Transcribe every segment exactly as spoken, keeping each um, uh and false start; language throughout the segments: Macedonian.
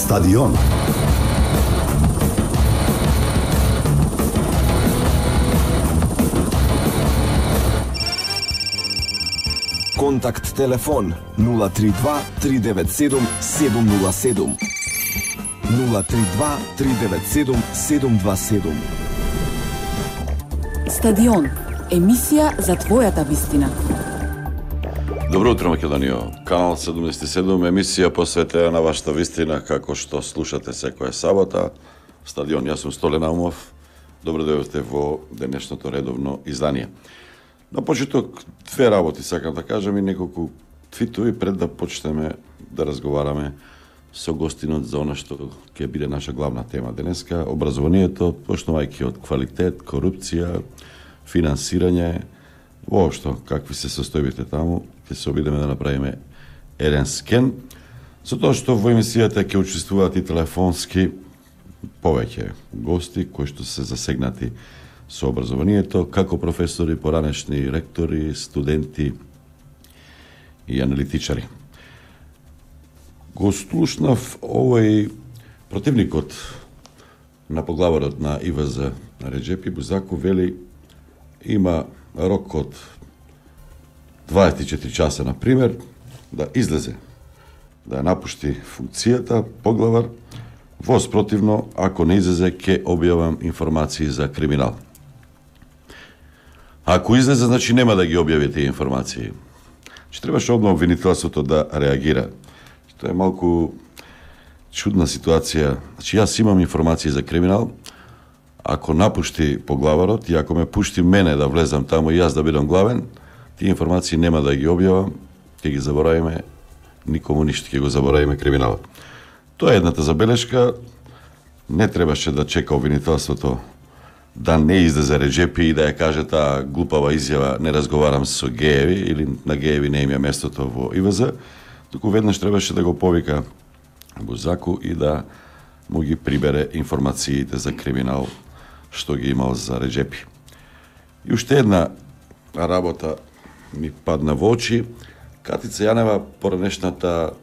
Стадион. Контакт телефон нула три два три девет седум седум нула седум. нула три два три девет седум седум два седум. Стадион. Емисија за твојата вистина. Добро утро, Македонија. Канал седумдесет и седум, емисија посветена на вашата вистина, како што слушате секоја сабота. Стадион, јас сум Столе Наумов. Добро дојдовте во денешното редовно издание. На почеток, две работи сакам да кажам и неколку твитови пред да почнеме да разговараме со гостинот за она што ќе биде наша главна тема денеска, образованието, почнувајќи од квалитет, корупција, финансирање, воопшто какви се состојбите таму, ќе се обидеме да направиме еден скен, со тоа што во емисијата ќе учествуваат и телефонски повеќе гости кои што се засегнати со образованието, како професори, поранешни ректори, студенти и аналитичари. Го слушнав овој противникот на поглаварот на И В З Реджепи Бузаку, вели има рок од дваесет и четири часа, на пример, да излезе, да ја напушти функцијата поглавар, во спротивно, ако не излезе, ќе објавам информации за криминал. Ако излезе, значи нема да ги објави тие информации. Че требаше одма обвинителството да реагира. Тоа е малку чудна ситуација. Значи, јас имам информации за криминал, ако напушти поглаварот и ако ме пушти мене да влезам таму и јас да бидам главен, тие информации нема да ги објавам, ќе ги заборавиме, никому ништо, ќе го заборавиме криминалот. Тоа е едната забелешка. Не требаше да чека обвинителството да не излезе Реджепи и да ја каже таа глупава изјава не разговарам со гееви или на гееви не им е местото во И В З, туку веднаш требаше да го повика Бузаку и да му ги прибере информациите за криминал што ги имал за Реджепи. И уште една работа ми падна во очи. Катица Јанева, поранешната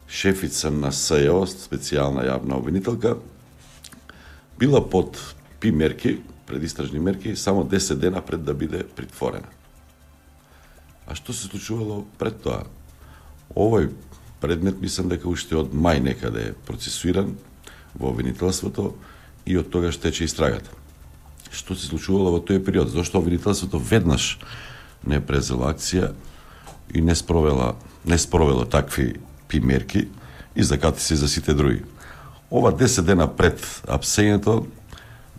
шефица на С Ј О, специјална јавна обвинителка, била под пи мерки, предистражни мерки, само десет дена пред да биде притворена. А што се случувало пред тоа? Овој предмет мислам дека уште од мај некаде е процесуиран во обвинителството и од тогаш тече истрагата. Што се случувало во тој период? Зошто обвинителството веднаш не презела акција и не спровела, не спровело такви пи мерки и закати се за сите други. Ова десет дена пред апсењето,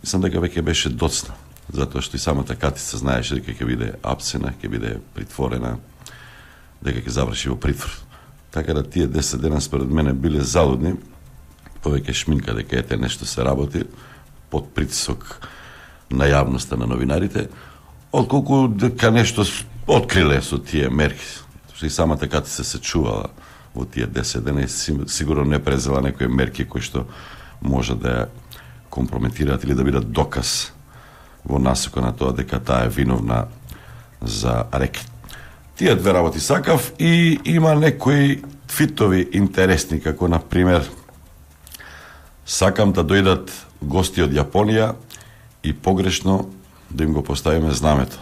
мислам дека веќе беше доцна, затоа што и самата Катица знаеше дека ќе биде апсена, ќе биде притворена, дека ќе заврши во притвор. Така да тие десет дена според мене биле залудни, повеќе шминка дека ете нешто се работи под притисок на јавноста, на новинарите, отколку дека нешто откриле со тие мерки. Што и самата Катица се чувала во тие десет дена и сигурно не презела некои мерки кои што може да ја компрометираат или да бидат доказ во насока на тоа дека таа е виновна за рекет. Тие две работи сакав и има некои твитови интересни, како на пример сакам да дојдат гости од Јапонија и погрешно да им го поставиме знамето.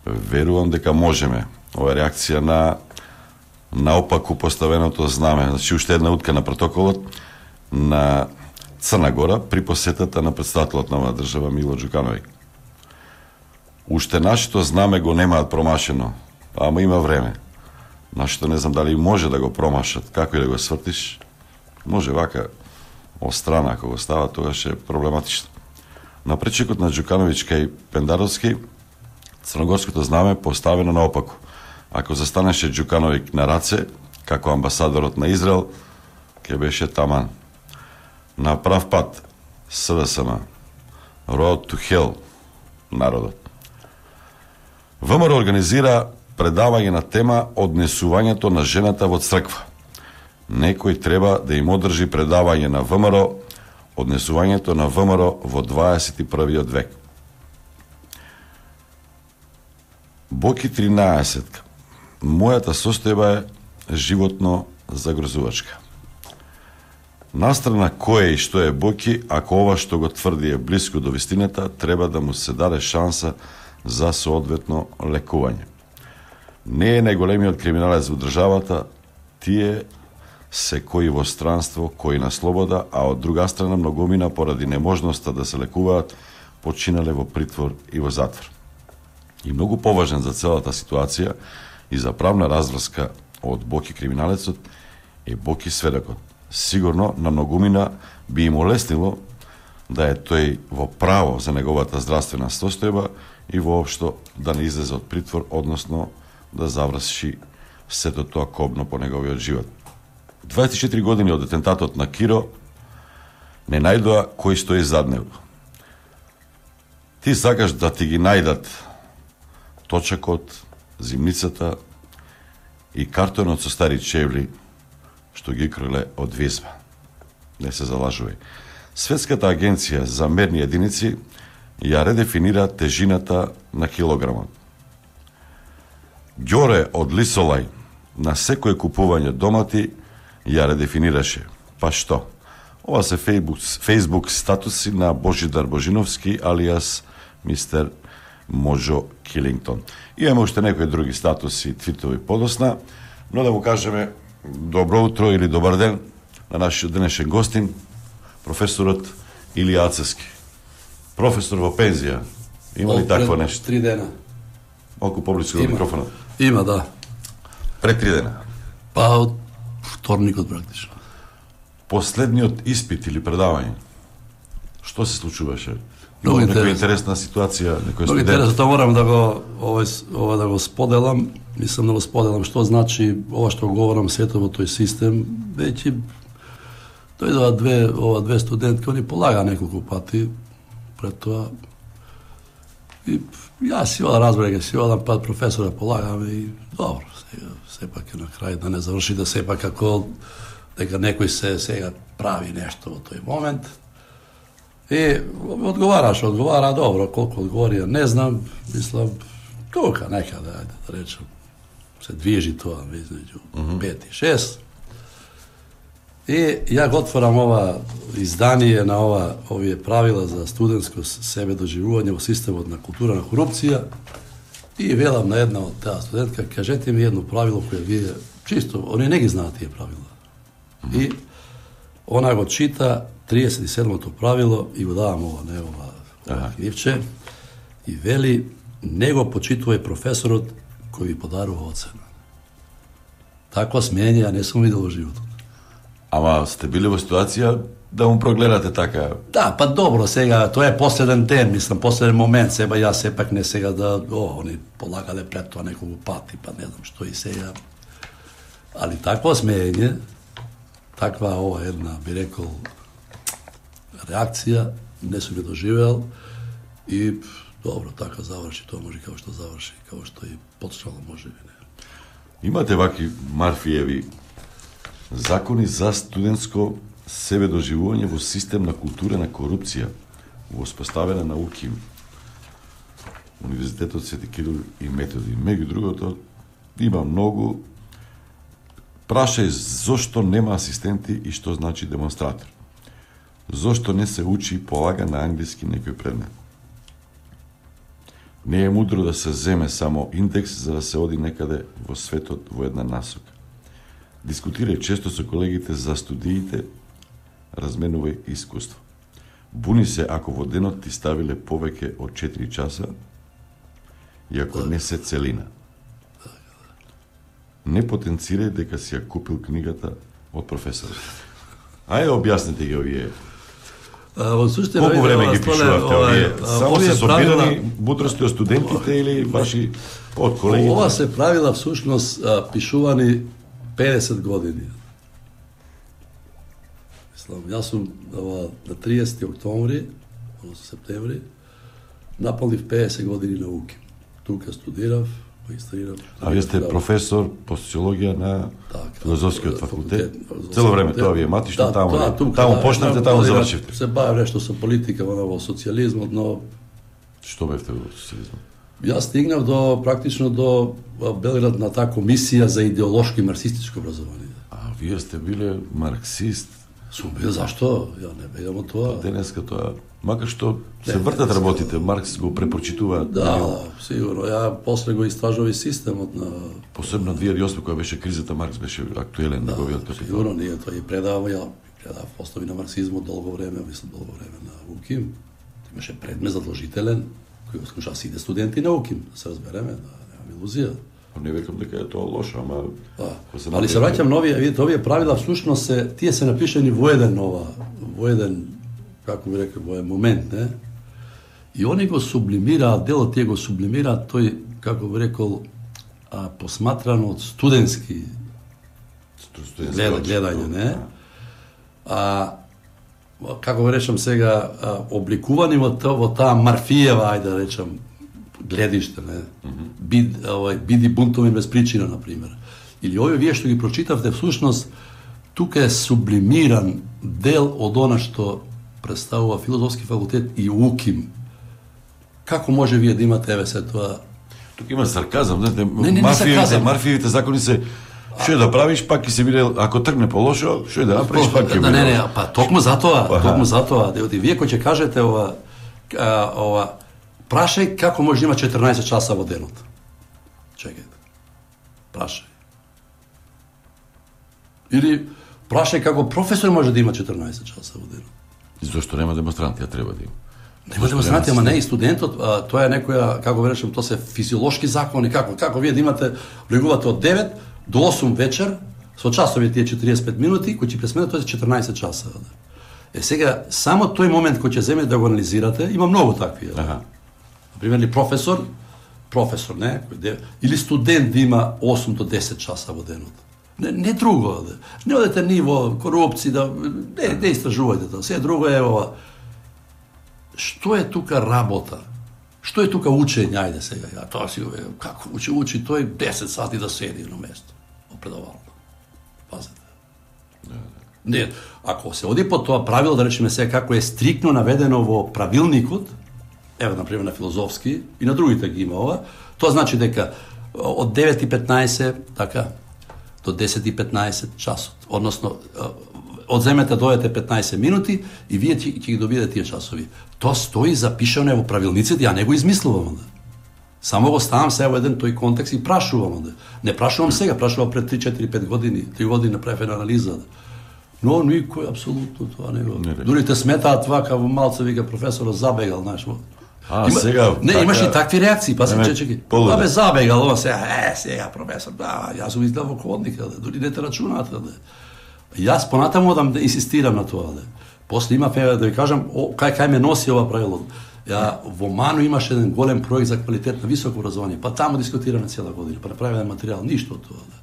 Верувам дека можеме. Ова е реакција на наопаку поставеното знаме. Значи, уште една утка на протоколот на Црна Гора при посетата на претставителот на оваа држава Мило Џукановиќ. Уште нашето знаме го немаат промашено, ама има време. Нашето не знам дали може да го промашат, како и да го свртиш, може вака острана, ако го става, тогаш е проблематично. На пречекот на Џукановиќ кај Пендаровски, црногорското знаме поставено наопаку. Ако застанеше Џукановиќ на раце, како амбасадорот на Израел, ќе беше таман. На прав пат, С В С М, Road to Hell, народот. В М Р организира предавање на тема однесувањето на жената во црква. Некој треба да им одржи предавање на В М Р однесувањето на В М Р во дваесет и првиот век. Боки тринаесет. Мојата состојба е животно загрозувачка. Настрана кој и што е Боки, ако ова што го тврди е блиско до вистината, треба да му се даде шанса за соодветно лекување. Не е најголемиот криминалец во државата, тие се кои во странство, кои на слобода, а од друга страна многумина поради неможноста да се лекуваат, починале во притвор и во затвор. И многу поважен за целата ситуација и за правна разврска од Боки криминалецот е Боки сведокот. Сигурно на многумина би им олеснило да е тој во право за неговата здравствена состојба и воопшто да не излезе од притвор, односно да заврши сето тоа кобно по неговиот живот. дваесет и четири години од атентатот на Киро не најдоа кој стои зад него. Ти сакаш да ти ги најдат точакот, зимницата и картонот со стари чевли што ги криле од везба. Не се залажувај. Светската агенција за мерни единици ја редефинира тежината на килограмот. Ѓоре од Лисолај на секој купување домати ја редефинираше. Па што? Ова се Facebook, Facebook статуси на Божидар Божиновски алиас мистер Можо Килингтон. И имаме уште некои други статуси, твитови подосна, но да му кажеме добро утро или добар ден на нашиот денешен гостин, професорот Илија Ацевски. Професор во пензија. Има ли такво нешто? Три дена. Малку поблиску до микрофонот. Има, да. Пред три дена. Па од вторникот практично. Последниот испит или предавање. Што се случуваше? Много некоја интересна ситуација, некој Много студент. интересно, тоа морам да го ова, ова да го споделам. Мислам да го споделам што значи ова што говорам сето во тој систем. Веќе дојдоа две ова две студентки, они полага неколку пати пред тоа. И јас си одам, разберега, си одам пат професора полагам и добро, сега сепак е на крај да не заврши да сепак како дека некој се сега прави нешто во тој момент. И одговараш, одговара добро, колку одговори, не знам, мислам, тука некаде, ајде да речем, се движи тоа измеѓу mm-hmm. пет и шест. И ја го отворам ова издание на ова овие правила за студентско себе доживување во системот на култура на корупција и велам на една од таа студентка, кажете ми едно правило кое вие чисто, они не ги знаат тие правила. Mm-hmm. И она го чита триесет и седмото правило и го давам ова, не ова, ова книвче, и вели, не го почитувај професорот кој ви подарува оцена. Таква смење ја не сум видел во животот. Ама сте били во ситуација да му прогледате така? Да, па добро, сега, тоа е последен ден, мислам, последен момент, сега јас сепак не сега да, о, они полагале пред тоа неколку пати, па не знам што и сега. Али такво смење, таква ова една, би рекол, реакција, не сум ја доживеал и добро, така заврши, тоа може како што заврши, како што и почнало може би не. Имате ваки Марфиеви закони за студентско себе доживување во систем на култура на корупција, воспоставена на УКИМ, Универзитетот Свети Кирил и Методи. Меѓу другото, има многу. Прашај зошто нема асистенти и што значи демонстратор. Зошто не се учи и полага на англиски некој предмет. Не е мудро да се земе само индекс за да се оди некаде во светот во една насока. Дискутирај често со колегите за студиите, разменувај искуство. Буни се ако во денот ти ставиле повеќе од четири часа и ако не се целина. Не потенцирај дека си ја купил книгата од професорот. Ајде објасните ги овие. Во суштина, колку време ги пишувавте овие? Само се собирани правила... мудрости од студентите или ваши од колегите? Ова се правила всушност пишувани педесет години. Мислам, јас сум на триесети октомври, односно септември, наполнив педесет години на УКИМ. Тука студирав, магистрирав. А вие сте професор по социологија на така, филозофскиот факултет. факултет. Цело време тоа ви е матишно, да, таму, тоа, тука, таму да, почнавте, да, таму да, завршивте. Се бавам нешто со политика, во социјализмот, но Што бевте во социјализмот? јас стигнав до практично до Белград на таа комисија за идеолошко и марксистичко образование. А вие сте биле марксист. Сум бил, зашто? Ја не бегам од тоа. Денеска тоа, макар што се вртат работите, Маркс го препочитува. Да, сигурно. Ја после го истражувај системот на... Посебно две илјади и осма, која беше кризата, Маркс беше актуелен, неговиот капитал. Сигурно, ние тоа и предавам, ја предавам основи на марксизмот долго време, мислам долго време на УКИМ. Имаше предмет задолжителен, кој го слуша сите студенти на УКИМ, да се разбереме, да немам илузија. Не викам дека е тоа лошо, ама... Да. Али се враќам на овие, видите, овие правила всушност се, тие се напишани во еден ова, во еден, како би рекол, во еден момент, не? И они го сублимираат, дел од тие го сублимираат, тој, како би рекол, а, посматрано од студентски глед, гледање, не? А, како го речам сега, а, обликувани во, во таа Марфиева, ајде да речам, гледиште, не? Бид, овај, биди бунтовен без причина, например. Или овие вие што ги прочитавте, всушност, тука е сублимиран дел од она што представува филозофски факултет и УКИМ. Како може вие да имате, еве се тоа... Тука има сарказам, знаете, не, не, Марфиевите, Марфиевите закони се што е да правиш, пак ќе се биде, ако тргне по лошо, што е да направиш, пак ќе биде. Не, не, па токму затоа, токму затоа, деоти вие кој ќе кажете ова, а, ова, прашај како може да има четрнаесет часа во денот. Чекајте. Прашај. Или прашај како професор може да има четрнаесет часа во денот. И зошто нема демонстранти, ја треба да има. Нема демонстранти, ама не и студентот, а, тоа е некоја, како го речем, тоа се физиолошки закони, како, како вие да имате, влегувате од девет до осум вечер, со часови тие четириесет и пет минути, кои ќе пресменат, тоа е четрнаесет часа. Е, сега, само тој момент кој ќе земете да го анализирате, има многу такви. Аха. Например, ли професор, професор, не, кој де, или студент да има осум до десет часа во денот. Не, не друго, де. Не одете ниво корупција, да, не, не истражувајте тоа. Се друго е ова. Што е тука работа? Што е тука учење, ајде сега, ја, тоа си, како учи, учи, тој десет сати да седи на место, во предавална. Пазете. Не, ако се оди по тоа правило, да речеме сега, како е стрикно наведено во правилникот, ево, например, на филозофски, и на другите ги има ова, тоа значи дека од девет и петнаесет, така, до десет и петнаесет часот, односно, одземете дојдете петнаесет минути и вие ќе ги добиете тие часови. Тоа стои запишано во правилниците, ја не го измислувам. Да. Само го ставам се во еден тој контекст и прашувам. Да. Не прашувам сега, прашувам пред три четири пет години, три години направив анализа. Да. Но никој апсолутно тоа не го. Дури те сметаат това како малце вика професорот забегал, знаеш. А, има, сега... Не, така... имаш и такви реакции, па се чечеки. Абе, забегал, ова сега, е, сега професор, да, јас сум изгледал во ходника, да, дури не те рачунаат, да. Јас понатаму одам да инсистирам на тоа, да. После има фева да ви кажам, о, кај кај ме носи ова правило. Ја во Ману имаше еден голем проект за квалитет на високо образование, па таму дискутираме цела година, па направиме материјал, ништо од тоа, да.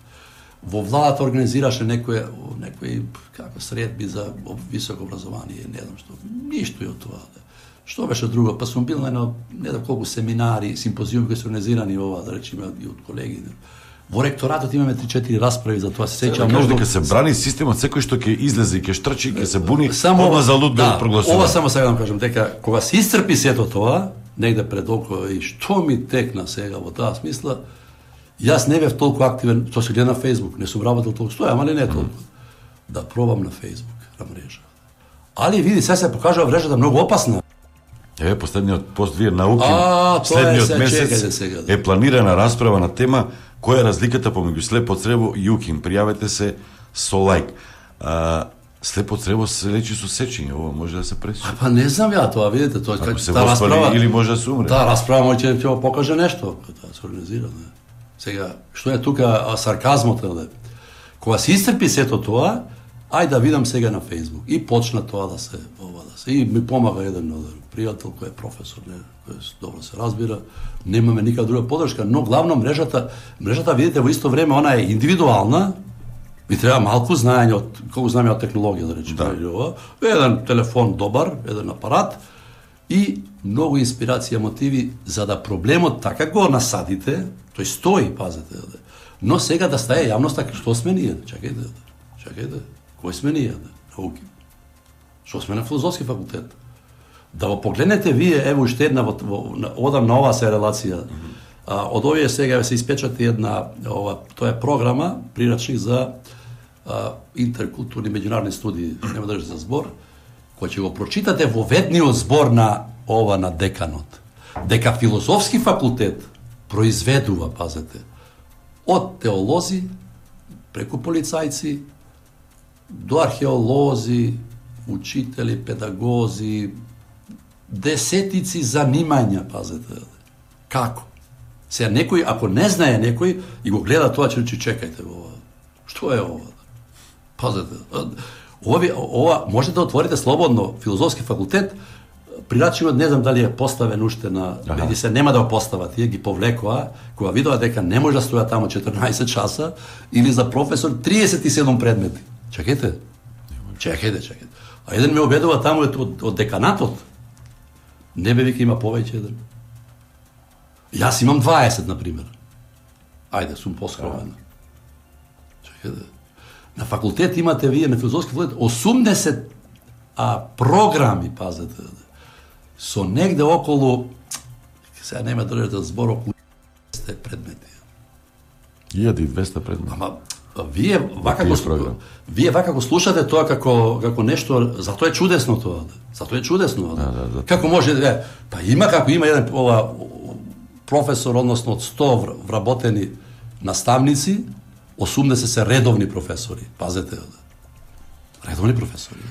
Во владата организираше некој некој како средби за високо образование, не знам што, ништо и од тоа, да. Што беше друго? Па сум бил на едно, не знам колку семинари, симпозиуми кои се организирани ова, да речеме, и од колеги. Во ректоратот имаме три четири расправи за тоа, се сеќавам многу. Дека се брани системот, секој што ќе излезе и ќе штрчи, ќе се буни, само ова за луд да, прогласува. Ова само сега да кажам, дека кога се исцрпи сето тоа, негде пред око и што ми текна сега во таа смисла, јас не бев толку активен, тоа се гледа на Facebook, не сум работел толку, стоја, ама не толку. Mm. Да пробам на Facebook, на мрежа. Али види, сега се покажува мрежата многу опасна. Еве последниот пост вие науки, а, следниот е, месец сега, да. Е планирана расправа на тема која е разликата помеѓу слепо црево и УКИМ. Пријавете се со лајк. А, слепо црево се лечи со сечење, ова може да се пресече. Па не знам ја тоа, видите, тоа како се воспали или може да се умре. Таа расправа може ќе ќе покаже нешто, тоа се организира, не. Сега, што е тука сарказмот, не? Кога се исцрпи сето тоа, ај да видам сега на Facebook. И почна тоа да се ова да се и ми помага еден пријател кој е професор, не, кој добро се разбира, немаме никаква друга подршка, но главно мрежата, мрежата видите во исто време она е индивидуална, ми треба малку знаење од колку знаеме од технологија да речеме, да. Ова, еден телефон добар, еден апарат и многу инспирација, мотиви за да проблемот така го насадите, тој стои, пазете, но сега да стае јавноста што сме ние, чекајте, чекајте, кој сме ние, науки, што сме на филозофски факултет. Да го погледнете вие, ево уште една, во, во, одам на оваа се релација, mm -hmm. а, од овие сега се испечати една, ова, тоа е програма, прирачник за а, интеркултурни меѓународни студии, нема да за збор, кој ќе го прочитате во ведниот збор на ова на деканот, дека филозофски факултет произведува, пазете, од теолози, преку полицајци, до археолози, учители, педагози, десетици занимања, пазете. Како? Сега некој, ако не знае некој и го гледа тоа, ќе рече чекајте ова. Што е ова? Пазете. Ова, ова можете да отворите слободно филозофски факултет, прирачивот не знам дали е поставен уште на, веќе се нема да го постават, тие ги повлекоа, кога видоа дека не може да стоја таму четрнаесет часа, или за професор триесет и седум предмети. Чекајте. Чекајте, чекајте. А еден ме обедува таму од, од деканатот. Не бе вика има повеќе еден. Јас имам дваесет, например. Ајде, сум поскромен. Чекајте. На факултет имате вие, на филозофски факултет, осумдесет а, програми, пазете, со негде околу, сега нема да држите збор, околу двесте предмети. илјада и двесте предмети. Ама, вие вака го, вие вака го слушате тоа како, како нешто, затоа е чудесно тоа. Затоа е чудесно. Да, да, да. Како може, е, па има како има еден ова, професор, односно од сто вработени наставници, осумдесет се редовни професори. Пазете, редовни професори.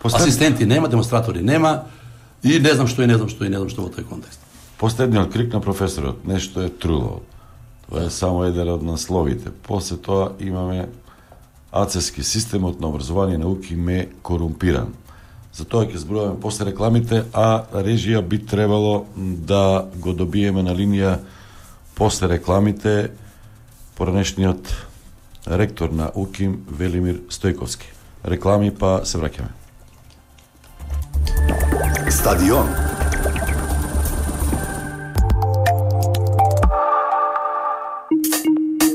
Постед... Асистенти нема, демонстратори нема, и не знам што и не знам што и не знам што во тој контекст. Последниот крик на професорот, нешто е труло. Тоа е само еден од насловите. После тоа имаме ацески системот на образование и науки ме корумпиран. Затоа ќе зборуваме после рекламите, а режија би требало да го добиеме на линија после рекламите поранешниот ректор на УКИМ Велимир Стојковски. Реклами, па се враќаме. Стадион.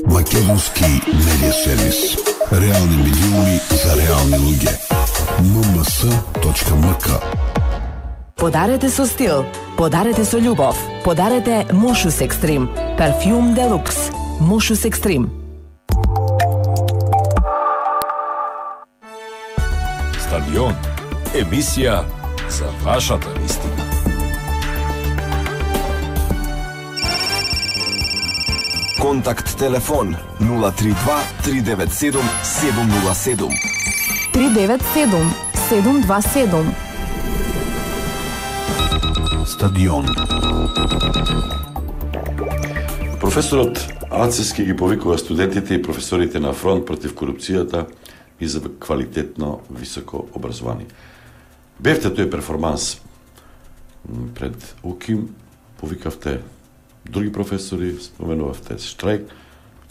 Македонски медиа сервис. Реални милиони за реални луѓе. ем ем с точка ем к. Подарете со стил, подарете со љубов, подарете Мошус Екстрим, парфјум делукс. Мошус Екстрим. Стадион. Емисија за вашата вистина. Контакт телефон нула три два три девет седум седум нула седум. три девет седум седум два седум. Стадион. Професорот Ацески ги повикува студентите и професорите на фронт против корупцијата и за квалитетно високо образование. Бевте тој перформанс пред УКИМ, повикавте други професори, споменувавте штрајк.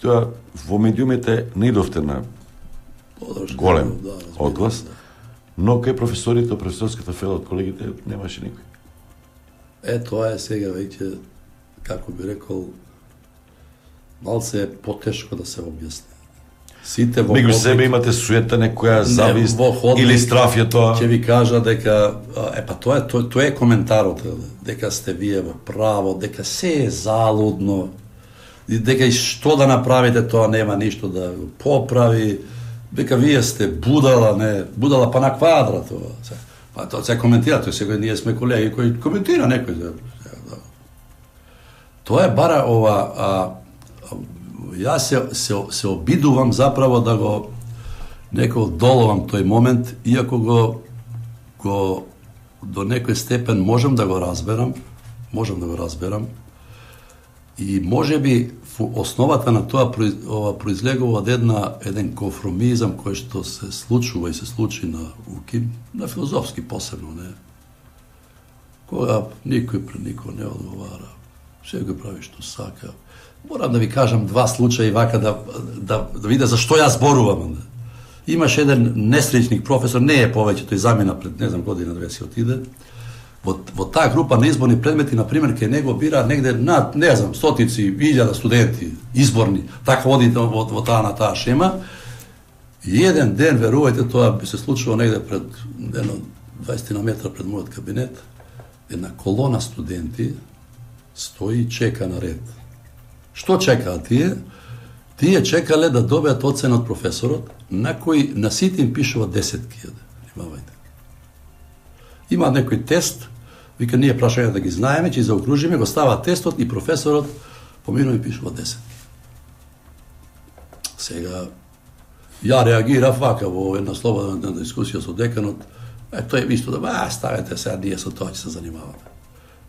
Тоа во медиумите не идовте на голем одглас, но кај професорите, професорската фела од колегите немаше никој. Е, тоа е сега веќе, како би рекол, малце е потешко да се објасни. Сите во Меѓу ходник, себе имате суета, некоја завист или страф е тоа. Ќе ви кажа дека е па тоа е тоа, тоа е коментарот, дека сте вие во право, дека се е залудно, и дека и што да направите тоа нема ништо да го поправи, дека вие сте будала, не, будала па на квадра тоа. Па тоа се коментира, тоа сега ние сме колеги кои коментира некој. Да. Тоа е бара ова а, јас се, се, се обидувам заправо да го неко доловам тој момент, иако го, го до некој степен можам да го разберам, можам да го разберам, и може би основата на тоа ова произлегува од една еден конформизам кој што се случува и се случи на УКИМ, на филозофски посебно, не. Кога никој пред никој не одговара, секој прави што сака. Морам да ви кажам два случаи вака да, да, да виде за што јас зборувам. Имаш еден несреќник професор, не е повеќе, тој замина пред, не знам, година две си отиде. Во, во таа група на изборни предмети, например, ке него бира негде над, не знам, стотици, илјада студенти, изборни, така оди во, во таа на таа шема. И еден ден, верувајте, тоа би се случило негде пред, едно, дваесет метра пред мојот кабинет, една колона студенти стои и чека на ред. Што чекаат тие? Тие чекале да добијат оцена од професорот, на кој на сите им пишува десетки. Внимавајте. Има некој тест, вика ние прашање да ги знаеме, че заокружиме, го става тестот и професорот поминува и пишува десетки. Сега, ја реагирав вака во една слободна дискусија со деканот, е, тој е исто да, а, ставете сега, ние со тоа ќе се занимаваме.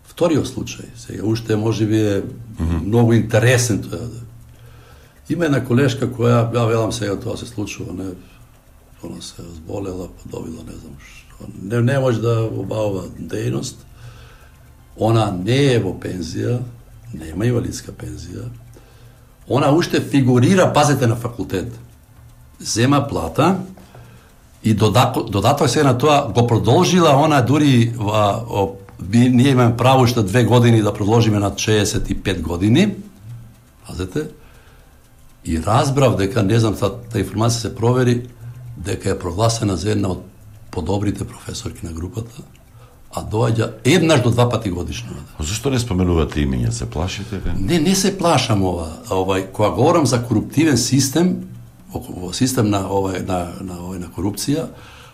Вториот случај, сега уште може би е mm-hmm. многу интересен тоа. Има една колешка која, ја велам сега тоа се случува, не, она се зболела, подобила, не знам што, не, не може да обавува дејност, она не е во пензија, нема инвалидска пензија, она уште фигурира, пазете, на факултет. Зема плата и додаток, додаток сега на тоа го продолжила, она дури ва, о, би, ние имаме право уште две години да продолжиме на шеесет и пет години, пазете, и разбрав дека, не знам, та, та информација се провери, дека е прогласена за една од подобрите професорки на групата, а доаѓа еднаш до два пати годишно. Зашто не споменувате имиња, се плашите? Не, не се плашам ова. Овај, кога говорам за коруптивен систем, систем на овај на на овај на корупција,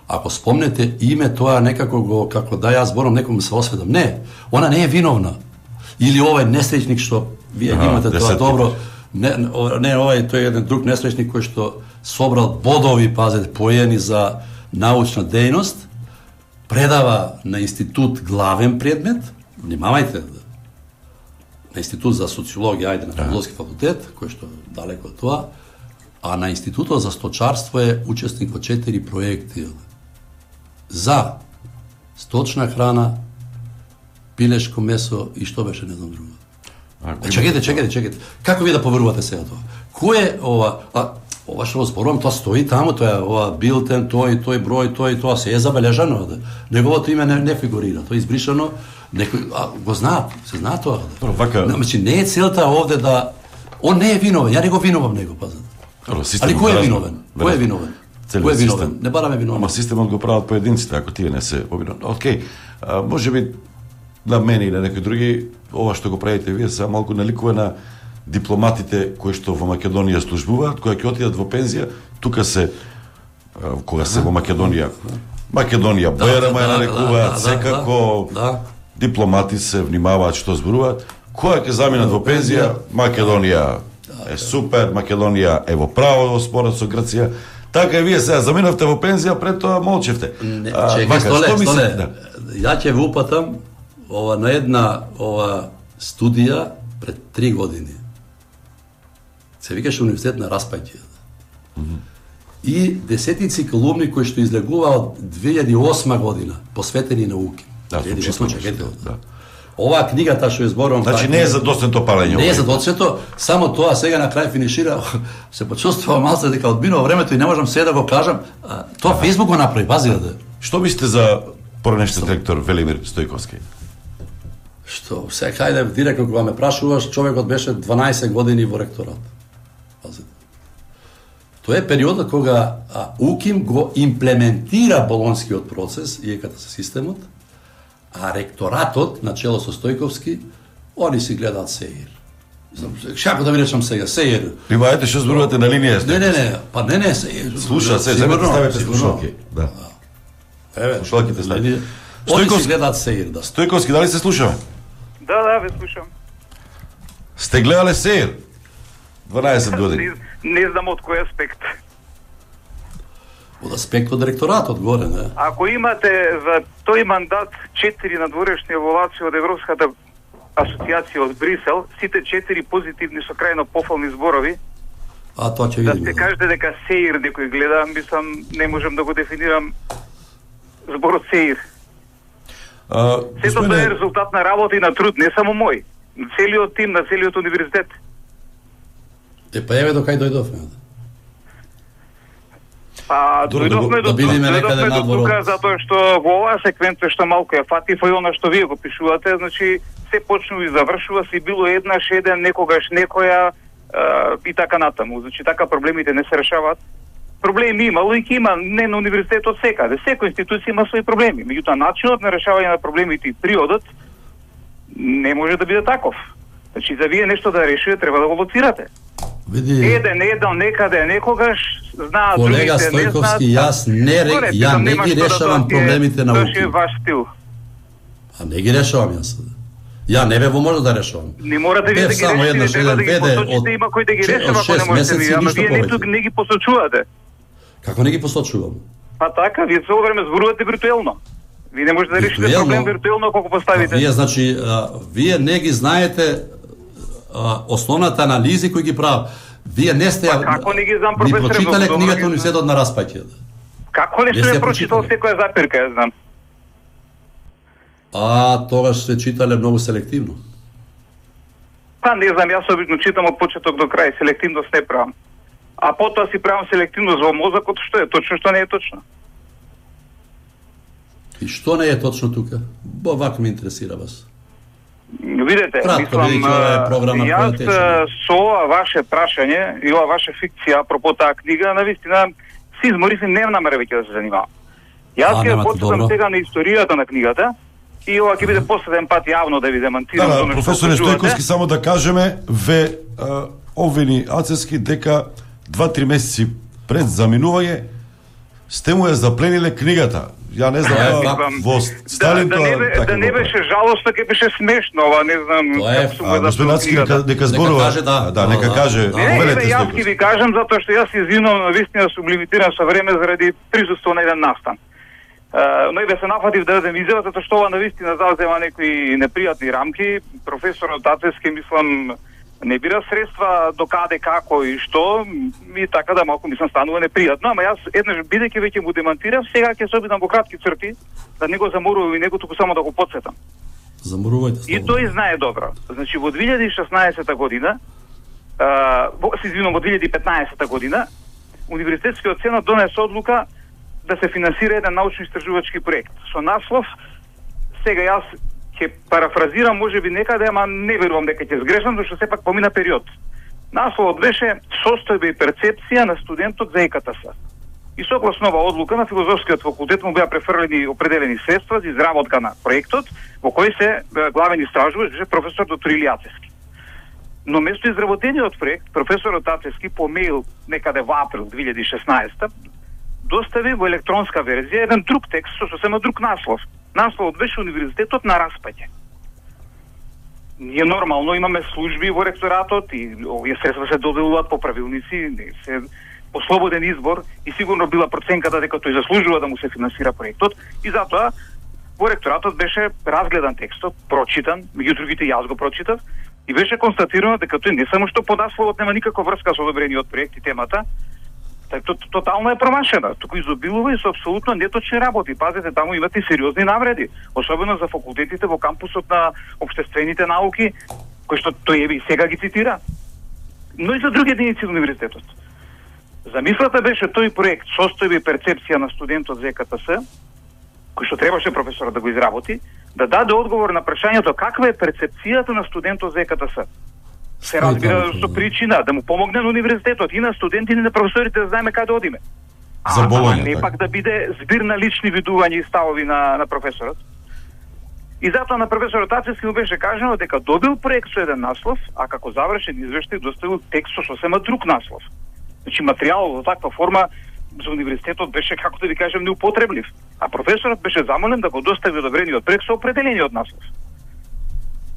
ако спомнете име, тоа некако го, како да јас зборам, некому се осведам. Не, она не е виновна. Или овај несреќник што вие ага, имате тоа добро, не, не овај, тој е еден друг несреќник кој што собрал бодови, пазете, поени за научна дејност, предава на институт главен предмет, внимавајте, на институт за социологија, ајде, на филозофски факултет, кој што далеко од тоа, а на институтот за сточарство е учесник во четири проекти за сточна храна, пилешко месо и што беше, не знам друго. Е, чекайте, чекайте, чекайте. Како ви да поверувате сега тоа? Кој е ова, а ова што зборувам, тоа стои таму, тоа е ова билтен, тој, тој број, тој, тоа се е забележано, да. Неговото име не, не фигурира, тоа е избришано, некој а, го знаат, се знаат тоа. Да. Вака... Значи не е целта овде да он не е виновен, ја не го винувам него, пазете. Али кој е виновен? Кој е виновен? Кој е виновен? Не бараме виновен. Ама системот го прават поединците, ако тие не се повиновни. Океј, може би на мене и на некои други, ова што го правите вие се малку наликува на дипломатите кои што во Македонија службуваат, кои ќе отидат во пензија, тука се кога се во Македонија. Македонија БРМ ја нарекуваат, секако дипломати се внимаваат што зборуваат. Кога ќе заминат во пензија, Македонија е супер, Македонија е во право во спорот со Грција. Така и вие сега заминавте во пензија, пред тоа молчевте. Чекај, столе, столе. Ја ќе ви упатам ова на една ова студија пред три години. Се викаше Универзитет на Распајќи. Mm -hmm. И десетици колумни кои што излегуваа од две илјади и осма година, посветени науки. Да, чекайте. Да. Оваа книгата што ја зборувам, значи не е за доцнето палење. Не е за доцнето, само тоа сега на крај финишира, се почувствувам малце дека одминува времето и не можам се да го кажам. Тоа Фејсбук го направи, пази да. Што мислите за поранешниот ректор Велимир Стојковски? Што, сега хајде директно кога ме прашуваш, човекот беше дванаесет години во ректорат. Пазите. Тоа е периодот кога а, УКИМ го имплементира болонскиот процес и еката со системот, а ректоратот, начело со Стојковски, они си гледаат сеир. Шако да ви речам сега, сеир. Примајте што зборувате на линија. Не, не, не, па не, не, сеир. Слушаат се, земете ставите слушалки. Да. Еве, слушалките ставите. Они си гледаат сеир, да. Стојковски, дали се слушаме? Да, да, ве слушам. Сте гледале сеир? дванаесет години. Не, не знам од кој аспект. Од аспект од ректоратот горе, не? Ако имате за тој мандат четири надворешни еволуации од Европската асоциација од Брисел, сите четири позитивни со крајно пофални зборови, а тоа ќе видиме. Да се кажете дека сеир некој гледа, мислам, не можам да го дефинирам зборот сеир. А, Сето тоа е резултат на работа и на труд, не само мој. Целиот тим на целиот универзитет. Е, па еве до кај дојдовме. Па, дојдовме да, до, да дојдовме до тука, затоа што во оваа секвенца што малку ја фатив и она што вие го пишувате, значи, се почнува и завршува, си било еднаш, еден, некогаш некоја а, и така натаму. Значи, така проблемите не се решаваат. Проблеми имало и ќе има, не на универзитетот секаде. Секоја институција има своји проблеми. Меѓутоа, начинот на решавање на проблемите и периодот не може да биде таков. Значи, за вие нешто да решите, треба да го лоцирате. Види, еден еден некаде некогаш знаат, колега другите не Стојковски, знаат. јас не, ре- ја не ги решавам проблемите на Тоа е УКИ. ваш стил. А не ги решавам јас. Ја не бе во може да решавам. Не morate вие да Бев ги само решите, еднаш треба да еден ги веде посочите, од има кој да ги че- решава, од ако не шест можете месеци, вие, ама ништо вие не, повеќе. тук не ги посочувате. Како не ги посочувам? Па така, вие цело време зборувате виртуелно. Вие не можете да решите Виртуелно? проблем виртуелно ако го поставите. Вие значи а, вие не ги знаете а, основната анализи кои ги прават. Вие не сте Па како не ги знам, ни професоре, прочитале во книгата добро ги Университетот на распаќе. Како не Не сте сте прочитал прочитали. секоја запирка, ја знам. А тогаш се читале многу селективно. Па не знам, јас обично читам од почеток до крај, селективност не правам. А потоа си правам селективност во мозокот, што е точно, што не е точно. И што не е точно тука? Бо вака ме интересира вас. Видете, Кратко, мислам, бидејќи ова е програма која јас тече. е, со ова ваше прашање и ова ваша фикција апропо таа книга, навистина си изморив и не намеревајќи да се занимавам. Јас А, ќе немате, почитам добро. сега на историјата на книгата и ова ќе биде последен пат јавно да ви демантирам. Да, за да, оно што професоре почувате. Стојковски, само да кажеме, ве а, обвини Ацевски дека два-три месеци пред заминување сте му ја заплениле книгата. Ја не знам, Тоа е а, факт. во Да, Сталин да, тоа не, бе- така да не го прави. беше жалостно, ќе беше смешно, ова не знам Тоа е како сум А, го господин записал Ацевски книгата. нека, нека зборува. каже, да. да, нека Да, каже. да. Не, не, Повелете, бе, јас Стојковски. ќе ви кажам затоа што јас се извинувам, навистина сум лимитиран со време заради присуство на еден настан. Uh, но и бе се нафатив да дадем изјава, затоа што ова навистина зазема некои непријатни рамки. Професорот Ацевски, мислам, не бира средства до каде, како и што, и така да малку мислам станува непријатно, ама јас еднаш бидејќи веќе му демантирав, сега ќе се обидам во кратки црти, да не го заморувам и него, туку само да го потсетам. Заморувајте И тој знае добро. Значи во две илјади и шеснаесета година, а, во, се извинувам, во две илјади и петнаесета година, Универзитетскиот сенат донесе одлука да се финансира еден научно-истражувачки проект. Со наслов, сега јас ќе парафразирам, може би некаде, ама не верувам дека ќе сгрешам, зашто сепак помина период. Насловот беше Состојба и перцепција на студентот за ЕКТС. И согласно ова одлука на Филозофскиот факултет му беа префрлени определени средства за изработка на проектот, во кој се е, главен истражувач беше професор доктор Илија Ацевски. Но место изработениот проект, професорот Ацевски по мејл некаде во април две илјади и шеснаесета достави во електронска верзија еден друг текст со сосема друг наслов. Насловот беше Универзитетот на распаѓање. Ние нормално имаме служби во ректоратот и овие средства се доделуваат по правилници, не се по слободен избор и сигурно била проценката дека тој заслужува да му се финансира проектот и затоа во ректоратот беше разгледан текстот, прочитан, меѓу другите јас го прочитав и беше констатирано дека тој не само што по насловот нема никаква врска со одобрениот проект и темата, така то, тотално е промашена, туку изобилува и со апсолутно неточни работи. Пазете, таму имате и сериозни навреди, особено за факултетите во кампусот на општествените науки, кои што тој еби сега ги цитира, но и за други единици на универзитетот. Замислата беше тој проект Состојба и перцепција на студентот за ЕКТС, кој што требаше професорот да го изработи, да даде одговор на прашањето каква е перцепцијата на студентот за ЕКТС. Се разбира со причина да му помогне на универзитетот и на студентите и на професорите да знаеме каде одиме. За Болоња, не така. пак да биде збир на лични видувања и ставови на, на професорот. И затоа на професорот Ацевски му беше кажано дека добил проект со еден наслов, а како завршен извештај доставил текст со сосема друг наслов. Значи материјалот во таква форма за универзитетот беше, како да ви кажем, неупотреблив. А професорот беше замолен да го достави одобрениот проект со определениот наслов.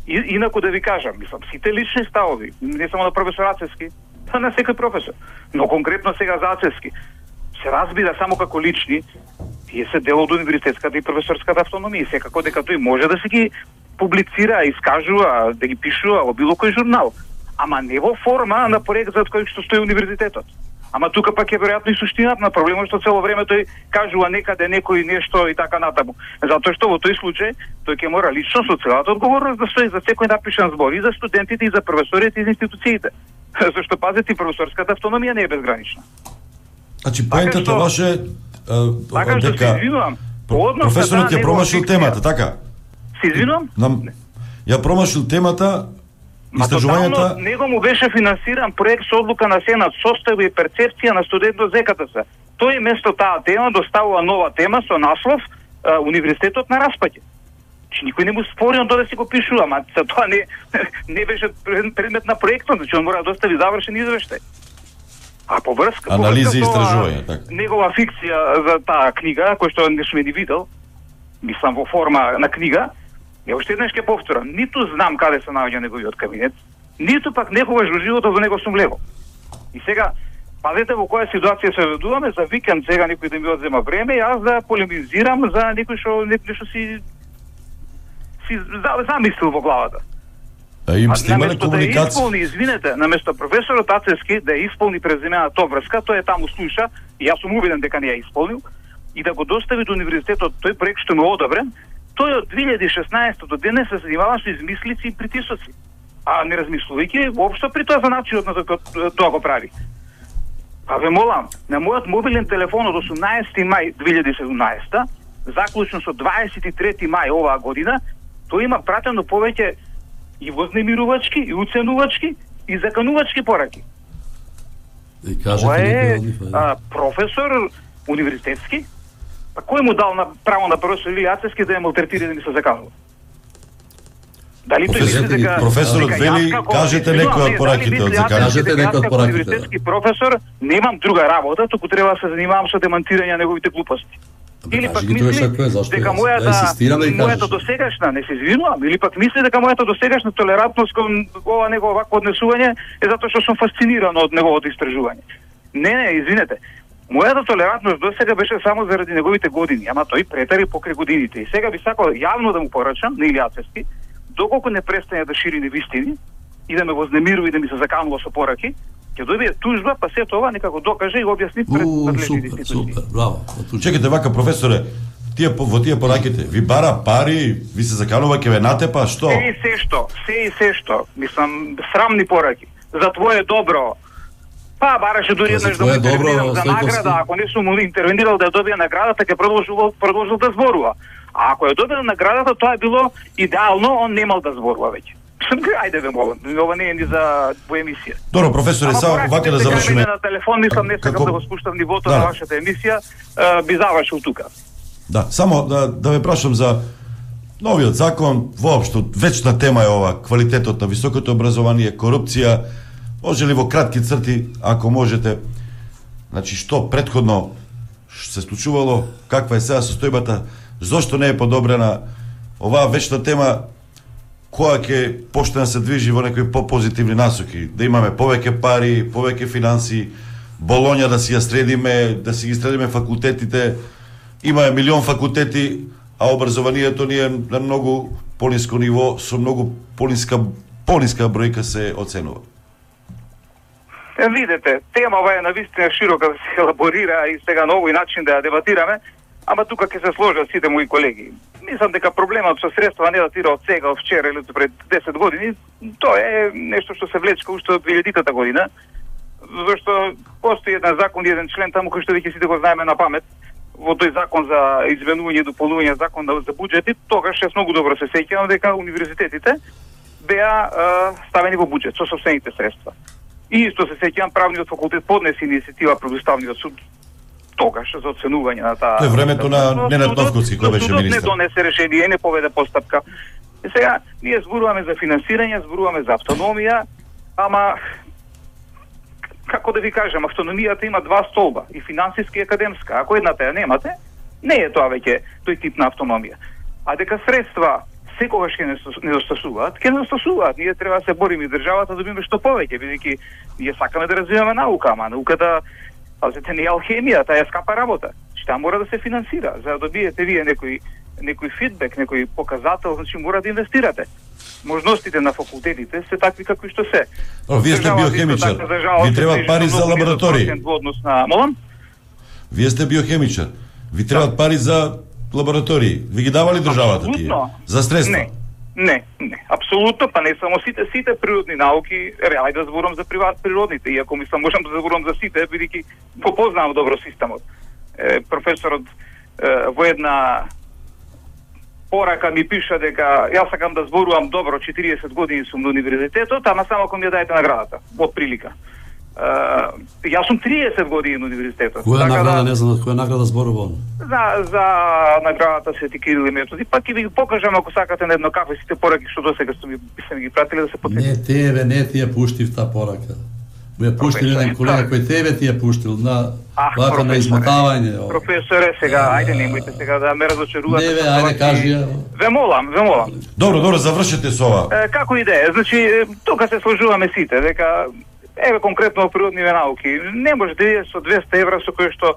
И, инаку да ви кажам, мислам, сите лични ставови, не само на професор Ацевски, па на секој професор, но конкретно сега за Ацевски, се разбира само како лични, тие се дел од универзитетската и професорската автономија, секако дека тој може да се ги публицира, искажува, да ги пишува во било кој журнал, ама не во форма на проект за кој што стои универзитетот. Ама тука пак е веројатно и суштината на проблемот што цело време тој кажува некаде некој нешто и така натаму. Затоа што во тој случај тој ќе мора лично со целата одговорност да стои за секој напишан збор и за студентите и за професорите и за институциите. Зашто пазете, професорската автономија не е безгранична. Значи поентата што- ваше Така што се извинувам. По однос на професорот таа ја промашил негова темата, фикција- така? Се извинувам? Нам ја промашил темата, Ма истражувањата. тотално него му беше финансиран проект со одлука на Сенат Состојба и перцепција на студентот за ЕКТС. Тој место таа тема доставува нова тема со наслов а, Универзитетот на распаѓање. Че никој не му спори, он доде си го пишува, ама за тоа не, не беше предмет на проектот, значи он мора да достави завршен извештај. А по врска, анализи и по врска истражувања, така. Негова фикција за таа книга, која што не сме ни видел, мислам во форма на книга, ја уште еднаш ќе повторам, ниту знам каде се наоѓа неговиот кабинет, ниту пак некогаш во животот во него сум легол. И сега, пазете во која ситуација се ведуваме, за викенд сега некој да ми одзема време, јас да полемизирам за некој што некој што си си замислил во главата. А им сте имале наместо комуникација? да исполни, извинете, наместо професорот Ацевски да ја исполни презимената врска, тој е таму слуша, и јас сум убеден дека не ја исполнил, и да го достави до универзитетот тој проект што му одобрен, тој од две илјади и шеснаесета до денес се занимава со измислици и притисоци. А не размислувајќи воопшто при тоа за начинот на тоа го прави. Па ве молам, на мојот мобилен телефон од осумнаесети мај две илјади и седумнаесета, заклучно со дваесет и трети мај оваа година, тој има пратено повеќе и вознемирувачки, и уценувачки, и заканувачки пораки. И кажете Тоа е некој а, професор универзитетски, па кој му дал на право на професор Илија Ацевски да ја малтретира да ми се заканува? Дали тој мисли дека професорот дека вели, јас како- кажете не, некој од не, пораките дали од мисли заканување? Ацевски Кажете дека некој од јас како пораките, универзитетски професор немам друга работа, туку треба да се занимавам со демантирање на неговите глупости. Бе, Или кажи пак ги тоа мисли што е, зашто дека јас? мојата, Да инсистирам да ги мојата кажеш. досегашна, не се извинувам, или пак мисли дека мојата досегашна толерантност кон ова негово вакво однесување е затоа што сум фасциниран од неговото истражување. Не, не, извинете. Мојата толерантност досега беше само заради неговите години, ама тој претари покрај годините. И сега би сакал јавно да му порачам на Илија Ацевски, доколку не престане да шири невистини и да ме вознемирува и да ми се заканува со пораки, ќе добие тужба, па се тоа нека го докаже и го објасни пред У, надлежните супер, институции. супер, браво. Чекайте вака, професоре, тие во тие пораките, ви бара пари, ви се заканува ќе ве натепа, што? Се и се што, се и се што, мислам, срамни пораки, за твое добро. Па, бараше дури Па, за еднаш да му твое добро, интервенирам за Стојковски. награда, ако не сум му интервенирал да ја добие наградата, ќе продолжил, продолжил да зборува. А ако ја добил наградата, тоа е било идеално, он немал да зборува веќе. Ајде ве молам, ова не е ни за во емисија. Добро, професоре, Ама само пораките вака да се завршиме. кажеме на телефон, мислам, не сакам Како- да го спуштам нивото Да. на вашата емисија, е, би завршил тука. Да, само да, да ве прашам за новиот закон, воопшто вечна тема е ова, квалитетот на високото образование, корупција, може ли во кратки црти, ако можете, значи што претходно се случувало, каква е сега состојбата, зошто не е подобрена оваа вечна тема, која ќе почне да се движи во некои попозитивни насоки, да имаме повеќе пари, повеќе финанси, Болоња да си ја средиме, да си ги средиме факултетите, има милион факултети, а образованието ни е на многу пониско ниво, со многу пониска, пониска бројка се оценува. Е, видете, темава е навистина широка да се елаборира и сега на овој начин да ја дебатираме, ама тука ќе се сложат сите мои колеги. Мислам дека проблемот со средства не датира од сега, од вчера или пред десет години, тоа е нешто што се влечка уште од две илјадитата година, зашто постои еден закон и еден член таму кој што веќе сите го знаеме на памет, во тој закон за изменување и дополнување закон за буџети, тогаш јас многу добро се сеќавам дека универзитетите беа ставени во буџет со сопствените средства. И исто се сеќавам правниот факултет поднесе иницијатива пред Уставниот суд тогаш за оценување на таа. Тоа е времето на Ненад Новковски кој беше Судот не министер. донесе решение, не поведе постапка. И сега ние зборуваме за финансирање, зборуваме за автономија, ама како да ви кажам, автономијата има два столба, и финансиски и академска. Ако едната ја немате, не е тоа веќе тој тип на автономија. А дека средства секогаш ќе недостасуваат, ќе недостасуваат. Ние треба да се бориме и државата да добиме што повеќе, бидејќи ние сакаме да развиваме наука, ама науката, пазете, не е алхемија, таа е скапа работа. Што мора да се финансира, за да добиете вие некој некој фидбек, некој показател, значи мора да инвестирате. Можностите на факултетите се такви какви што се. О, вие сте Државата биохемичар. исто така, за жалост, Ви требаат се пари движи за многу лаборатории. низок процент во однос на молам? Вие сте биохемичар. Ви требаат пари за лаборатории. Ви ги давали државата тие? Апсолутно. За средства? Не. Не, не, апсолутно, па не само сите, сите природни науки, ајде да зборам за приват природните, иако мислам можам да зборам за сите, бидејќи го познавам добро системот. Е, професорот е, во една порака ми пиша дека јас сакам да зборувам добро, четириесет години сум на универзитетот, ама само ако ми ја дајете наградата, од прилика. Uh, јас сум триесет години на универзитетот. Која така награда, да, не знам, која награда зборува он? За, за наградата Свети Кирил и Методи, пак ќе ви го покажам ако сакате на едно кафе сите пораки што досега сте ми, сте ми ги пратили да се потврди. Не тебе, не ти ја пуштив та порака. Му ја пуштил еден колега кој тебе ти ја пуштил на вака на измотавање. Професоре, сега, ајде немојте сега да ме разочарувате. Не бе, ајде кажи ја. Ве молам, ве молам. Добро, добро, завршете со ова. Е, како идеја? Значи, тука се сложуваме сите, дека еве конкретно природниве науки, не може да иде со двесте евра со кој што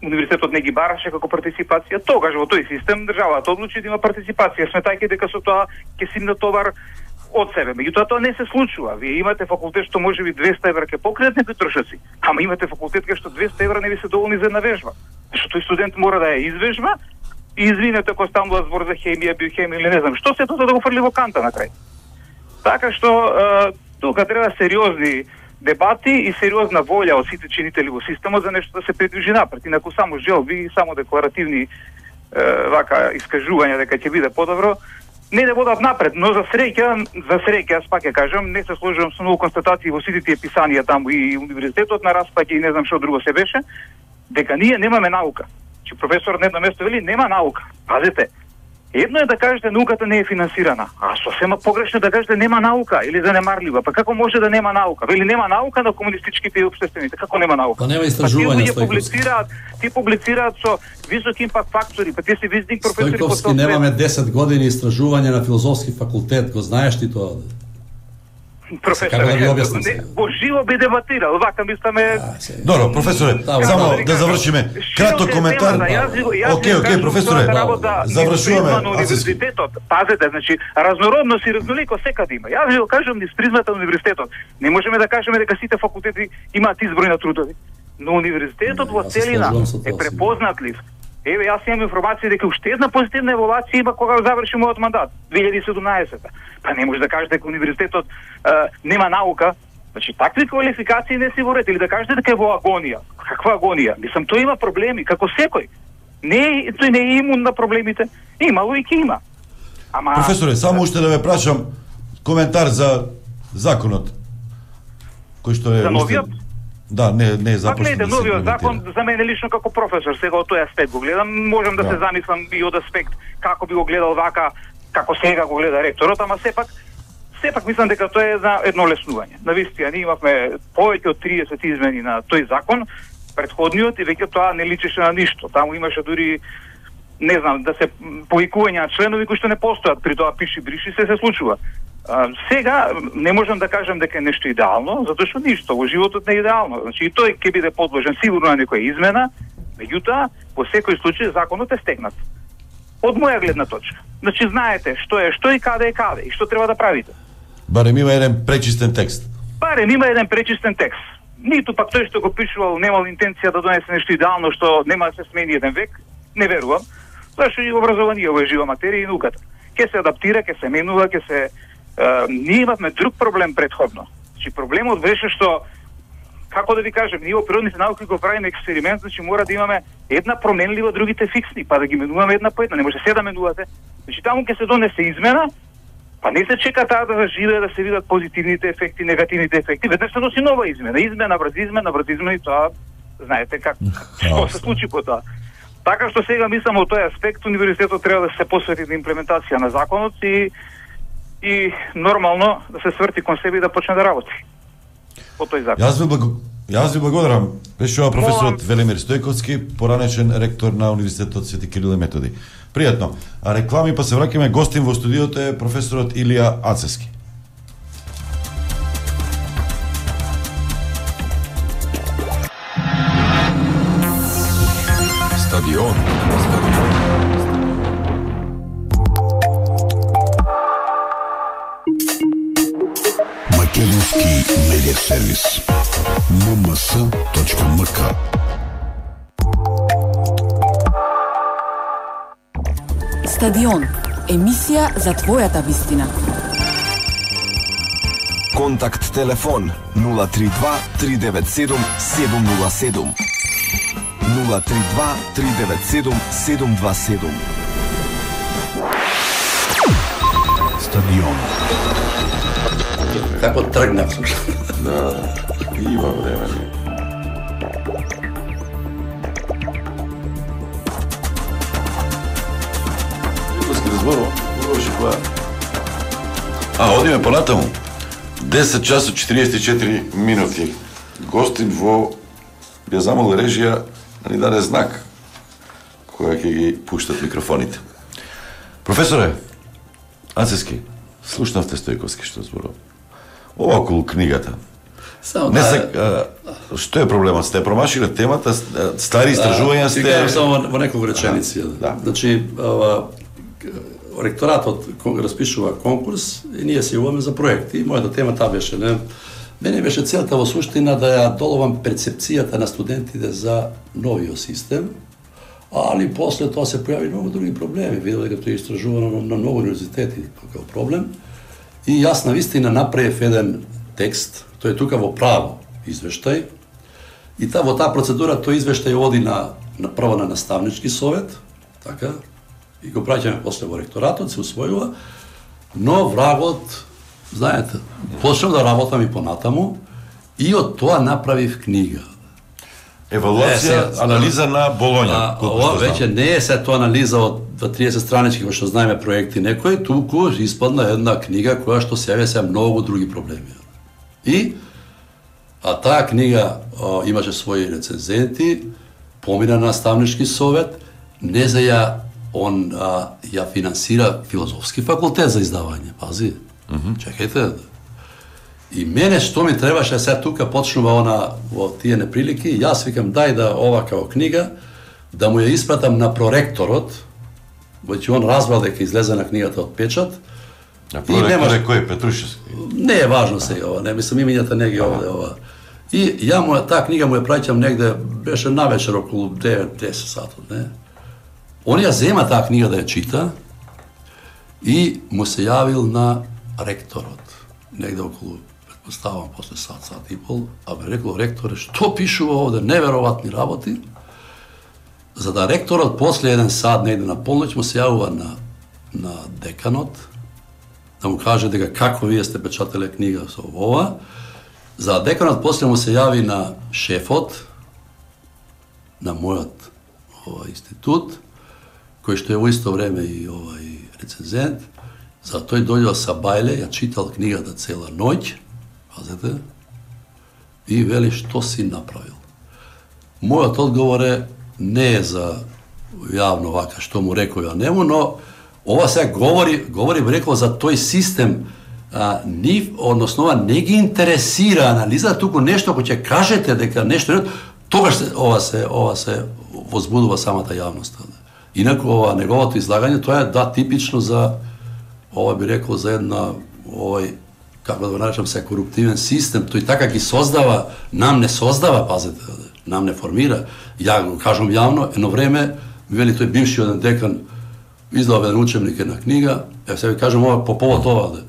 универзитетот не ги бараше како партиципација. Тогаш во тој систем државата одлучи да има партиципација, сметајќи дека со тоа ќе си на товар од себе. Меѓутоа тоа не се случува. Вие имате факултет што можеби двесте евра ќе покријат некои трошоци, ама имате факултет кај што двесте евра не ви се доволни за една вежба. Што тој студент мора да ја извежба и извинете ако станува збор за хемија, биохемија или не знам што, се тоа да го фрли во канта на крај. Така што е, тука треба сериозни дебати и сериозна волја од сите чинители во системот за нешто да се придвижи напред. Инаку само желби и само декларативни е, вака искажувања дека ќе биде подобро, не да водат напред, но за среќа, за среќа, јас пак ја кажам, не се сложувам со многу констатации во сите тие писанија таму и универзитетот на распаѓа и не знам што друго се беше, дека ние немаме наука. Че професор на едно место вели нема наука. Пазете, едно е да кажете науката не е финансирана, а сосема погрешно да кажете нема наука или занемарлива. Па како може да нема наука? Вели нема наука на комунистичките и општествените. Како нема наука? Па нема истражувања, Стојковски. Па публицираат, ти публицираат со високи импакт фактори, па ти си визник професори по Стојковски, немаме десет години истражување на филозофски факултет, го знаеш ти тоа? Професор, Како да ги објаснам сега? во живо би дебатирал, вака мисламе. Добро, професоре, Да, само да, да завршиме. Краток коментар. Окей, окей, професоре, завршуваме. На универзитетот, пазете, значи разнородност и разноликост секаде има. Јас ви го кажам низ призмата на универзитетот. Не можеме да кажеме дека сите факултети имаат изброј на трудови. Но универзитетот во целина е препознатлив. Еве, јас имам информација дека уште една позитивна еволуација има кога заврши мојот мандат, две илјади и седумнаесета. Па не може да кажете дека универзитетот е, нема наука. Значи, такви квалификации не си ворете или да кажете дека е во агонија. Каква агонија? Мислам, тој има проблеми, како секој. Не, тој не е имун на проблемите. Имало и ќе има. Ама... Професоре, само уште да ве прашам коментар за законот. Кој што е... За новиот? Да, не, не е Пак започнат гледате, да се новиот закон, имплементира. за мене лично како професор, сега од тој аспект го гледам, можам да, Да. се замислам и од аспект како би го гледал вака, како сега го гледа ректорот, ама сепак, сепак мислам дека тоа е за едно леснување. Навистина, ние имавме повеќе од триесет измени на тој закон, предходниот, и веќе тоа не личеше на ништо. Таму имаше дури, не знам, да се повикувања на членови кои што не постојат, при тоа пиши бриши се се случува. А, сега не можам да кажам дека е нешто идеално, затоа што ништо во животот не е идеално. Значи и тој ќе биде подложен сигурно на некоја измена, меѓутоа во секој случај законот е стегнат. Од моја гледна точка. Значи знаете што е што и каде е каде и што треба да правите. Барем има еден пречистен текст. Барем има еден пречистен текст. Ниту пак тој што го пишувал немал интенција да донесе нешто идеално што нема да се смени еден век, не верувам. Зашто и образованието е жива материја и науката. Ќе се адаптира, ќе се менува, ќе се Uh, ние имавме друг проблем предходно. Значи проблемот беше што, како да ви кажем, ние во природните науки го правиме експеримент, значи мора да имаме една променлива, другите фиксни, па да ги менуваме една по една, не може се да менувате. Значи таму ќе се донесе измена, па не се чека таа да заживее, да се видат позитивните ефекти, негативните ефекти, веднаш се носи нова измена, измена врз измена врз измена и тоа знаете как што се случи по тоа. Така што сега мислам од тој аспект универзитетот треба да се посвети на имплементација на законот и и нормално да се сврти кон себе и да почне да работи по тој закон. Јас ви благо... Јас ви благодарам. Беше ова професорот Велимир Стојковски, поранешен ректор на Универзитетот Свети Кирил и Методи. Пријатно. А реклами па се враќаме, гостин во студиото е професорот Илија Ацевски. Стадион. Македонски медиа сервис ем ем ес точка ем ка. Стадион. Емисија за твојата вистина. Контакт телефон нула три два три девет седум седум нула седум. нула три два три девет седум седум два седум. Стадион. Како тргнав? Да, Има време. Илски разборува, разборуваше која. А, одиме понатаму. десет часот четириесет и четири минути. Гостин во ја замол режија да ни даде знак која ќе ги пуштат микрофоните. Професоре, Ацески, слушнавте Стојковски што зборува. Ова околу книгата. Само Не да, се, а, што е проблемот? Сте промашиле темата, стари истражувања Ти сте... кажам само во, во неколку реченици. Да. Значи, ова, ректоратот кога распишува конкурс и ние се јавуваме за проекти. И мојата тема таа беше, не? Мене беше целта во суштина да ја доловам перцепцијата на студентите за новиот систем, али после тоа се појави многу други проблеми. Видел дека тоа е истражувано на многу универзитети како проблем. И јас на вистина направив еден текст, тој е тука во право извештај, и та, во таа процедура тој извештај оди на, на прво на наставнички совет, така, и го праќаме после во ректоратот, се усвојува, но врагот, знаете, почнав да работам и понатаму, и од тоа направив книга. Евалуација, Е, анализа на Болоња. А, ова веќе не е се тоа анализа од триесет странички, кој што знаеме проекти некои, туку испадна една книга која што се се многу други проблеми. И а таа книга а, имаше своји рецензенти, помина на наставнички совет, не за ја он а, ја финансира филозофски факултет за издавање, пази. Mm -hmm. Чекајте. И мене што ми требаше сега тука почнува она во тие неприлики, јас викам дај да ова као книга да му ја испратам на проректорот, веќе он разбрал дека излезе на книгата од печат. А проректор е кој? Петрушевски? Не е важно сега ова, не мислам имињата не ги овде ова. И ја му таа книга му ја праќам негде, беше навечер околу девет десет сатот, не? Он ја зема таа книга да ја чита и му се јавил на ректорот, негде околу, предпоставам, после сат, сат и пол, а бе рекол, ректоре, што пишува овде, неверојатни работи, за да ректорот после еден сат, негде на полноќ, му се јавува на, на деканот, да му каже дека како вие сте печателе книга со ова, за деканот после му се јави на шефот, на мојот ова институт, кој што е во исто време и овај рецензент, за тој дојдел са бајле, ја читал книгата цела ноќ, пазете, и вели што си направил. Мојот одговор е не е за јавно вака што му рекол ја нему, но ова сега говори, говори би рекол за тој систем, а, нив, односно ова не ги интересира анализа, туку нешто кој ќе кажете дека нешто не, тогаш се, ова се ова се возбудува самата јавност. Инаку ова неговото излагање тоа е да типично за ова би рекол за една овој како да го наречам се коруптивен систем, тој така ги создава, нам не создава, пазете, нам не формира. Ја го кажам јавно, едно време вели тој бивши еден декан издава еден учебник една книга, ја се ви кажам ова по повод ова.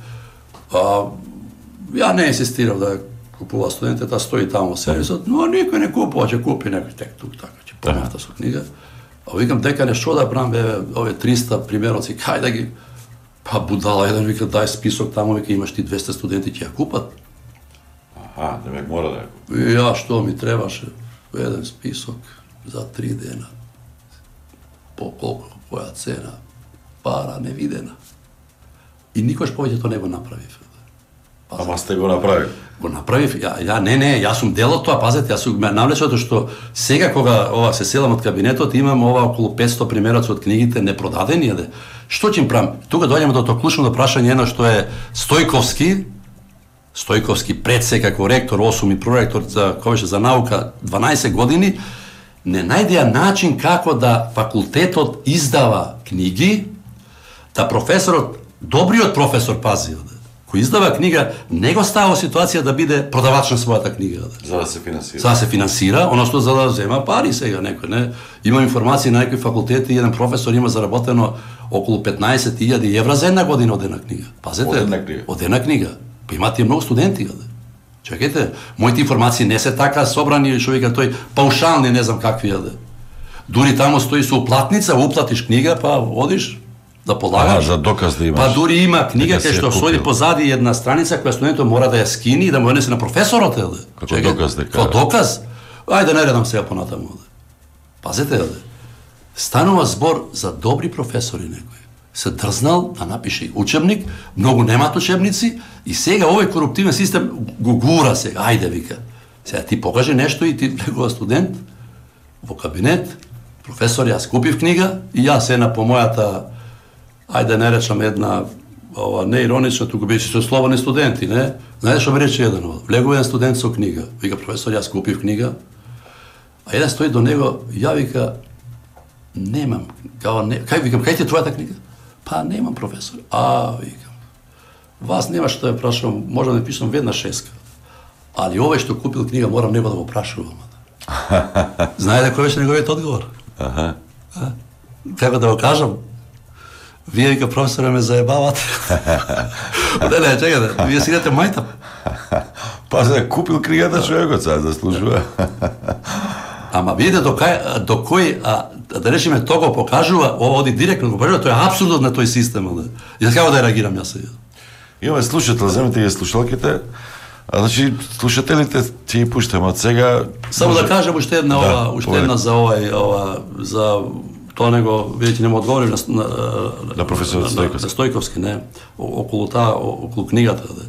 А, ја не инсистирав да купува студентите, таа стои таму во сервисот, но никој не купува, ќе купи некој тек тук така, ќе помафта со книга. А викам декане што да правам бе овие триста примероци, кај да ги. Па будала еден вика дај список таму, вика имаш ти двесте студенти ќе ја купат. Аха, демек мора да ја купат. И ја што ми требаше еден список за три дена. По колку, која цена, пара невидена. И никош повеќе тоа не го направив. Ама сте го направили. Го направив, ја, ја не, не, јас сум дел од тоа, пазете, јас сум ме навлечено што сега кога ова се селам од кабинетот, имам ова околу петсто примероци од книгите непродадени, јаде. Што ќе им правам? Тука доаѓаме до тоа клучно прашање, едно што е Стојковски, Стојковски пред се како ректор, осум и проректор за кој беше за наука дванаесет години, не најдеа начин како да факултетот издава книги, да професорот, добриот професор, пази, кој издава книга, не го става во ситуација да биде продавач на својата книга. За да се финансира. За да се финансира, оно што за да зема пари сега некој, не? Има информации на некои факултети, еден професор има заработено околу петнаесет илјади евра за една година од една книга. Пазете, од една книга. Од една книга. Па имате многу студенти, да. Чекајте, моите информации не се така собрани, што вика тој паушални, не знам какви, да. Дури таму стои со уплатница, уплатиш книга, па одиш, да полагаш. А, за доказ да имаш. Па дури има книга Дека кај си ја што стои купил. позади една страница која студентот мора да ја скини и да му ја несе на професорот, еле. Како доказ дека- Како доказ? Ајде не редам сега понатаму, еле. Пазете, еле. Станува збор за добри професори некој. Се дрзнал да напише учебник, многу немат учебници и сега овој коруптивен систем го гура сега. Ајде, вика. Сега ти покаже нешто и ти некој студент во кабинет, професор, јас купив книга и јас една по мојата, ајде не речам една, ова не иронично, туку беше со слободни студенти, не? Знаеш што ми рече еден од? Влегува еден студент со книга. Вика, професор, јас купив книга. А еден стои до него, ја вика, немам. Као, не, кај викам, кај ти е твојата книга? Па немам, професор. А, викам. Вас нема што ја прашувам, можам да пишам веднаш шеска. Али овој што купил книга морам него да го прашувам. Знае ли кој беше неговиот одговор? Аха. А? Како да го кажам? Вие, вика, професоре, ме заебавате. Не, не, чекате, вие си идете мајтап. Па за купил книгата човекот, сега заслужува. Ама видите до кај, до кој, а, да речеме, тоа го покажува, ова оди директно го покажува, тоа е апсурдот на тој систем. Да. И за како да реагирам јас сега? Имаме слушател, земете ги слушалките. А значи слушателите ќе ги пуштаме од сега. Само може... да кажам уште една, да, ова, уште една за овај, ова, за тоа него, видите, нема одговорив на, на, на професор Стојковски. На Стојковски, не, околу таа, околу книгата. Да.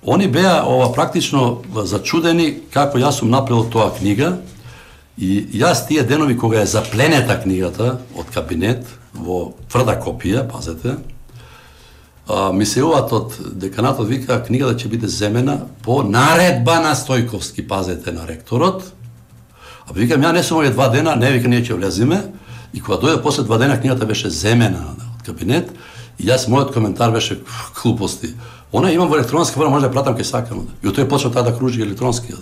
Они беа ова практично зачудени како јас сум направил тоа книга и јас тие денови кога е запленета книгата од кабинет во тврда копија, пазете, а, ми се јават од деканатот, вика книгата ќе биде земена по наредба на Стојковски, пазете, на ректорот. А викам, ја не сум овие два дена, не, вика, ние ќе влезиме. И кога дојде после два дена, книгата беше земена од кабинет и јас, мојот коментар беше глупости. Она имам во електронски форма, може да ја пратам кај сакам. И од тој почна таа да кружи електронски.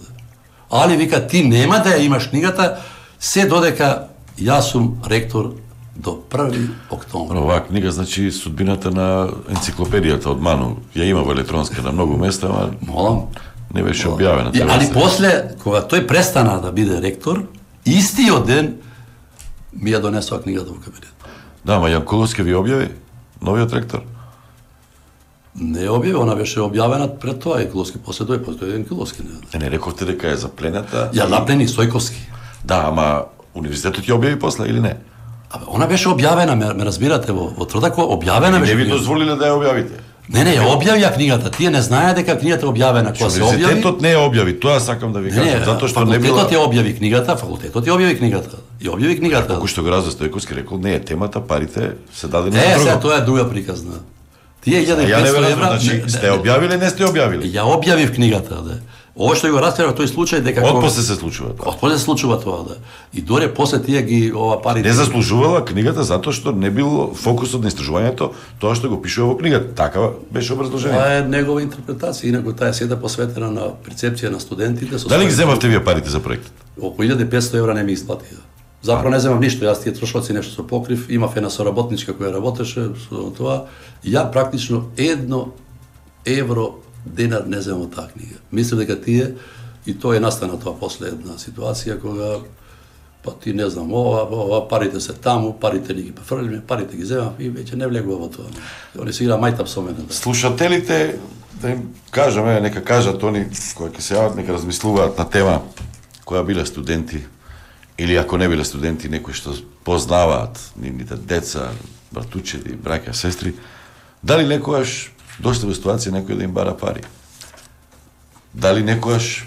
Али вика, ти нема да ја имаш книгата, се додека јас сум ректор до први октомври. Оваа книга, значи, судбината на енциклопедијата од Ману. Ја има во електронска на многу места, ама Молам. не беше објавена. И, али после, кога тој престана да биде ректор, истиот ден ми ја донесува книгата во кабинет. Да, ма Јанкуловски ви објави? Новиот ректор? Не објави, она беше објавена пред тоа, и Киловски после тој, после тој еден Киловски. Не, Не, не рековте дека е заплената. ја наплени Стојковски. Да, ама универзитетот ја објави после или не? Абе, она беше објавена, ме, ме разбирате, во, во Трдако, објавена Не беше. ви книгата. дозволиле да ја објавите. Не, не, ја објавија книгата. Тие не знаеа дека книгата е објавена. Кога се објави, Универзитетот не ја објави, тоа сакам да ви не, кажам, не, затоа што не била. факултетот ја објави книгата, факултетот ја објави книгата. Ја објави книгата. Како што го Разо Стојковски рекол, не е темата, парите се дадени Е, за сега друго. тоа е друга приказна. Тие А илјада и ја не петсто верувам, евра. значи, не, сте не, објавиле, не сте објавиле. Ја објавив книгата, да. Ова што го раскрива тој случај дека Отпосле се случува тоа. Отпосле се случува тоа, да. И доре после тие ги ова парите. Не заслужувала книгата затоа што не бил фокусот на истражувањето тоа што го пишува во книгата. Така беше образложение. Тоа е негова интерпретација, инаку таа е седа посветена на перцепција на студентите. со Дали ги својите- земавте вие парите за проектот? Околу илјада и петсто евра не ми исплати. Заправо не земам ништо, јас тие трошоци нешто со покрив, имав една соработничка која работеше со тоа. Ја практично едно евро денар не земам од таа книга. Мислам дека тие, и тоа е настана тоа после една ситуација кога па ти не знам, ова, ова парите се таму, парите ни ги пофрлиме, парите ги земам и веќе не влегува во тоа. Они се игра мајтап со мене. Да. Слушателите, да им кажаме, нека кажат они кои ќе се јават, нека размислуваат на тема која биле студенти или ако не биле студенти, некои што познаваат нивните деца, братучеди, браќа, сестри, дали некојаш дошле во ситуација некој да им бара пари? Дали некојаш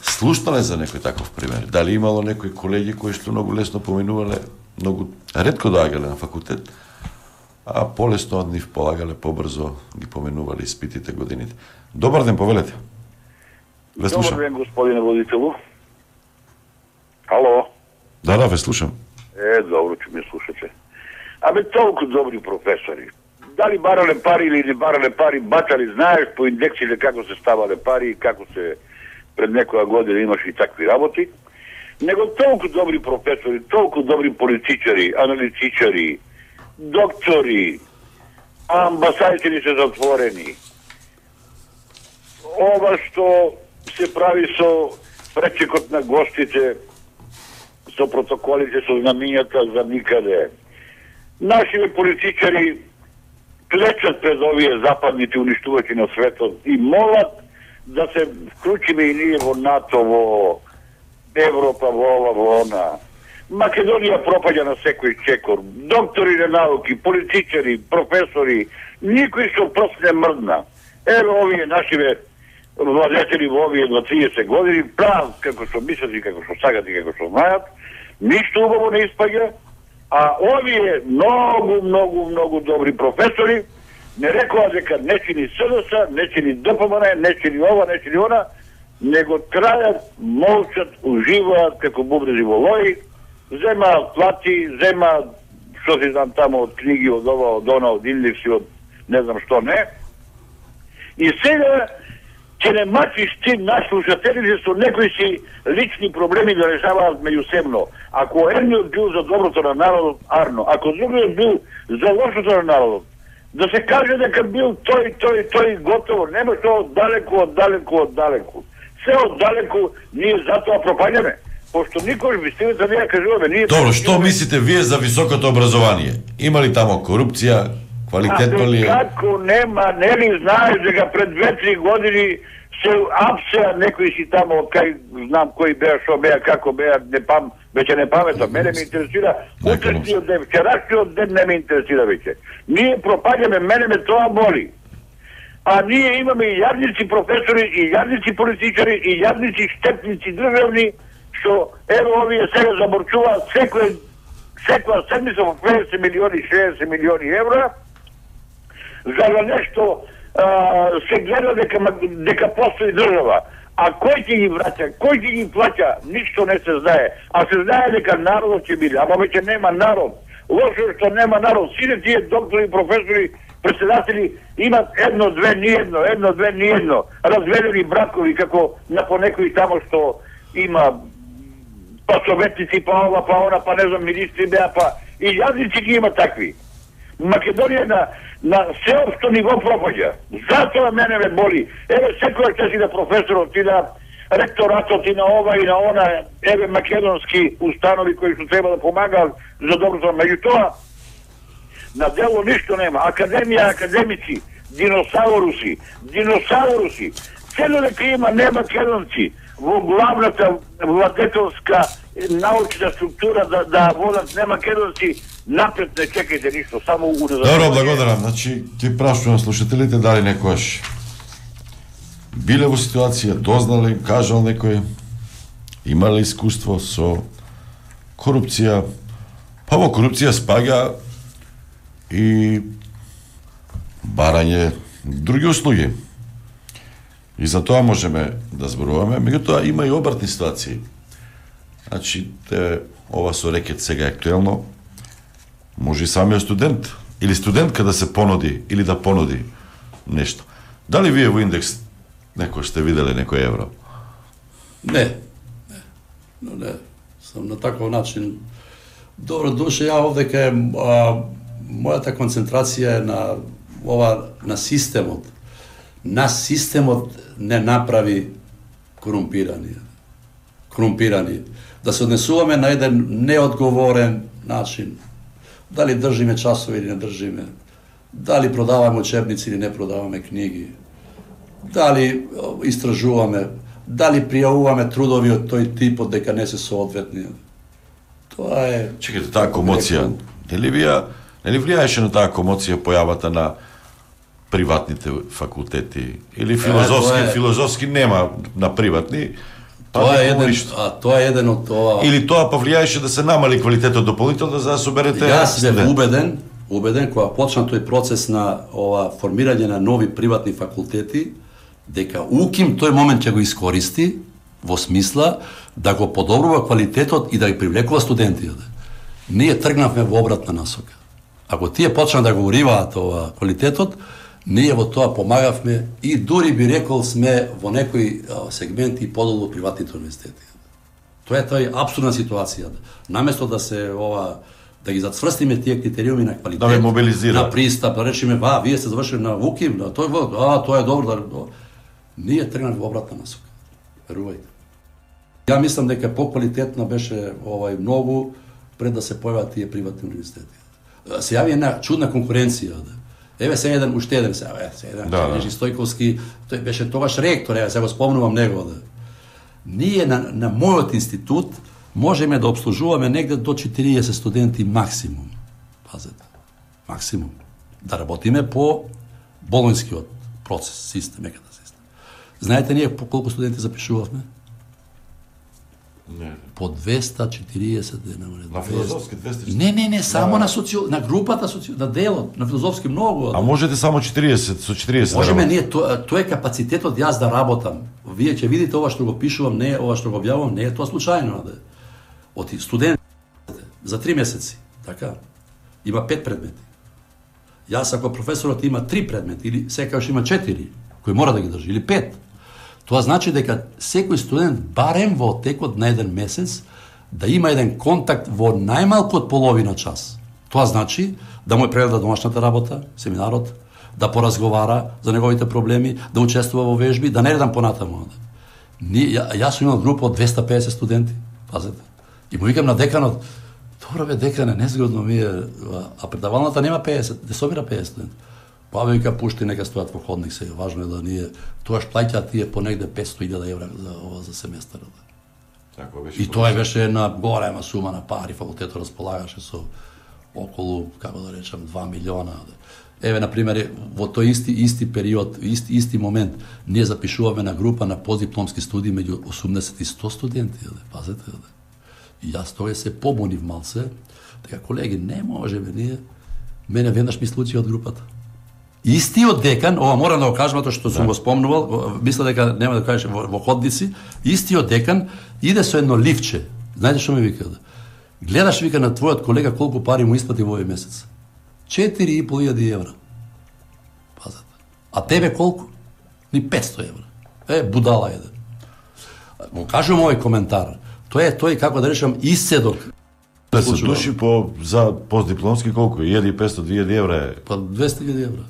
слушнале за некој таков пример? Дали имало некои колеги кои што многу лесно поминувале, многу ретко доаѓале на факултет, а полесно од нив полагале, побрзо ги поменувале испитите, годините. Добар ден, повелете. Ве слушам. Добар ден, господине водителу. Ало? Да, да, ве слушам. Е, добро, че ме слушате. Абе, толку добри професори. Дали барале пари или не барале пари, бачали, знаеш по индексите како се ставале пари, како се пред некоја година имаше и такви работи. Него толку добри професори, толку добри политичари, аналитичари, доктори, а амбасадите ни се затворени. Ова што се прави со пречекот на гостите, со протоколите, со знамињата за никаде. нашите политичари клечат пред овие западните уништувачи на светот и молат да се вклучиме и ние во НАТО, во Европа, во ова, во она. Македонија пропаѓа на секој чекор. Доктори на науки, политичари, професори, никој што прст не мрдна. Ево овие нашиве владетели во овие на триесет години, прав како што мислат и како што сагат и како што знаат, ништо убаво не испаѓа, а овие многу, многу, многу добри професори не рекоа дека не чини СДС, не чини ДПМН, не чини ова, не чини она, него трајат, молчат, уживаат како бубрези во лои, зема плати, зема што си знам тамо од книги, од ова, од она, од индекси, од не знам што не. И сега ќе не мачиш ти наш слушателите со некои си лични проблеми да решаваат меѓусебно. Ако едниот бил за доброто на народот, арно. Ако другиот бил за лошото на народот, да се каже дека бил тој, тој, тој готово. Нема што оддалеку, оддалеку, оддалеку. Се оддалеку ние затоа пропаѓаме. Пошто никош вистината не ја кажуваме. Ние Добро, што мислите вие за високото образование? Има ли тамо корупција? Квалитетно ли е? Како нема, нели знаеш дека пред две-три години се апсеа некои си тамо, кај знам кои беа, што беа, како беа, не пам, веќе не паметам, мене ме интересира, утрешниот ден, вчерашниот ден не ме интересира веќе. Ние пропаѓаме, мене ме тоа боли. А ние имаме и јадници професори, и јадници политичари, и јадници штетници државни, што ево овие сега заборчуваат секој секоја седмица во петдесет милиони, шеесет милиони евра, за да нешто а, се гледа дека, дека постои држава. А кој ќе ги враќа, кој ќе ги плаќа, ништо не се знае. А се знае дека народот ќе биде, ама веќе нема народ. Лошо што нема народ. Сите тие доктори, професори, председатели имат едно, две, ни едно, едно, две, ни едно. Разведени бракови, како на понекои тамо што има па советници, па ова, па она, па не знам, министри беа, па и јазници ги има такви. Македонија на, на сеопшто ниво пропаѓа. Затоа мене ме боли. Еве секој ќе си на професорот и на ректоратот и на ова и на она, еве македонски установи кои што треба да помагаат за доброто. Меѓутоа, на дело ништо нема. Академија, академици, диносауруси, диносауруси. Цело дека има не македонци во главната владетелска научна структура да, да водат не македонци, напред не чекајте ништо, само уназад. Добро, благодарам. Значи, ти прашувам слушателите дали некојаш биле во ситуација, дознале, кажал некој, имале искуство со корупција, па во корупција спаѓа и барање други услуги. И за тоа можеме да зборуваме, меѓутоа има и обратни ситуации. Значи, те, ова со рекет сега актуелно, може и самиот студент или студентка да се понуди или да понуди нешто. Дали вие во индекс некој сте виделе некој евро? Не, не, но не, сам на таков начин. Добро душе, ја овде кај мојата концентрација е на ова, на системот. Нас системот не направи корумпирани. Корумпирани. Да се однесуваме на еден неодговорен начин. Дали држиме часови или не држиме. Дали продаваме учебници или не продаваме книги. Дали истражуваме. Дали пријавуваме трудови од тој тип од дека не се соодветни. Тоа е... Чекайте, таа комоција, нели вија, нели влијаеше на таа комоција појавата на приватните факултети или филозофски, е, е... филозофски нема на приватни. Па тоа е еден, а тоа е еден од тоа. Или тоа повлијаеше да се намали квалитетот дополнително за да соберете. Јас сум убеден, убеден кога почна тој процес на ова формирање на нови приватни факултети, дека УКИМ тој момент ќе го искористи во смисла да го подобрува квалитетот и да ги привлекува студентите. Ние тргнавме во обратна насока. Ако тие почнаа да го уриваат ова квалитетот, ние во тоа помагавме и дури би рекол сме во некои сегменти подолу од приватните универзитети. Тоа е тој апсурдна ситуација. Наместо да се ова да ги зацврстиме тие критериуми на квалитет, да мобилизира, на пристап, да речеме, ва, вие сте завршили на УКИМ, да, тој во, а, тоа е добро, да, ние тргнавме во обратна насока. Верувајте. Ја мислам дека поквалитетно беше овај многу пред да се појават тие приватни универзитети. се јави една чудна конкуренција. Еве се еден уште еден се, еве се еден да, Нежи Стојковски, тој беше тогаш ректор, еве се го спомнувам него. Да. Ние на, на мојот институт можеме да обслужуваме негде до четириесет студенти максимум. Пазете, максимум. Да работиме по болонскиот процес, систем, еката систем. Знаете ние по колку студенти запишувавме? Не. По двеста четириесет дена. На филозофски двеста четириесет? Не, не, не, само да. на социо, на групата социо, на делот, на филозофски многу. А можете само четириесет, со четириесет? Можеме ние, тоа то е капацитетот јас да работам. Вие ќе видите ова што го пишувам, не ова што го објавувам, не е тоа случајно, да. Од студент за три месеци, така, има пет предмети. Јас ако професорот има три предмети или секогаш има четири, кои мора да ги држи, или пет, тоа значи дека секој студент барем во текот на еден месец да има еден контакт во најмалку од половина час. Тоа значи да му е прегледа домашната работа, семинарот, да поразговара за неговите проблеми, да учествува во вежби, да не редам понатаму. Ни, ја, јас сум имал група од двеста педесет студенти, пазете. И му викам на деканот, добро бе декане, незгодно ми е, а предавалната нема педесет, де собира педесет студенти. Па бе вика пушти нека стојат во ходник сега, важно е да ние тоаш плаќаат тие по негде петстотини илјади евра за ова за семестар. Така беше. И тоа беше една голема сума на пари, факултетот располагаше со околу, како да речам, два милиона. Еве на пример во тој исти исти период, исти исти момент ние запишуваме на група на постдипломски студии меѓу осумдесет и сто студенти, пазете. И јас тоа се побунив малце, дека колеги не можеме ние, мене веднаш ми случи од групата. Истиот декан, ова морам да го кажам тоа што сум го спомнувал, мисля дека нема да кажеш во, во ходници, истиот декан иде со едно ливче. Знаете што ми вика? Гледаш, вика, на твојот колега колку пари му исплати во овој месец. четири и пол илјади евра. Пазете. А тебе колку? Ни петсто евра. Е, будала еден. Го кажувам овој коментар. Тоа е тој, како да речам, исцедок. Да се души по за постдипломски колку? илјада и петсто до две илјади евра е. Па двеста илјади евра.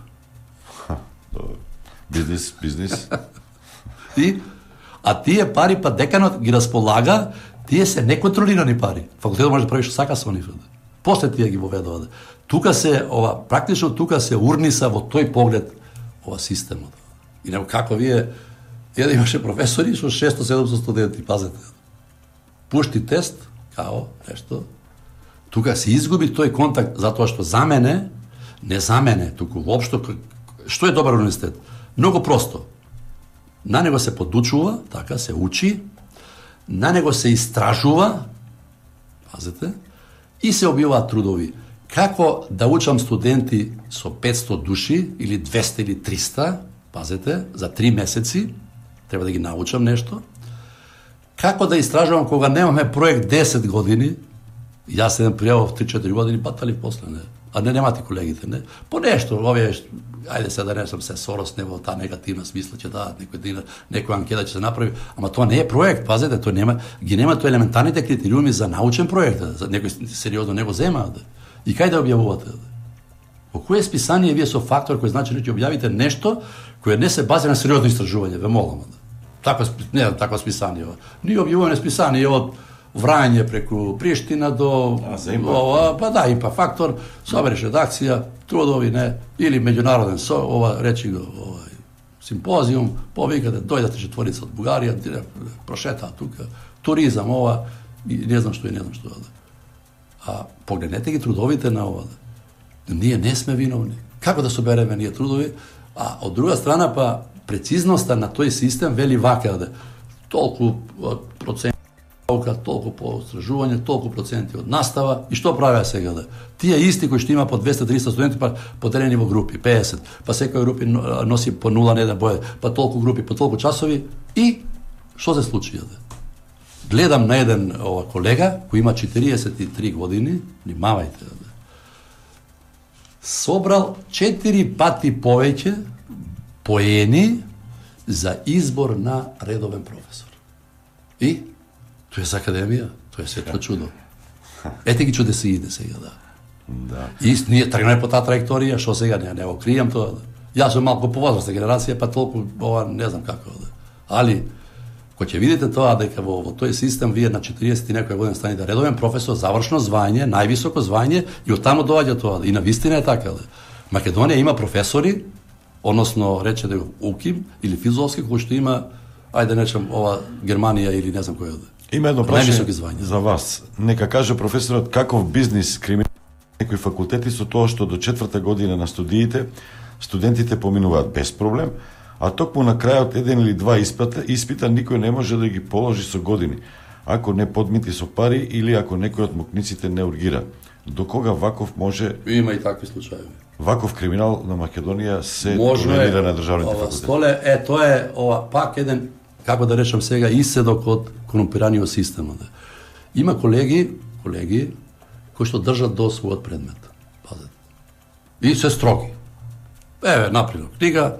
Бизнис, бизнис. И а тие пари па деканот ги располага, тие се неконтролирани пари. Факултетот може да прави што сака со нив. После тие ги воведува. Тука се ова практично тука се урниса во тој поглед ова системот. И него како вие еден имаше професори со шесто седумстотини студенти, пазете. Пушти тест, као нешто. Тука се изгуби тој контакт затоа што за мене, не за мене, туку воопшто што е добар универзитет? Многу просто. На него се подучува, така се учи, на него се истражува, пазете, и се објавуваат трудови. Како да учам студенти со петсто души, или двеста или триста, пазете, за три месеци, треба да ги научам нешто. Како да истражувам кога немаме проект десет години, јас еден пријавов три-четири години, патали после, не. А не немате колегите, не. По нешто, овие, ајде се да не сам се сорос, не во таа негативна смисла ќе дадат некој дина, некоја анкета ќе се направи, ама тоа не е проект, пазете, тоа нема, ги нема тоа елементарните критериуми за научен проект, за некој сериозно него зема, да. И кај да објавувате? Да? Во кое списание вие со фактор кој значи ќе објавите нешто кое не се базира на сериозно истражување, ве молам, да. Такво не такво списание. Ние објавуваме списание од Врање преку Приштина до ова, па да, импа фактор, собереш редакција, трудови не, или меѓународен со, ова речи го, овај симпозиум, повикате, дојдете четворица од Бугарија, прошетаа тука, туризам ова, и не знам што и не знам што. А погледнете ги трудовите на ова. Ние не сме виновни. Како да собереме ние трудови? А од друга страна па прецизноста на тој систем вели вака да толку процент толку по истражување, толку проценти од настава, и што правеа сега да? Тие исти кои што има по двеста-триста студенти, па поделени во групи, педесет, па секоја групи носи по нула на еден бој, па толку групи, по толку часови, и што се случи? Да? Гледам на еден ова колега, кој има четириесет и три години, внимавајте, да? Собрал четири пати повеќе поени за избор на редовен професор. И тоа е за академија, тоа е светло чудо. Ете ги чудеси иде сега, да. Да. И ние тргнеме по таа траекторија, што сега не, не го кријам тоа. Да. Јас сум малку повозрастна генерација, па толку ова не знам како да. Али Кој ќе видите тоа дека во, во тој систем вие на четириесет и некоја година станете редовен професор, завршно звање, највисоко звање и оттаму доаѓа тоа. И на вистина е така. Да. Македонија има професори, односно рече да УКИМ или филозофски, кој што има, ајде нечем ова Германија или не знам кој да. Има едно прашање за вас. Нека каже професорот каков бизнис криминал некои факултети со тоа што до четврта година на студиите студентите поминуваат без проблем, а токму на крајот еден или два испита, испита никој не може да ги положи со години, ако не подмити со пари или ако некој од мукниците не ургира. До кога ваков може... Има и такви случаи. Ваков криминал на Македонија се толерира на државните факултети. Столе, е, тоа е ова, пак еден, како да речам сега, иседок од корумпираниот систем. Да. Има колеги, колеги, кои што држат до својот предмет. Пазете. И се строги. Еве, например, книга,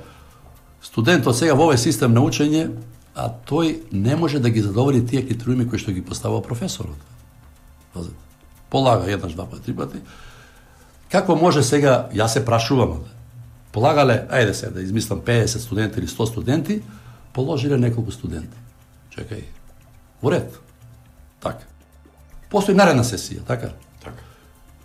студентот сега во овој систем на учење, а тој не може да ги задоволи тие критериуми кои што ги поставува професорот. Пазете. Полага еднаш, два пати, три пати. Како може сега, јас се прашувам, полагале, ајде се да измислам педесет студенти или сто студенти, положиле неколку студенти. Чекај. Во ред. Така. Постои наредна сесија, така? Така.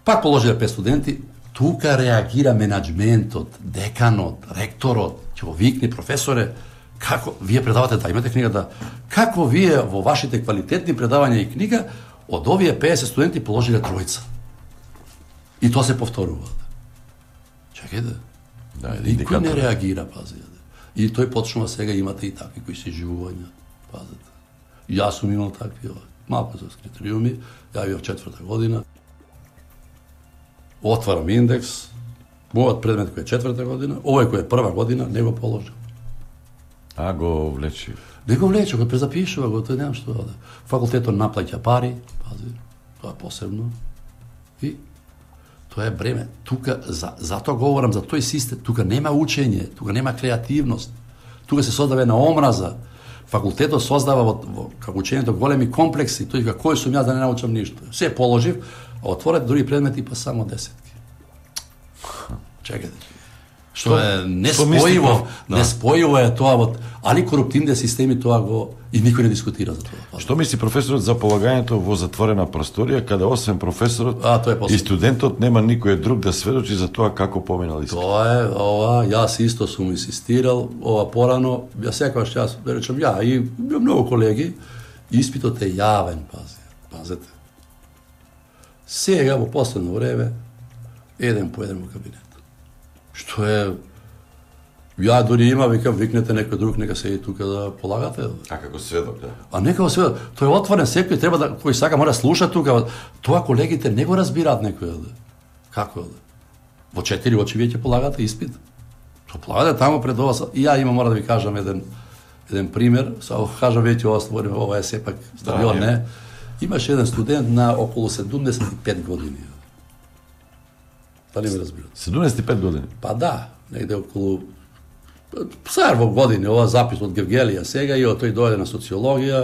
Пак положиле пет студенти, тука реагира менаџментот, деканот, ректорот, ќе го викне професоре, како вие предавате, да имате книга, да, како вие во вашите квалитетни предавања и книга од овие педесет студенти положиле тројца. И тоа се повторува. Чекај да. Да, никој не реагира, пази. И тој почнува сега имате и такви кои се живувања, пазете. Јас сум имал такви, малку за критериуми, ја бев четврта година. Отварам индекс, мојот предмет кој е четврта година, овој кој е прва година, не го положил. А го влечи. Не го влече, го презапишува, го тој немам што да. Факултетот наплаќа пари, пази, тоа е посебно. И тоа е бреме. Тука, за, затоа говорам за тој систем, тука нема учење, тука нема креативност, тука се создава една омраза. Факултетот создава во, во како учењето големи комплекси, тој дека кој сум јас да не научам ништо. Се положив, а отворете други предмети па само десетки. Чекайте. Што е неспојиво, да. Неспојиво е тоа во, али коруптивните системи тоа го и никој не дискутира за тоа. Што мисли професорот за полагањето во затворена просторија каде освен професорот а, и студентот нема никој друг да сведочи за тоа како поминал испит? Тоа е, ова, јас исто сум инсистирал, ова порано, ја секогаш јас, да речем ја и многу колеги, испитот е јавен, пази, пазете. Сега во последно време еден по еден во кабинет. Што е, ја дори има, викам, викнете некој друг, нека седи тука да полагате. А како сведок, да? А нека сведок, тој е отворен, секој треба да, кој сака мора слуша тука, тоа колегите не го разбираат некој, да. Како да? Во четири очи вие ќе полагате испит. Што полагате таму пред ова, и ја има, мора да ви кажам еден, еден пример, само кажам веќе ова створим, ова е сепак стадион, да, не. Имаше еден студент на околу седумдесет и пет години. Дали ме разбирате? седумдесет и пет години? Па да, негде околу сар во години, ова запис од Гевгелија сега и од тој дојде на социологија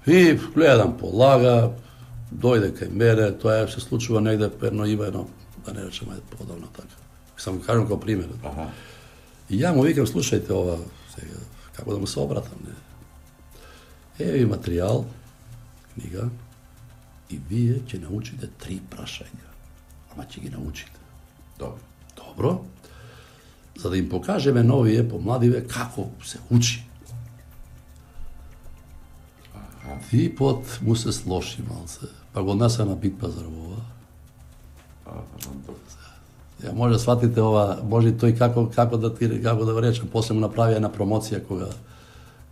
и гледам полага, дојде кај мене, тоа се случува негде перно има едно, да не речем ајде подобно така. Само кажам како пример. Аха. И ја му викам, слушајте ова сега, како да му се обратам, не. Еви материјал, книга, и вие ќе научите три прашања. Ама ќе ги научите. Добро. Добро. За да им покажеме новие помладиве како се учи. Ага. Типот му се слоши малце. Па го несе на Бит Пазарова. Ја може да сватите ова, може тој како како да ти како да речем, после му направи една промоција кога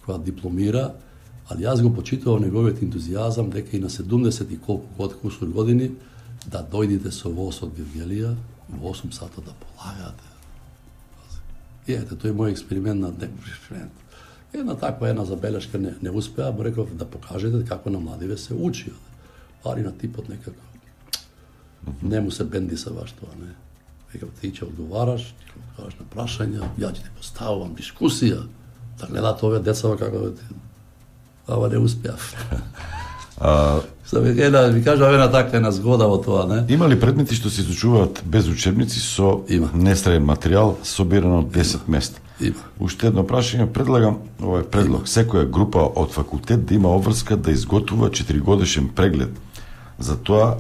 кога дипломира, али јас го почитував неговиот ентузијазам дека и на седумдесет и колку год кусур години да дојдете со воз од Гевгелија во осум сата да полагате. И ете, тој е мој експеримент на експеримент. Една таква една забелешка не, не успеа, бо реков да покажете како на младиве се учи. Али на типот некако не му се бенди са баш тоа, не. Векав, ти ќе одговараш, ти ќе одговараш на прашања, ја ќе те поставувам дискусија, да гледат овие деца како да ти... Ава не успеав. А, Една, ви кажа, една така една згода во тоа, не? Има ли предмети што се изучуваат без учебници со Има. нестраен материјал собиран од десет места? Има. Уште едно прашање, предлагам овој предлог. Секоја група од факултет да има обврска да изготвува четиригодишен преглед за тоа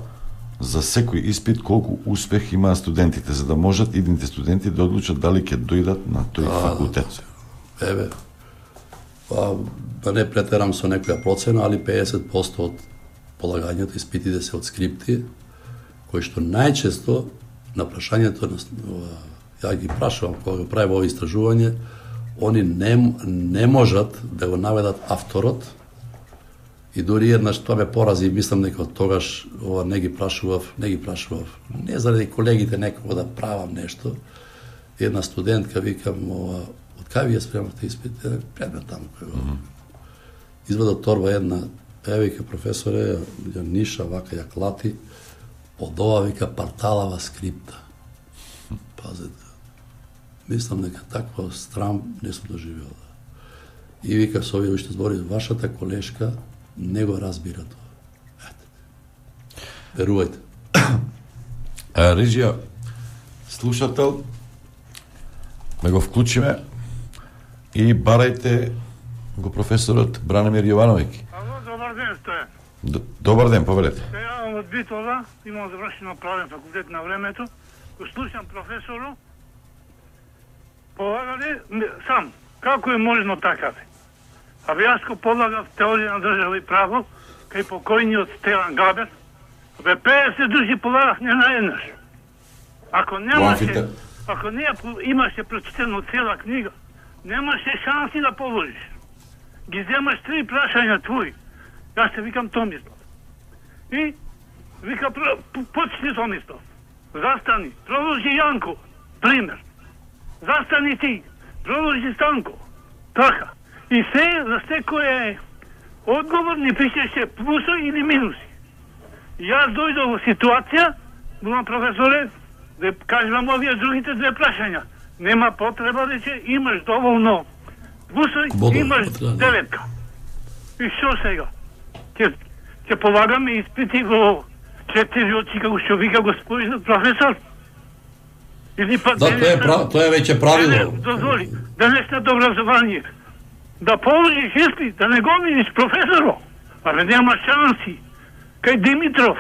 за секој испит колку успех имаат студентите, за да можат идните студенти да одлучат дали ќе дојдат на тој А, факултет. Еве, па, да не претерам со некоја процена, али педесет проценти од полагањето испитите се од скрипти, кои што најчесто на прашањето, ја ги прашувам кога го правим ово истражување, они не, не можат да го наведат авторот, и дури еднаш тоа ме порази, мислам дека од тогаш ова не ги прашував, не ги прашував, не заради колегите некако да правам нешто. Една студентка викам, ова, од кај вие спремавте испит? Предмет таму кој го. Mm -hmm. Извада од торба една, еве вика професоре, ја ниша вака ја клати, од ова вика парталава скрипта. Пазете. Мислам дека таква страм не сум доживеал. И вика со овие уште збори, вашата колешка не го разбира тоа. Ете. Верувајте. А, Режија, слушател, да го вклучиме и барајте го професорот Бранимир Јовановиќ. Ало, добар ден, Стојан. Д- Добар ден, повелете. Се јавам од Битола, имам завршено правен факултет на времето, го слушам професору, полагале сам, како е можно така бе? Абе јас го полагав теорија на држава и право, кај покојниот Стелан Габер, бе педесет души полагав не наеднаш. Ако немаше, ако не имаше прочитено цела книга, немаше шанси да положиш. Ги земаш три прашања твои. Јас се викам Томислав. И вика, почни Томислав. Застани, продолжи Јанко, пример. Застани ти, продолжи Станко. Така. И се, за секој одговор ни пишеше плюсо или минуси. Јас дојдов во ситуација, булам професоре, да кажам овие другите две прашања. Нема потреба рече, имаш доволно плюсо, имаш деветка. И што сега? Ќе ќе полагаме испити во четири очи, како што вика господин професор? Или па Да, тоа е, пра, тоа е веќе правило. Дозволи, денешното образование, да положиш испит, да не го видиш професоро, але нема шанси. Кај Димитров,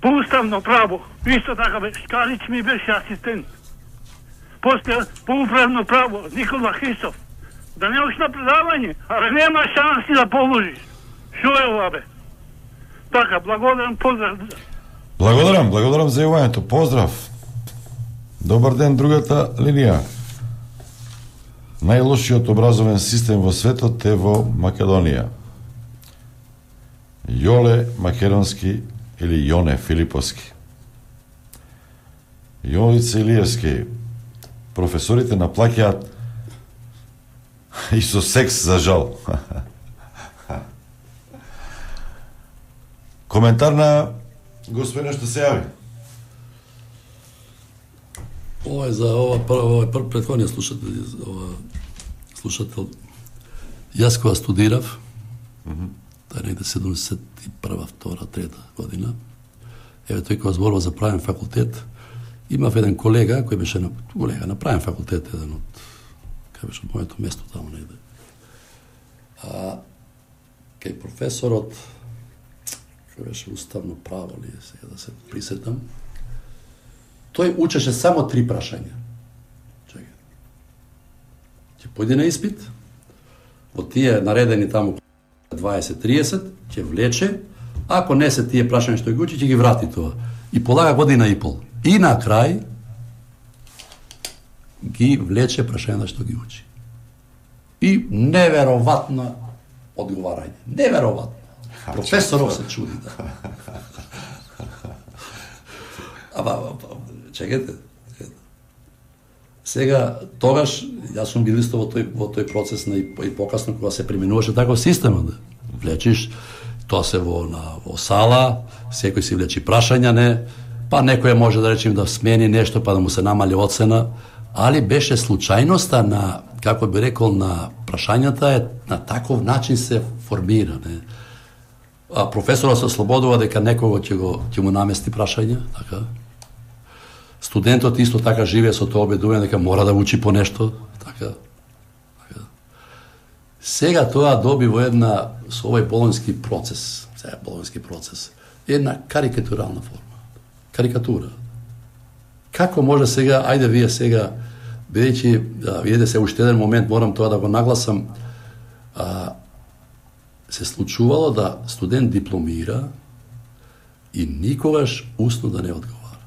по уставно право, исто така бе, Шкалич ми беше асистент. После по управно право, Никола Христов, да не ош на предавање, але нема шанси да положиш. Шо е ова бе? Така, благодарам, поздрав. Благодарам, благодарам за јавањето. Поздрав. Добар ден, другата линија. Најлошиот образовен систем во светот е во Македонија. Јоле Македонски или Јоне Филиповски. Јовица Илиевски. Професорите наплаќаат и со секс, за жал. Коментар на господина што се јави. Ова е за ова прво, ова прв претходниот слушател, ова слушател. Јас кога студирав, mm -hmm. тоа е негде седумдесет и прва, втора, трета година. Еве тој кога зборува за правен факултет, имав еден колега кој беше на колега на правен факултет, еден од кај беше од моето место таму негде. А кај професорот кој беше уставно право ли сега да се присетам, тој учеше само три прашања. Чекај. Ќе појде на испит, во тие наредени таму дваесет триесет, ќе влече, ако не се тие прашања што ги учи, ќе ги врати тоа. И полага година и пол. И на крај ги влече прашања што ги учи. И неверојатно одговарање. Неверојатно. Професоров се чуди, да. Ама, чекайте. Сега, тогаш, јас сум бил исто во тој, во тој процес на, и, и покасно, кога се применуваше таков система, да влечиш, тоа се во, на, во сала, секој си влечи прашања, не, па некој може да речем да смени нешто, па да му се намали оцена, али беше случајноста на, како би рекол, на прашањата е на таков начин се формира, не. а професорот се ослободува дека некого ќе го ќе му намести прашање, така. Студентот исто така живее со тоа убедување дека мора да учи по нешто, така. така. Сега тоа доби во една со овој болонски процес, сега болонски процес, една карикатурална форма. Карикатура. Како може сега, ајде вие сега, бидејќи, да, видите се уште еден момент, морам тоа да го нагласам, а, се случувало да студент дипломира и никогаш усно да не одговара.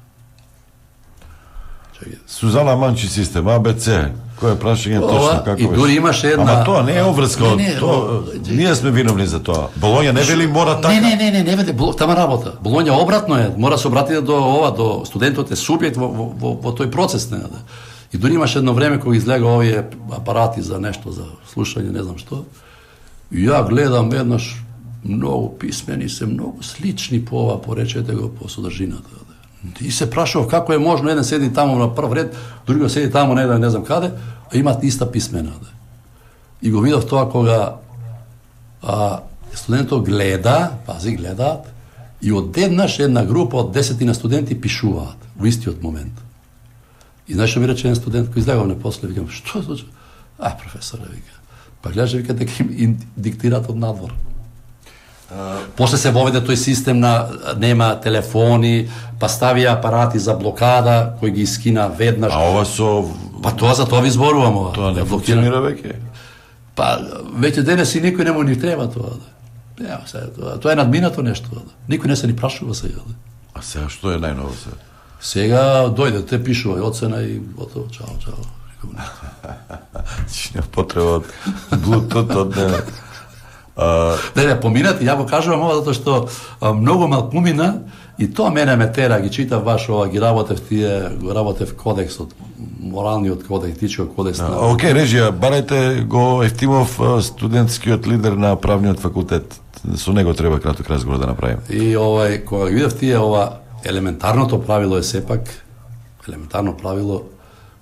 Чекай. Сузана Манчи систем, А Б Ц, кој е прашање точно како и дури имаше една... Ама тоа не е обврска, не, не, тоа, ние сме виновни за тоа. Болоња не вели мора така. Не, не, не, не, не веде, тама работа. Болоња обратно е, мора да се обрати до ова, до студентот е субјект во, во, во, во тој процес, не, да. И дури имаше едно време кога излега овие апарати за нешто, за слушање, не знам што, и ја гледам еднаш, многу писмени се, многу слични по ова, поречете го по содржината. И се прашав како е можно, еден седи таму на прв ред, другиот седи таму не, не знам каде, а имат иста писмена. Да. И го видов тоа кога а, студентот гледа, пази, гледаат, и одеднаш една група од десетина студенти пишуваат во истиот момент. И знаеш што ми рече еден студент кој излегав не после, викам, што случи? А, професоре, вика. Па гледаш, вика, дека им диктираат од надвор. Uh, После се воведе тој систем на нема телефони, па ставија апарати за блокада кои ги скина веднаш. А ова со Па тоа за тоа ви зборувам ова. Тоа не функционира веќе. Па веќе денес и никој не му ни треба тоа. Да. Ја, сега, тоа, тоа е надминато нешто. Да. Никој не се ни прашува сега. Да. А сега што е најново сега? Сега дојде, те пишува и оцена и готово, чао, чао. Ти не потреба од Bluetooth од не. Uh, не, не, поминати, ја го кажувам ова затоа што а, многу малкумина и тоа мене ме тера, ги читав ваш ова, ги работев тие, го работев кодексот, моралниот кодекс, етичкиот кодекс. Uh, на... Океј, okay, режија, барајте го Ефтимов, студентскиот лидер на правниот факултет. Со него треба краток разговор да направиме. И овај, кога ги видев тие ова, елементарното правило е сепак, елементарно правило,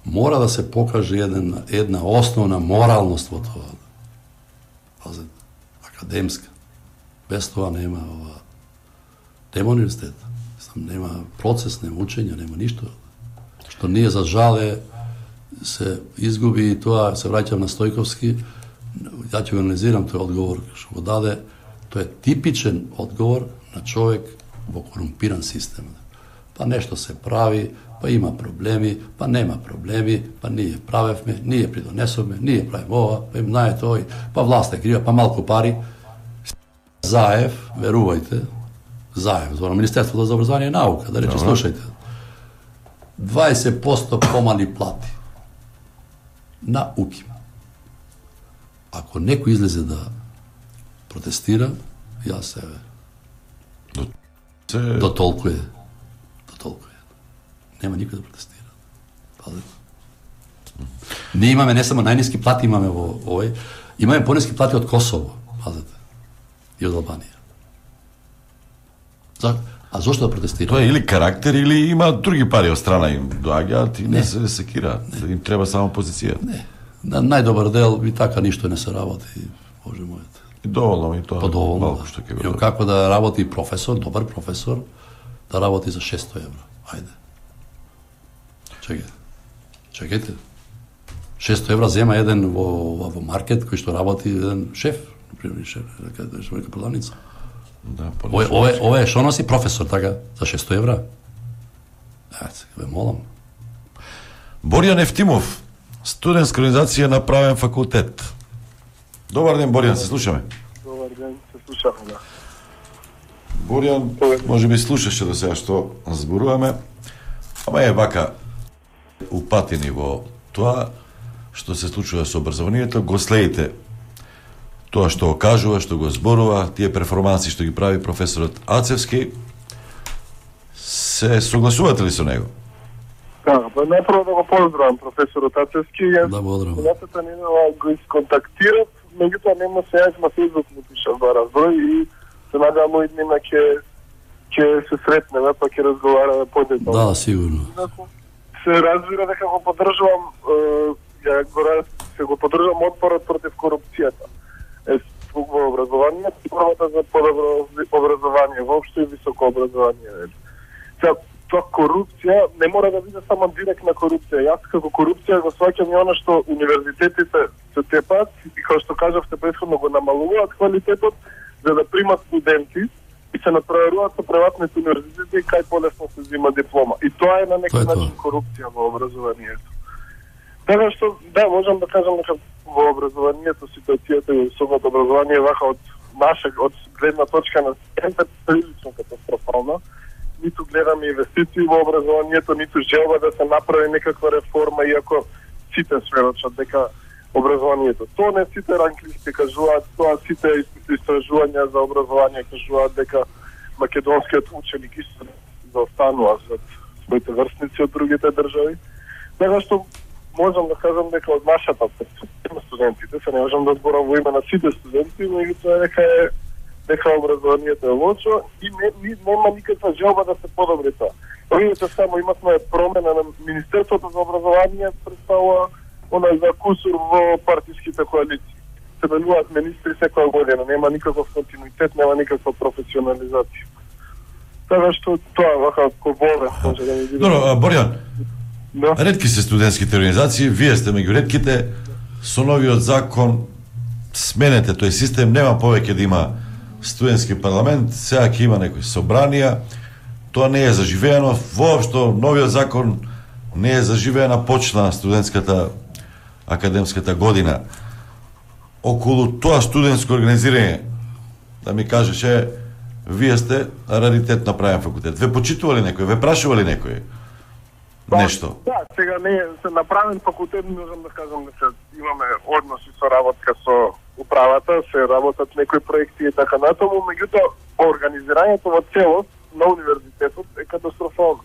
мора да се покаже еден, една основна моралност во тоа. Пазете, академска. Без тоа нема ова, нема универзитет, нема процес, нема учење, нема ништо. Што ние за жале се изгуби и тоа се враќам на Стојковски, ја ќе го анализирам тој одговор што го даде, тоа е типичен одговор на човек во корумпиран систем. Па нешто се прави, па има проблеми, па нема проблеми, па ние правевме, ние придонесовме, ние правиме ова, па им знае тој, па власт е крива, па малку пари. Заев, верувајте, Заев, за Министерството за образование и наука, да рече, слушајте, дваесет проценти помали плати на УКИМ. Ако некој излезе да протестира, јас се Се... до толку е. До толку е. Нема никој да протестира. Пазете. Ние имаме не само најниски плати имаме во овој, имаме пониски плати од Косово, пазете. И од Албанија. За... А зошто да протестира? Тоа е или карактер, или има други пари од страна им доаѓаат и не, не се секираат. Им треба само позиција. Не. На најдобар дел и така ништо не се работи, боже мојот. И доволно ми тоа. Па доволно, малку да. што ќе го. Како да работи професор, добар професор, да работи за шесто евро. Ајде. Чекајте. Чекајте. шесто евра зема еден во, во, во маркет кој што работи еден шеф, например, шеф, каде што века продавница. Да, Ове, ове, ове што носи професор, така, за шесто евра? Ете, ве молам. Боријан Ефтимов, студентска организација на правен факултет. Добар ден, Боријан, се слушаме. Добар ден, се слушаме, да. Боријан, може би слушаше до сега што зборуваме, ама е вака упатени во тоа што се случува со образованието, го следите тоа што го кажува, што го зборува, тие перформанси што ги прави професорот Ацевски, се согласувате ли со него? Да, па најпрво да го поздравам професорот Ацевски. Да, поздравам. Минатата недела го исконтактирав, меѓутоа нема се јас на Фејсбук му пишав два разброј и се надевам мој дневна ќе ќе се сретнеме, па ќе разговараме подетално. Да, сигурно. Се разбира дека го поддржувам, ја го се го поддржувам отпорот против корупцијата. Е, во образованието, првата за подобро образование, воопшто и високо образование. Сега, тоа корупција не мора да биде само директна корупција. Јас како корупција го сваќам и она што универзитетите се тепат и како што кажавте претходно го намалуваат квалитетот за да примат студенти и се натпреваруваат со приватните универзитети кај полесно се зима диплома. И тоа е на некој начин корупција во образованието. Така што, да, можам да кажам дека во образованието, ситуацијата и високото образование вака од наша, од гледна точка на студентите прилично катастрофална. Ниту гледаме инвестиции во образованието, ниту желба да се направи некаква реформа, иако сите сведочат дека образованието. Тоа не сите ранглисти кажуваат, тоа сите истражувања за образование кажуваат дека македонскиот ученик исто заостанува за своите врсници од другите држави. Така што можам да кажам дека од нашата перспектива студентите, се не можам да зборам во име на сите студенти, меѓутоа дека е дека образованието е лошо и не, не, нема никаква желба да се подобри тоа. Видите само имавме промена на Министерството за образование, представува она за кусур во партиските коалиции. Се менуваат министри секоја година, нема никаков континуитет, нема никаква професионализација. Така што тоа вака кобове може да ми биде. Добро, Борјан. Да. Ретки се студентските организации, вие сте меѓу ретките. Со новиот закон сменете тој систем, нема повеќе да има студентски парламент, сега ќе има некои собранија. Тоа не е заживеено, воопшто новиот закон не е заживеена, почна студентската академската година. Околу тоа студентско организирање, да ми кажеше, вие сте раритет на правен факултет. Ве почитували некој, ве прашували некој? Нешто? Да, сега не се направен факултет, можам да кажам дека имаме односи со работка со управата, се работат некои проекти и така натаму, меѓутоа организирањето во целост на универзитетот е катастрофално.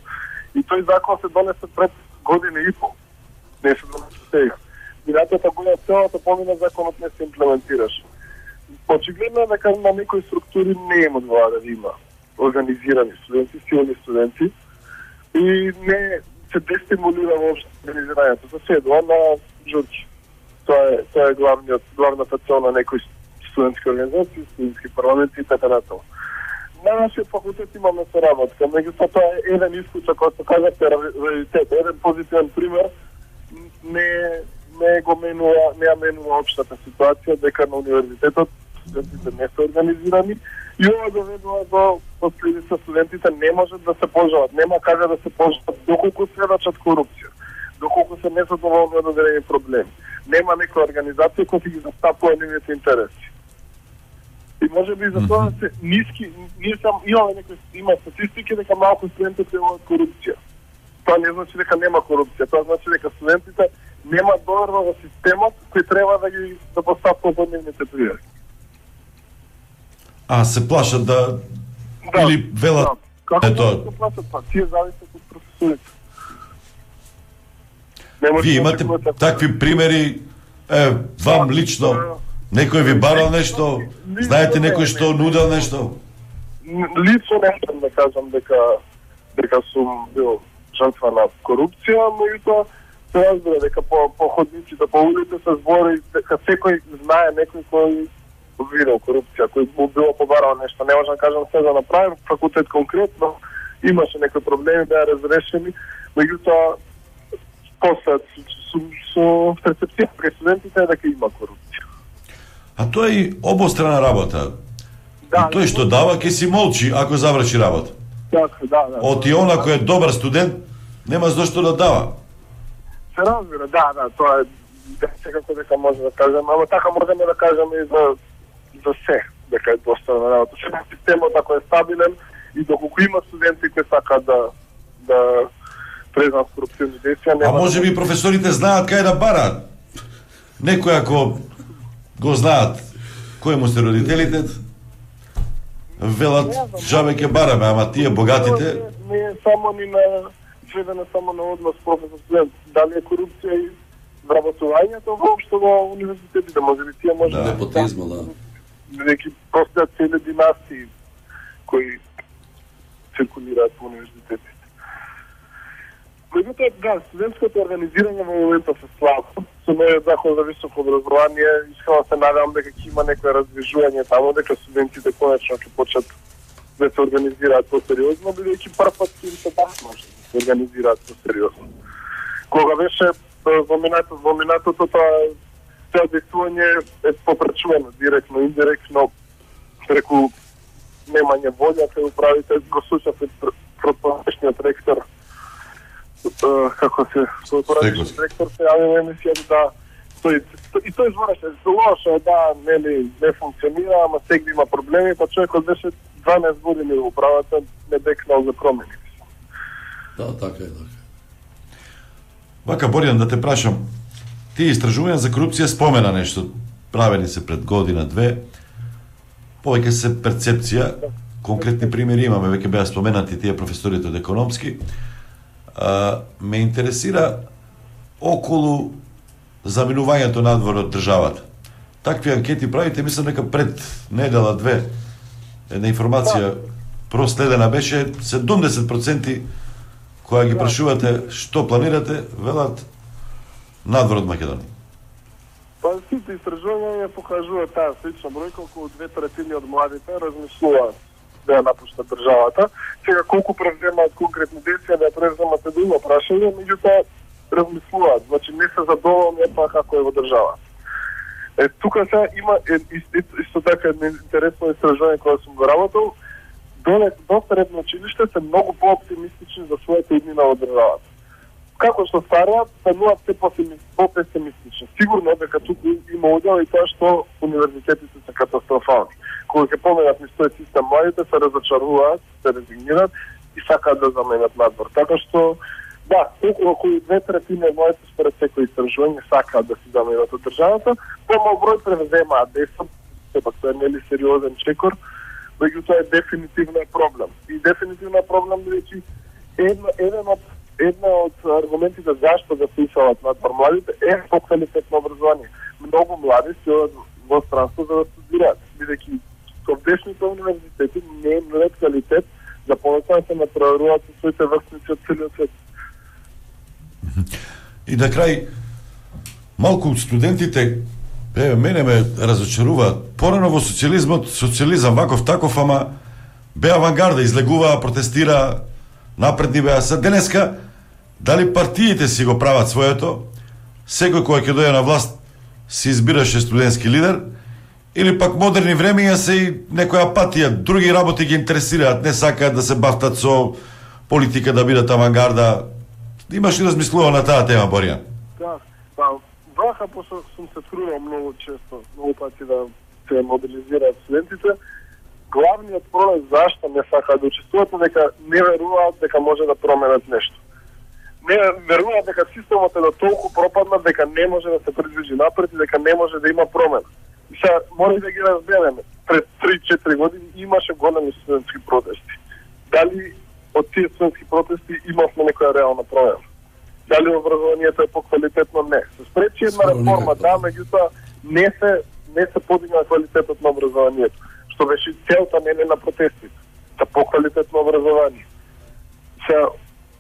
И тој закон се донесе пред година и пол. Не се донесе сега. Минатата година целата помина законот не се имплементираше. Очигледно е дека на некои структури не има одговара да има организирани студенти, силни студенти и не се дестимулира воопшто организирањето. За се едно на журки. Тоа е, тоа е главниот, главната цел на некои студентски организации, студентски парламенти и така натаму. На нашиот факултет имаме соработка, меѓутоа тоа е еден исклучок, како што кажавте, раритет, еден позитивен пример, не не го менува, не ја менува општата ситуација дека на универзитетот студентите не се организирани и ова доведува до последица студентите не можат да се пожалат, нема каде да се пожалат доколку сведочат корупција, доколку се незадоволни од одредени проблеми. Нема некоја организација која ќе ги застапува нивните интереси. И може би за тоа се ниски, ние сам имаме некои има статистики дека малку студенти пријавуваат корупција. Тоа не значи дека нема корупција, тоа значи дека студентите нема доверба во системот кој треба да ги да постапува под нивните пријави. А се плашат да, да или велат да. Како да се плашат, па тие зависат од професорите. Вие имате такви примери, е, вам лично, некој ви барал нешто, знаете некој што нудел нешто? Лично не можам да кажам дека дека сум бил жртва на корупција, меѓутоа се разбира дека по, по ходниците, по улиците се збори дека секој знае некој кој видел корупција, кој му било побарал нешто. Не можам да кажам се да направим, факултет конкретно, имаше некои проблеми, беа разрешени, меѓутоа после со, со перцепција кај студентите е дека има корупција. А тоа е и обострана работа. Да, и тој што дава ќе си молчи ако заврши работа. Така, да, да. Од и она кој е добар студент нема зошто да дава. Се разбира, да, да, тоа е секако дека може да кажем, ама така можеме да кажеме и за за се, дека е достана работа. Сега системот ако е стабилен и доколку има студенти кои сакаат да да презнаат корупционни действија, нема. А може би професорите знаат кај да бараат. Некој ако го знаат кои му се родителите, велат жабе ќе бараме, ама тие богатите не е само ни на сведена само на однос професор-студент. Дали е корупција и вработувањето воопшто во универзитетите, може би тие може да непотизма, да. Неки постојат цели династии кои циркулираат во универзитетите. Меѓутоа, да, студентското организирање во моментот се слабо. Со новиот закон за високо образование, искрено се надевам дека ќе има некој раздвижување таму, дека студентите конечно ќе почнат да се организираат посериозно, бидејќи прв пат им се бахно да се организираат посериозно. Кога беше во минатото, во минатото тоа тоа действување е попречувано директно, индиректно, преку немање волја се управите, го слушав протпорешниот ректор, како се, протпорешниот ректор се јави во емисијата да тој, и тој збореше лошо, да, нели, не функционира, ама сегде има проблеми, па човекот беше дванаесет години во управата, не бекнал за промени. Да, така е, така. Вака, Боријан, да те прашам, ти истражувања за корупција спомена нешто, правени се пред година-две, повеќе се перцепција, конкретни примери имаме, веќе беа споменати тие професорите од економски. А, ме интересира околу заминувањето надвор од државата. Такви анкети правите, мислам дека пред недела-две, една информација проследена беше седумдесет проценти која ги прашувате што планирате, велат надвор од Македонија. Па сите истражувања покажуваат таа слична бројка, околу две третини од младите размислуваат да ја напуштат државата. Сега колку превземаат конкретни действија да ја превземат е друго прашање, меѓутоа размислуваат, значи не се задоволни па како е во држава. Е, тука сега има е, исто така едно интересно истражување кое сум го работил. До, до средно училиште се многу по-оптимистични за својата иднина во државата. Како што стареат, стануваат се по-песимистични. Сигурно дека туку има удел и тоа што универзитетите се катастрофални. Кога ќе поменат низ тој систем, младите се разочаруваат, се резигнираат и сакаат да заменат надвор. Така што, да, околу две третини од младите според секој истражување сакаат да си заменат од државата, помал број превземаат действам, сепак тоа е нели сериозен чекор, меѓутоа е дефинитивно е проблем. И дефинитивно е проблем, бидејќи еден од Една од аргументите зашто да се исалат надвор младите е поквалитетно образование. Многу млади се одат во странство за да студираат, бидејќи со днешните универзитети не е нует квалитет за повеќе се натпреваруваат со своите врсници од целиот свет. И на крај, малку студентите, еве, мене ме разочаруваат. Порано во социјализмот, социјализам ваков таков, ама беа авангарда, излегуваа, протестираа, напредни беа. Са денеска, дали партиите си го прават своето, секој кој ќе дојде на власт си избираше студентски лидер, или пак модерни времења се и некоја апатија, други работи ги интересираат, не сакаат да се бафтат со политика, да бидат авангарда. Имаш ли размислува на таа тема, Боријан? Да, па, вака, пошто сум се трудел многу често, многу пати да се мобилизираат студентите, главниот проблем зашто не сакаат да учествуваат е дека не веруваат дека може да променат нешто. Не веруваат дека системот е да толку пропаднат дека не може да се придвижи напред и дека не може да има промена. И сега мора да ги разбереме. Пред три-четири години имаше големи студентски протести. Дали од тие студентски протести имавме некоја реална промена? Дали образованието е поквалитетно? Не. Се спречи една реформа, да, меѓутоа не се не се подигна квалитетот на образованието, што беше целта не на протестите, за поквалитетно образование. Сега,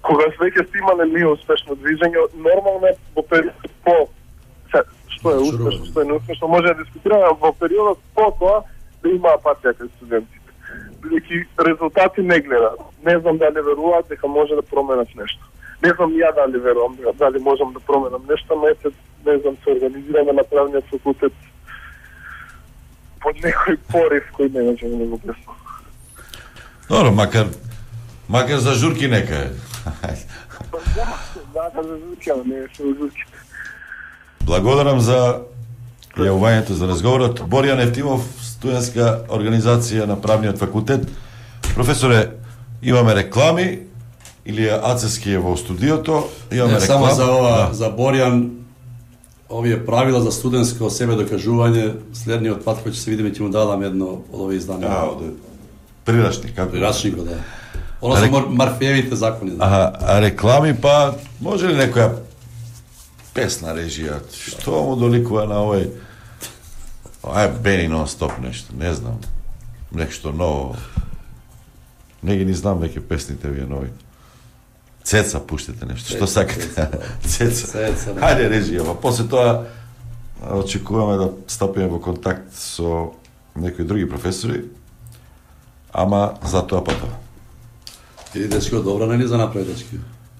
кога веќе сте имале ние успешно движење, нормално е во периодот по сега, што е успешно, што е неуспешно, може да дискутираме во периодот по тоа да има апатија кај студентите. Бидејќи резултати не гледаат. Не знам дали веруваат дека може да променат нешто. Не знам ја дали верувам дали можам да променам нешто, но ете, не знам, се организираме на правниот факултет под некој порив кој не можем да го објаснам. Добро, макар макар за журки нека е. Да, за журки, ама не е за журки. Благодарам за јавувањето, за разговорот. Боријан Евтимов, студентска организација на правниот факултет. Професоре, имаме реклами, Илија Ацески е во студиото. Имаме не, реклами. само за ова, да. за Боријан, овие правила за студентско себе докажување, следниот пат кој ќе се видиме ќе му дадам едно од овие изданија. А, од прирачник, како? Прирачникот, да. Оно се рек... Марфеевите закони. Да. А, а реклами, па, може ли некоја песна режија? Што му доликува на овој? Ај, Бени нон-стоп нешто, не знам. Нешто ново. Не ги ни знам веќе песните вие нови. Цеца пуштите нешто, што сакате? Цеца. Цеца. Хајде режија, па после тоа очекуваме да стапиме во контакт со некои други професори. ама затоа па тоа. Или дечки од добра не ни за направи дечки.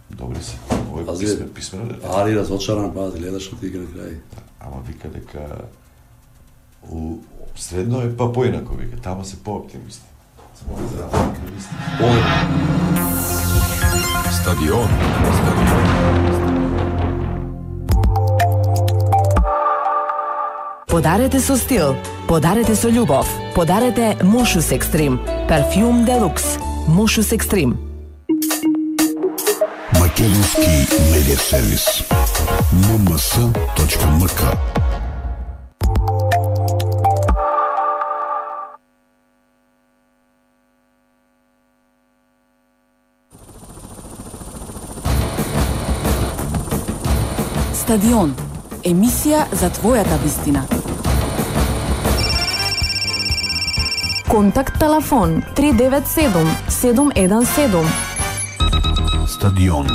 Добри се. Овој писмен, писмено дете. Ари разочаран, па гледаш што ти игра на крај. Ама вика дека у средно е па поинако, вика, тама се по-оптимисти. Стадион. Подарете со стил, подарете со љубов, подарете Мошус Екстрим, парфјум делукс, Мошус Екстрим. Македонски медиа сервис ем ем ес точка ем ка. Стадион. Емисија за твојата вистина. Контакт телефон три девет седум седум еден седум. Стадион.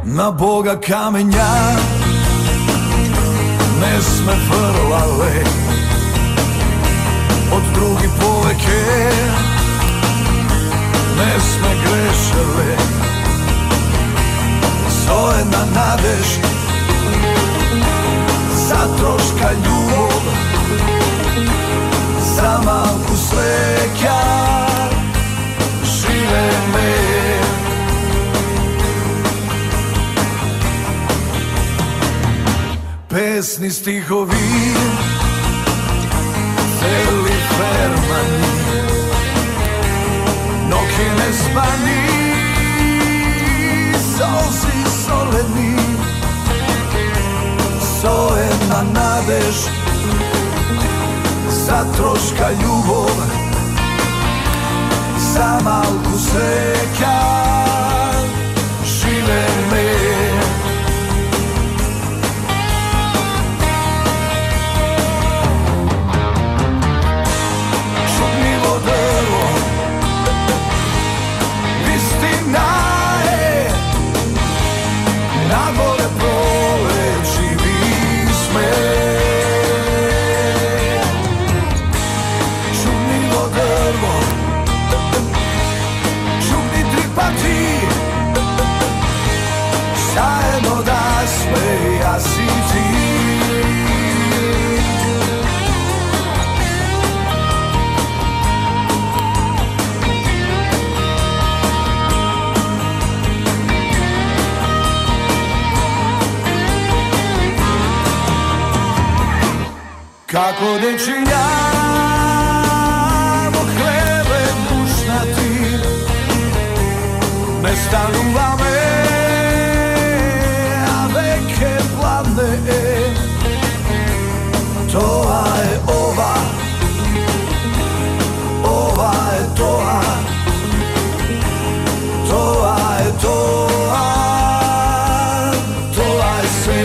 На Бога камења не сме фрлале, од други повеќе не сме грешеле. Со една надеж за трошка љубов, за малку среќа живееме. Песни, стихови, цели фермани, ноќе не спани, солзи солени, со една надеж за трошка љубов, за малку среќа живееме. Како дечиња во хлебе пушнати, не стануваме, а веќе пладне е. Тоа е ова, ова е тоа, тоа е тоа, тоа е се.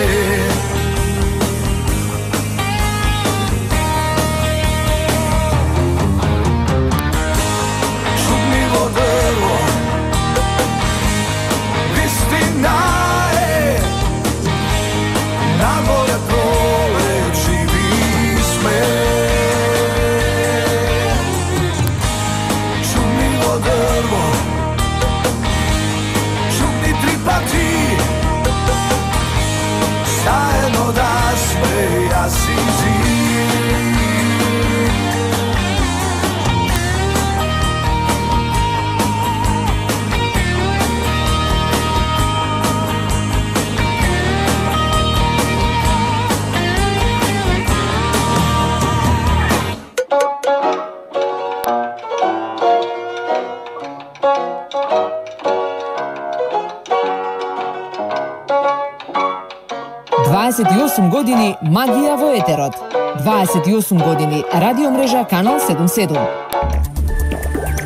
дваесет и осум години магија во етерот. дваесет и осум години радио мрежа Канал седумдесет и седум.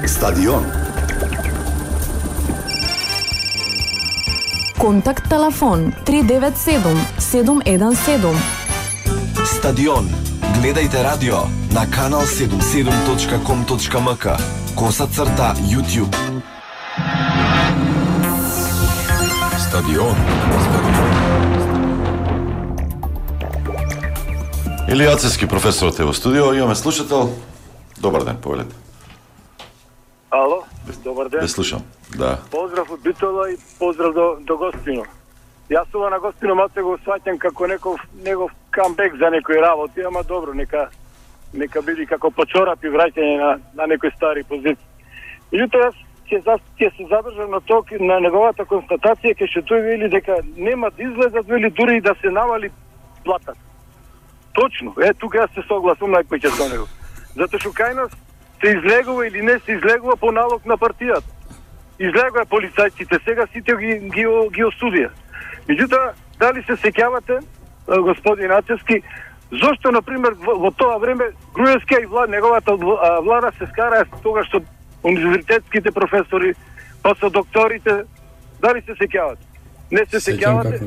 Стадион. Контакт телефон три девет седум седум еден седум. Стадион. Гледајте радио на канал седумдесет и седум точка ком точка ем ка, коса црта YouTube. Стадион. Илија Ацевски, професорот е во студио, имаме слушател. Добар ден, повелете. Ало, добар ден. Ве слушам, да. Поздрав од Битола и поздрав до, до Гостино. Јас ова на Гостино малце го сваќам како неков негов камбек за некои работи, ама добро, нека нека биде како почорап и враќање на, на некои стари позиции. Меѓутоа, јас ќе ќе се задржам на ток на неговата констатација, ке што тој вели дека нема да излезат, вели дури и да се навали плата. Точно, е, тука јас се согласувам најпоќе со него. Затоа што кај нас се излегува или не се излегува по налог на партијата. Излегува полицајците, сега сите ги, ги, ги осудија. Меѓутоа, дали се сеќавате, господин Ацевски, зошто, например, во, во тоа време Груевски и влад, неговата влада се скараа тога што универзитетските професори, па со докторите, дали се сеќавате? Не се сеќавате?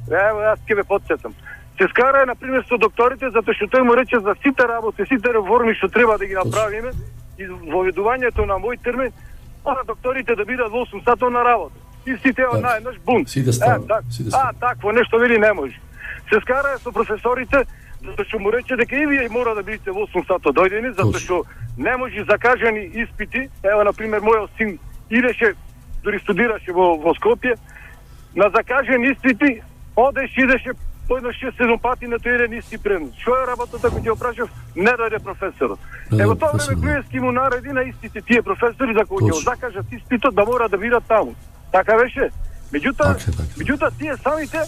Ево, јас ќе ве потсетам. Се скараа, например, со докторите, затоа што тој му рече за сите работи, сите реформи што треба да ги направиме, и воведувањето на мој термин, на докторите да бидат во осум сатот на работа. И сите од најнаш бум. Сите стават. Е, так, а, такво нешто вели не може. Се скараа со професорите, затоа што му рече дека и вие мора да бидете во осум сатот дојдени, затоа што не може закажани испити. Ево, например, мојот син идеше, дури студираше во, во Скопје, на закажани испити, одеше, идеше поедно шест-седум пати на тој еден исти предмет. Што е работата кој ќе опрашав? Не дојде професорот. Ево тоа време Груевски му нареди на истите тие професори за кои ќе закажат испитот да мора да бидат таму. Така беше. Меѓутоа, меѓутоа тие самите,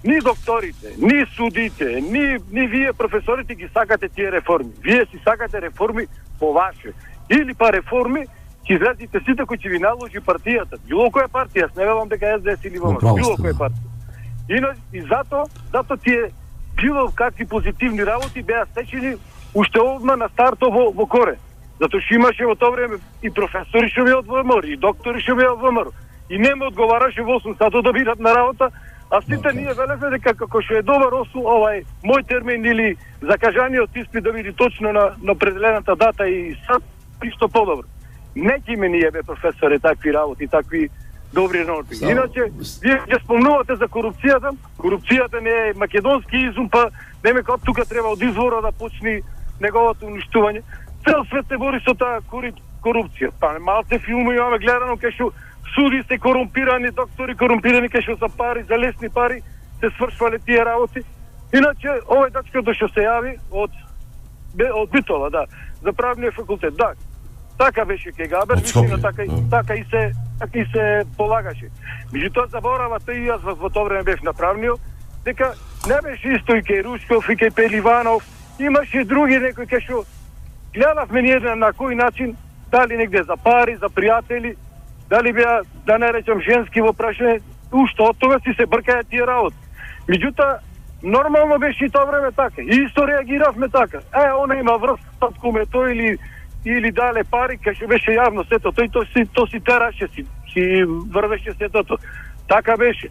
ни докторите, ни судите, ни ни вие професорите ги сакате тие реформи. Вие си сакате реформи по ваше. Или па реформи ќе изразите сите кои ќе ви наложи партијата. Било која партија, не велам дека Ес Де Ес или ВМРО, било која партија. И, и зато, зато тие било какви позитивни работи беа стечени уште одма на старто во, во коре. Затоа што имаше во тоа време и професори што беа од ВМРО, и доктори што беа од ВМРО. И не ме одговараше во осум сатот да бидат на работа, а сите okay. ние велевме дека како што е добар осу, овај мој термин или закажаниот испит да биде точно на, на определената дата и сат, исто подобро. Не ќе ме ние бе професоре такви работи, такви добри норми. So, Иначе, вие ќе спомнувате за корупцијата. Корупцијата не е македонски изум, па не ме како тука треба од извора да почне неговото уништување. Цел свет се бори со таа корупција. Па малце филми имаме гледано кај што суди се корумпирани, доктори корумпирани, кај што за пари, за лесни пари се свршвале тие работи. Иначе, овој дачкото што се јави од од Битола, да, за правниот факултет, да. Така беше кај Габер, вистина така, така и се така и се полагаше. Меѓутоа заборава тој и јас во тоа време бев на правниот, дека не беше исто и кај Рушков и кај Пеливанов, имаше други некои кај што гледавме ние на кој начин, дали негде за пари, за пријатели, дали беа, да не речам, женски во прашање, уште од тога си се бркаја тие работи. Меѓутоа, нормално беше и тоа време така. И исто реагиравме така. Е, она има врз, таткуме тој или или дале пари, кај што беше јавно сето, тој то си, то си тераше, си, си врвеше сетото. Така беше.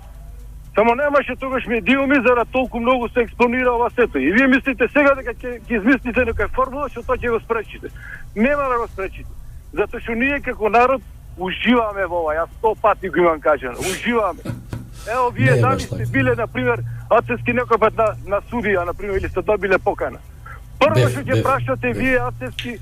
Само немаше тогаш медиуми, за да толку многу се експонира ова сето. И вие мислите сега дека ќе измислите некоја формула, што тоа ќе го спречите. Нема да го спречите. Затоа што ние како народ уживаме во ова, јас сто пати го имам кажано, уживаме. Ево, вие не, дали сте биле, например, Ацевски некој пат на, на судија, например, или сте добиле покана. Прво што ќе прашате вие, Ацевски,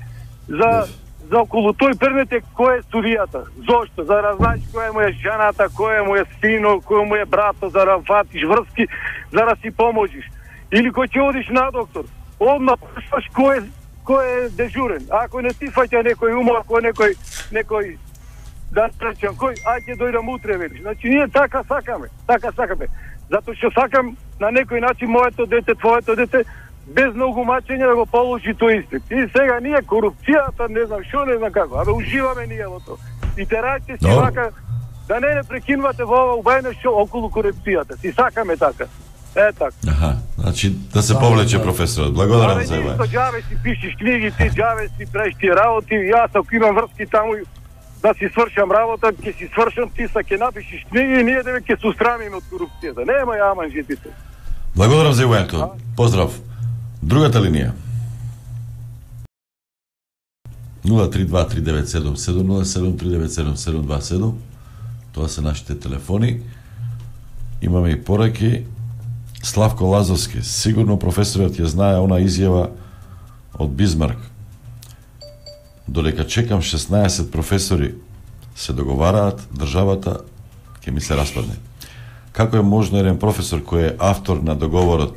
за, за околу тој предмет е кој е судијата. Зошто? За да знаеш која му е жената, кој му е сино, кој му е брато, за да фатиш врски, за да си поможиш. Или кој ќе одиш на доктор, одма прашаш кој е, кој е дежурен. Ако не ти фаќа некој умор, ако некој, некој да речем, кој, ај ќе дојдам утре, велиш. Значи, ние така сакаме, така сакаме. Затоа што сакам на некој начин моето дете, твоето дете, без многу мачење да го положи тој испит. И сега ние корупцијата, не знам што, не знам како, абе уживаме ние во тоа. И терајте си вака, да не не прекинувате во ова убајно што околу корупцијата. Си сакаме така. Е така. Аха, значи да се повлече професорот. Благодарам за ова. Абе, џаве си пишеш книги, ти џаве си правиш тие работи, јас ако имам врски таму да си свршам работа, ќе си свршам, ти са ќе напишеш книги и ние деве ќе се устрамиме од корупцијата. Нема ја манжитите. Благодарам за увањето. Поздрав. Другата линија. нула три два три девет седум седум нула седум три девет седум седум два седум. Тоа се нашите телефони. Имаме и пораки. Славко Лазовски, сигурно професорот ја знае она изјава од Бизмарк. Додека чекам шеснаесет професори се договараат, државата ќе ми се распадне. Како е можно еден професор кој е автор на договорот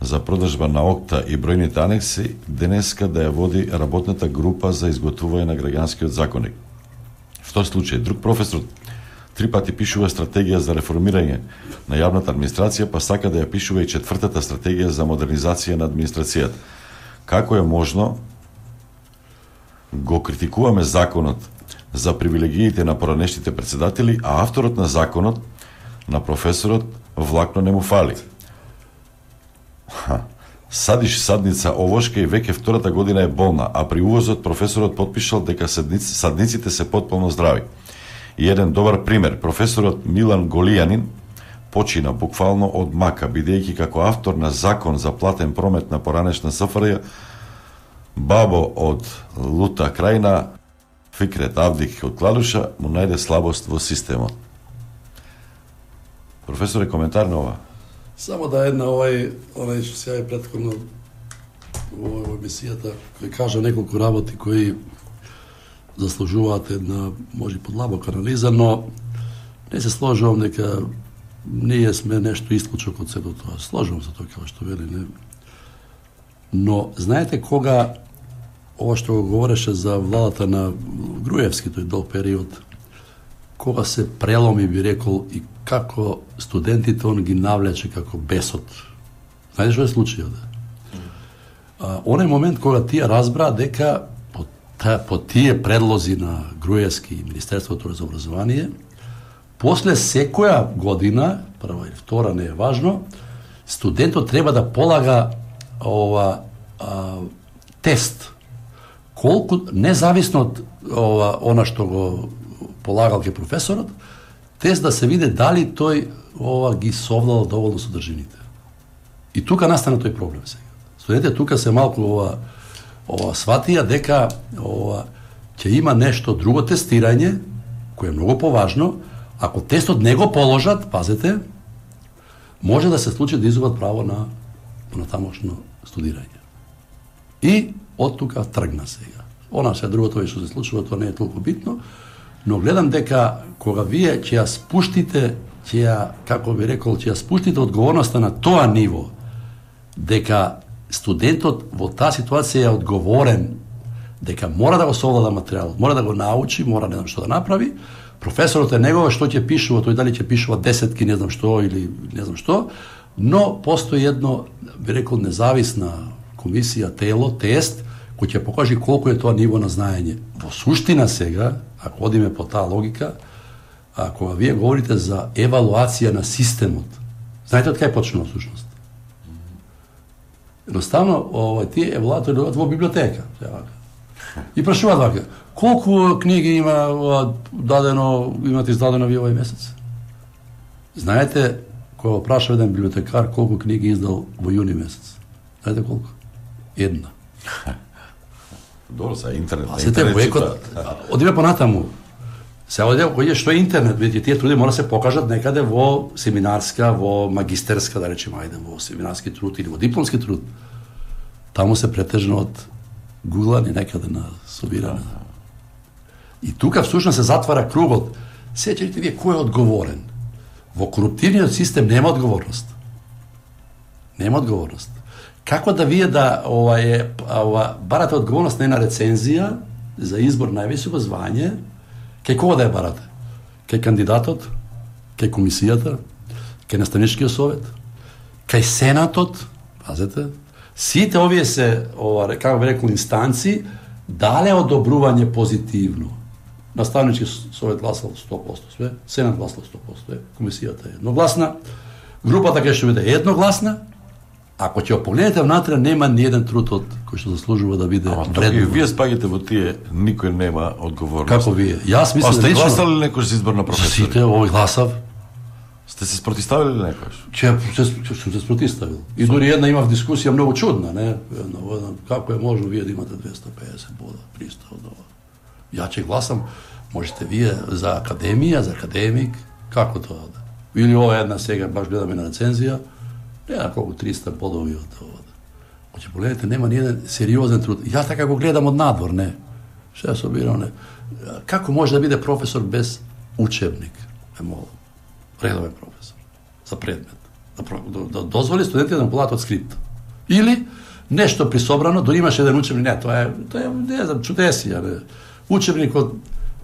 за продажба на ОКТА и бројните анекси денеска да ја води работната група за изготвување на граѓанскиот законник? В тој случај, друг професор три пати пишува стратегија за реформирање на јавната администрација, па сака да ја пишува и четвртата стратегија за модернизација на администрацијата. Како е можно го критикуваме законот за привилегиите на поранешните председатели, а авторот на законот, на професорот, влакно не му фали? Ха. Садиш садница овошка и веќе втората година е болна, а при увозот професорот потпишал дека садниците се потполно здрави. И еден добар пример, професорот Милан Голијанин почина буквално од мака, бидејќи како автор на закон за платен промет на поранешна СФРЈ, бабо од Лута Крајна, Фикрет Авдик од Кладуша, му најде слабост во системот. Професоре, коментар на ова? Само да една овај, онај што се јави претходно во емисијата, кој кажа неколку работи кои заслужуваат една, може подлабока анализа, но не се сложувам дека ние сме нешто исклучок од сето тоа. Сложувам се тоа како што вели, не. Но знаете кога ова што го говореше за владата на Груевски тој долг период, кога се преломи, би рекол, и како студентите он ги навлече како бесот. Знаете што е случајот? А, оној момент кога тие разбра дека по, та, по тие предлози на Груевски и Министерството за образование, после секоја година, прва или втора, не е важно, студентот треба да полага ова а, тест. Колку, независно од ова, она што го полагал ке професорот, тест да се види дали тој ова ги совладал доволно содржините. И тука настана тој проблем сега. Студентите тука се малку ова ова сватија дека ова ќе има нешто друго тестирање кое е многу поважно. Ако тестот не го положат, пазете, може да се случи да изгубат право на на тамошно студирање. И од тука тргна сега. Она се другото што се случува, тоа не е толку битно, но гледам дека кога вие ќе ја спуштите, ќе ја, како би рекол, ќе ја спуштите одговорноста на тоа ниво, дека студентот во таа ситуација е одговорен, дека мора да го совлада материјалот, мора да го научи, мора не знам што да направи, професорот е негова што ќе пишува, тој дали ќе пишува десетки, не знам што, или не знам што, но постои едно, би рекол, независна комисија, тело, тест, кој ќе покажи колку е тоа ниво на знаење. Во суштина сега, ако одиме по таа логика, ако вие говорите за евалуација на системот, знаете од кај почнува всушност? Едноставно, ова, тие евалуатори одат во библиотека. И прашуваат вака, колку книги има дадено, имате издадено ви овој месец? Знаете, кога праша еден библиотекар колку книги издал во јуни месец? Знаете колку? Една. Добро, са интернет. А сете векот, одиме понатаму. Се одиме кој е што е интернет, видите, тие труди мора се покажат некаде во семинарска, во магистерска, да речеме, ајде, во семинарски труд или во дипломски труд. Таму се претежно од гуглани некаде на собиране. И тука всушност се затвара кругот. Сеќавате вие кој е одговорен? Во коруптивниот систем нема одговорност. Нема одговорност. Како да вие да ова е ова барате одговорност на една рецензија за избор највисоко звање, кај кого да ја барате? Кај кандидатот, кај комисијата, кај наставничкиот совет, кај сенатот, пазете, сите овие се ова како би рекол инстанци дале одобрување позитивно. Наставнички совет гласал сто проценти све, сенат гласал сто проценти све, комисијата е едногласна, групата кај што биде едногласна. Ако ќе погледнете внатре, нема ни еден труд од кој што заслужува да биде вредно. Вие спаѓате во тие, никој нема одговорност. Како вие? Јас мислам да лично... гласали некој за избор на професори? Сите, овој гласав. Сте се спротиставили ли некојаш? Че се сум се спротиставил. И дури една имав дискусија многу чудна, не? Една, една, како е можно вие да имате двеста педесет бода, триста од ова. Ја ќе гласам, можете вие за академија, за академик, како тоа да? Или ова една сега баш гледаме на рецензија, не на колку триста бодови од ова. Значи погледнете, нема ни еден сериозен труд. Ја така го гледам од надвор, не. Што се обирам, не. Како може да биде професор без учебник? Е молам. Редовен професор за предмет. Да, да, да дозволи студентите да му полаат од скрипт. Или нешто присобрано, дори имаше еден учебник, не, тоа е, тоа е, не знам, чудесија, не. Учебник од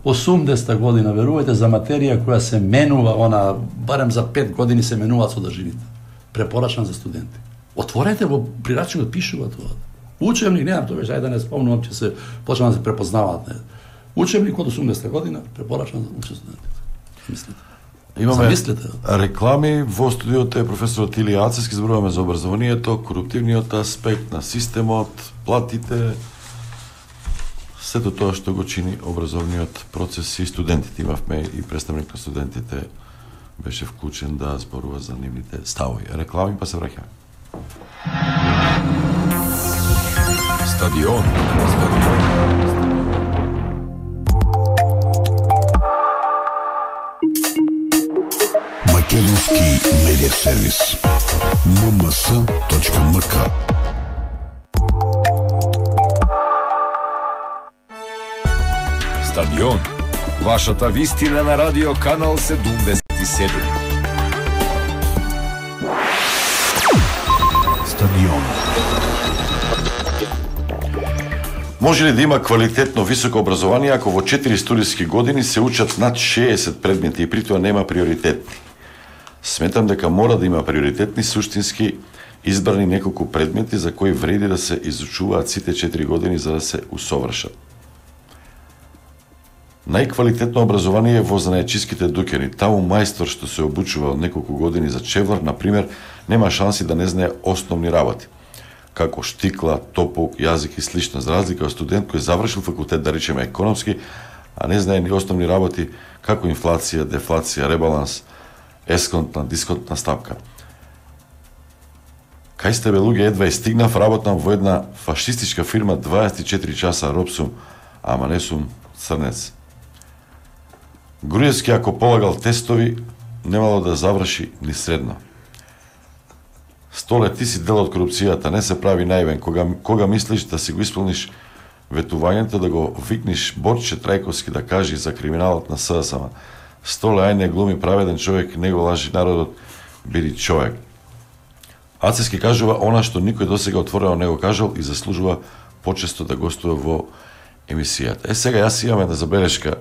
осумдесета година, верувајте, за материја која се менува, она, барем за пет години се менуваат содржините. Препорачан за студенти. Отворете во прирачникот пишува тоа. Учебник, не знам, тоа беше, ајде да не спомнувам, че се почнаа да се препознаваат, не. Учебник од осумдесета година, препорачан за студентите. Мислите? Имаме Замислите. реклами во студиото е професорот Илија Ацевски, зборуваме за образованието, коруптивниот аспект на системот, платите, сето тоа што го чини образовниот процес и студентите. Имавме и представник на студентите беше вклучен да зборува за нивните ставови. Реклами па се враќаме. Стадион. Македонски медиа сервис ем ем ес точка ем ка. Стадион. Вашата вистина на радио канал седумдесет и седум. Стадион. Може ли да има квалитетно високо образование ако во четири студиски години се учат над шеесет предмети и при тоа нема приоритетни? Сметам дека мора да има приоритетни, суштински избрани неколку предмети за кои вреди да се изучуваат сите четири години за да се усовршат. Најквалитетно образование е во занаечиските дуќани. Таму мајстор што се обучува од неколку години за чевлар, например, нема шанси да не знае основни работи, како штикла, топок, јазик и слично, за разлика од студент кој завршил факултет, да речеме економски, а не знае ни основни работи како инфлација, дефлација, ребаланс, есконтна, дисконтна стапка. Кај сте бе луѓе, едва и стигнав, работам во една фашистичка фирма дваесет и четири часа, роб сум, ама не сум црнец. Груевски, ако полагал тестови, немало да заврши ни средно. Столе, ти си дел од корупцијата, не се прави наивен. Кога, кога мислиш да си го исполниш ветувањето, да го викниш Борче Трајковски да кажи за криминалот на СДСМ. Столе, ај не глуми праведен човек, не го лажи народот, биди човек. Ацевски кажува она што никој досега отворено не го кажал и заслужува почесто да гостува во емисијата. Е, сега јас имам една забелешка.